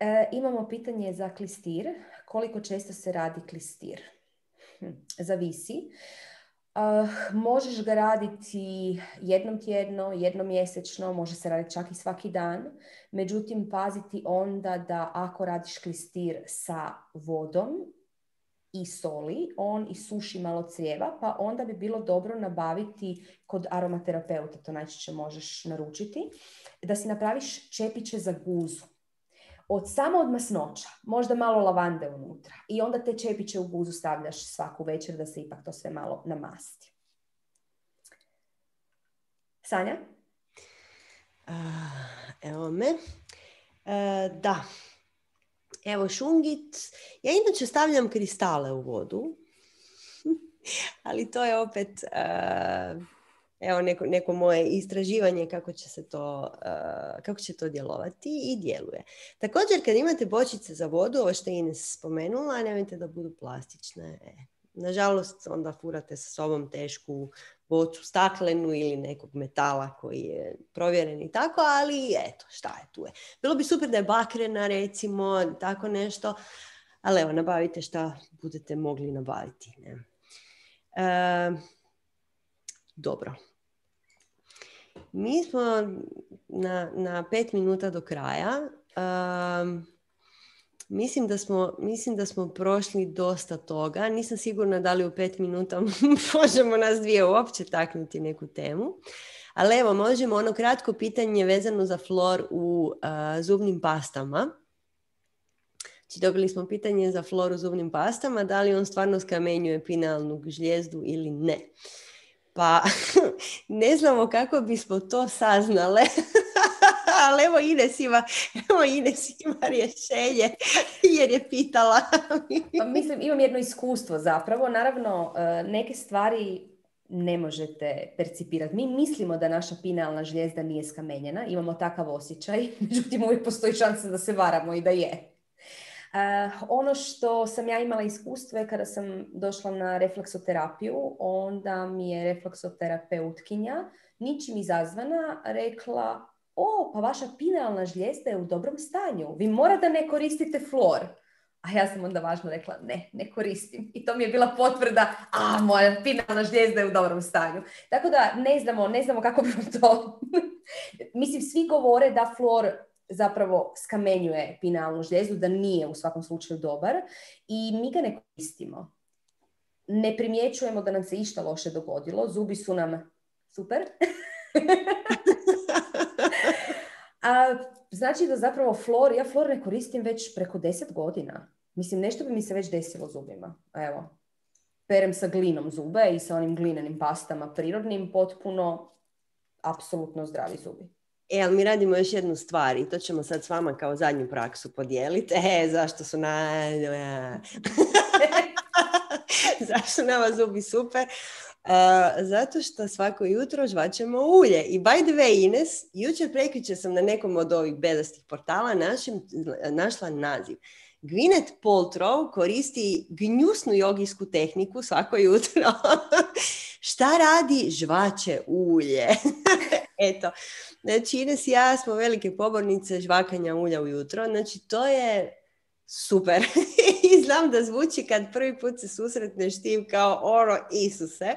E, imamo pitanje za klistir. Koliko često se radi klistir? Hm, zavisi. Uh, možeš ga raditi jednom tjedno, jednom mjesečno, može se raditi čak i svaki dan. Međutim, paziti onda da ako radiš klistir sa vodom, i soli, on i suši malo crijeva, pa onda bi bilo dobro nabaviti kod aromaterapeuta, to najčešće možeš naručiti, da si napraviš čepiće za guzu. Od, samo od masnoća, možda malo lavande unutra. I onda te čepiće u guzu stavljaš svaku večer da se ipak to sve malo namasti. Sanja? Uh, evo me. Uh, da. Evo šungit. Ja inače stavljam kristale u vodu. Ali to je opet uh, evo neko, neko moje istraživanje kako će se to, uh, kako će to djelovati i djeluje. Također kad imate bočice za vodu, ovo što je Ines spomenula, nemojte da budu plastične. E. Nažalost, onda furate sa sobom tešku bocu staklenu ili nekog metala koji je provjeren i tako, ali eto, šta je tu je. Bilo bi super da je bakrena, recimo, tako nešto, ali evo, nabavite šta budete mogli nabaviti. Ne? E, dobro. Mi smo na, na pet minuta do kraja. Um, Mislim da, smo, mislim da smo prošli dosta toga. Nisam sigurna da li u pet minuta možemo nas dvije uopće taknuti neku temu. Ali evo, možemo ono kratko pitanje vezano za flor u uh, zubnim pastama. Znači, dobili smo pitanje za flor u zubnim pastama, da li on stvarno skamenjuje pinealnu žlijezdu ili ne. Pa ne znamo kako bismo to saznale. Ali evo Ines ima, evo Ines ima rješenje jer je pitala. Pa mislim, imam jedno iskustvo zapravo. Naravno, neke stvari ne možete percipirati. Mi mislimo da naša pinealna žlijezda nije skamenjena. Imamo takav osjećaj. Međutim, uvijek postoji šansa da se varamo i da je. Uh, ono što sam ja imala iskustvo je kada sam došla na refleksoterapiju, onda mi je refleksoterapeutkinja ničim izazvana rekla: o, pa vaša pinealna žlijezda je u dobrom stanju, vi morate ne koristite flor. A ja sam onda važno rekla: ne, ne koristim. I to mi je bila potvrda: a, moja pinealna žlijezda je u dobrom stanju. Tako da ne znamo, ne znamo kako bi to... Mislim, svi govore da flor zapravo skamenjuje pinealnu žlijezdu, da nije u svakom slučaju dobar i mi ga ne koristimo. Ne primjećujemo da nam se išta loše dogodilo, zubi su nam super. A znači da zapravo flor, ja flor ne koristim već preko deset godina. Mislim, nešto bi mi se već desilo zubima. Evo, perem sa glinom zube i sa onim glinenim pastama prirodnim, potpuno, apsolutno zdravi zubi. E, ali mi radimo još jednu stvar i to ćemo sad s vama kao zadnju praksu podijeliti. E, zašto su na... zašto nama zubi super? Uh, zato što svako jutro žvačemo ulje. I by the way, Ines, jučer prekjučer sam na nekom od ovih bedastih portala našim, našla naziv. Gwyneth Paltrow koristi gnjusnu jogijsku tehniku svako jutro. Šta radi? Žvače ulje. Eto, znači Ines i ja smo velike pobornice žvakanja ulja ujutro. Znači to je super. I znam da zvuči kad prvi put se susretneš tim kao oro Isuse.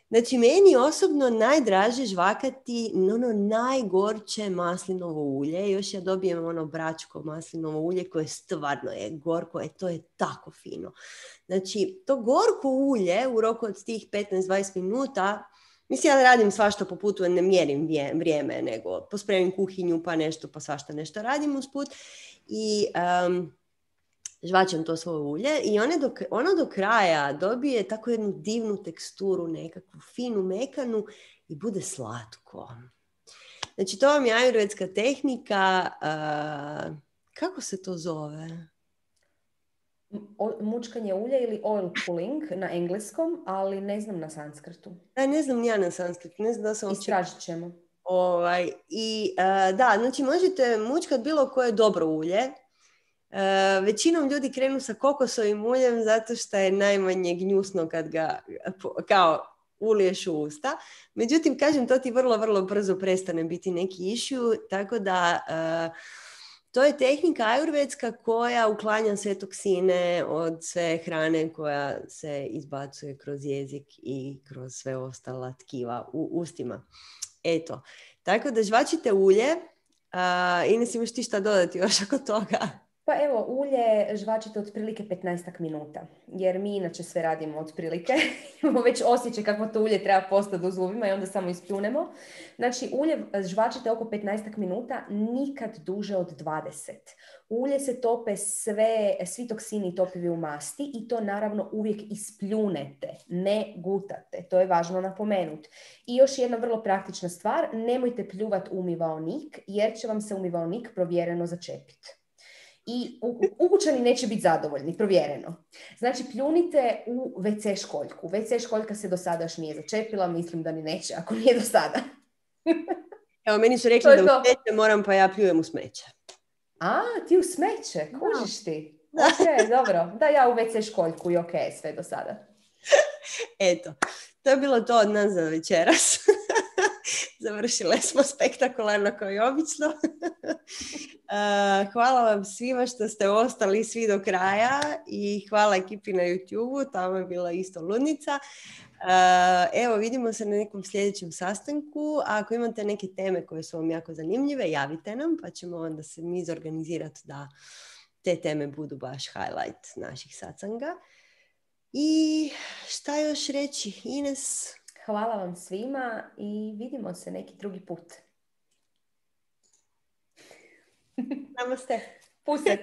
Znači, meni osobno najdraže žvakati ono najgorče maslinovo ulje. Još ja dobijem ono bračko maslinovo ulje koje stvarno je gorko. E, to je tako fino. Znači, to gorko ulje u roku od tih petnaest do dvadeset minuta, mislim, ja radim svašta po putu, ne mjerim vrijeme, nego pospremim kuhinju, pa nešto, pa svašta nešto radim usput. I um, žvačem to svoje ulje i ono do, ono do kraja dobije tako jednu divnu teksturu, nekakvu finu, mekanu i bude slatko. Znači, to vam je ajurvedska tehnika. Uh, kako se to zove? O, mučkanje ulja ili oil pulling na engleskom, ali ne znam na sanskrtu. Da, ne znam ja na sanskrtu. Ne znam da sam Istražit ćemo. Ovaj, i uh, da, znači možete mučkat bilo koje dobro ulje. Uh, većinom ljudi krenu sa kokosovim uljem zato što je najmanje gnjusno kad ga kao uliješ u usta. Međutim, kažem, to ti vrlo, vrlo brzo prestane biti neki issue, tako da uh, to je tehnika ajurvedska koja uklanja sve toksine od sve hrane koja se izbacuje kroz jezik i kroz sve ostala tkiva u ustima. Eto, tako da žvačite ulje. Uh, Ines, imaš ti šta dodati još oko toga? Pa evo, ulje žvačite otprilike petnaest minuta, jer mi inače sve radimo otprilike. Imamo već osjećaj kako to ulje treba postati u zubima i onda samo ispljunemo. Znači, ulje žvačite oko petnaest minuta, nikad duže od dvadeset. Ulje se tope sve, svi toksini topivi u masti i to naravno uvijek ispljunete, ne gutate. To je važno napomenuti. I još jedna vrlo praktična stvar, nemojte pljuvati umivaonik, jer će vam se umivaonik provjereno začepiti. I ukućani neće biti zadovoljni, provjereno. Znači, pljunite u ve ce školjku. ve ce školjka se do sada još nije začepila, mislim da ni neće, ako nije do sada. Evo, meni su rekli da u smeće moram, pa ja pljujem u smeće. A, ti u smeće, kužiš ti. Ok, dobro. Da, ja u ve ce školjku i ok, sve do sada. Eto, to je bilo to od nas za večeras. Završile smo spektakularno kao i obično. Hvala vam svima što ste ostali svi do kraja i hvala ekipi na YouTube-u, tamo je bila isto ludnica. Evo, vidimo se na nekom sljedećem sastanku. A ako imate neke teme koje su vam jako zanimljive, javite nam, pa ćemo onda se mi zorganizirati da te teme budu baš highlight naših satsanga. I šta još reći, Ines? Hvala vam svima i vidimo se neki drugi put. Namaste. Puset.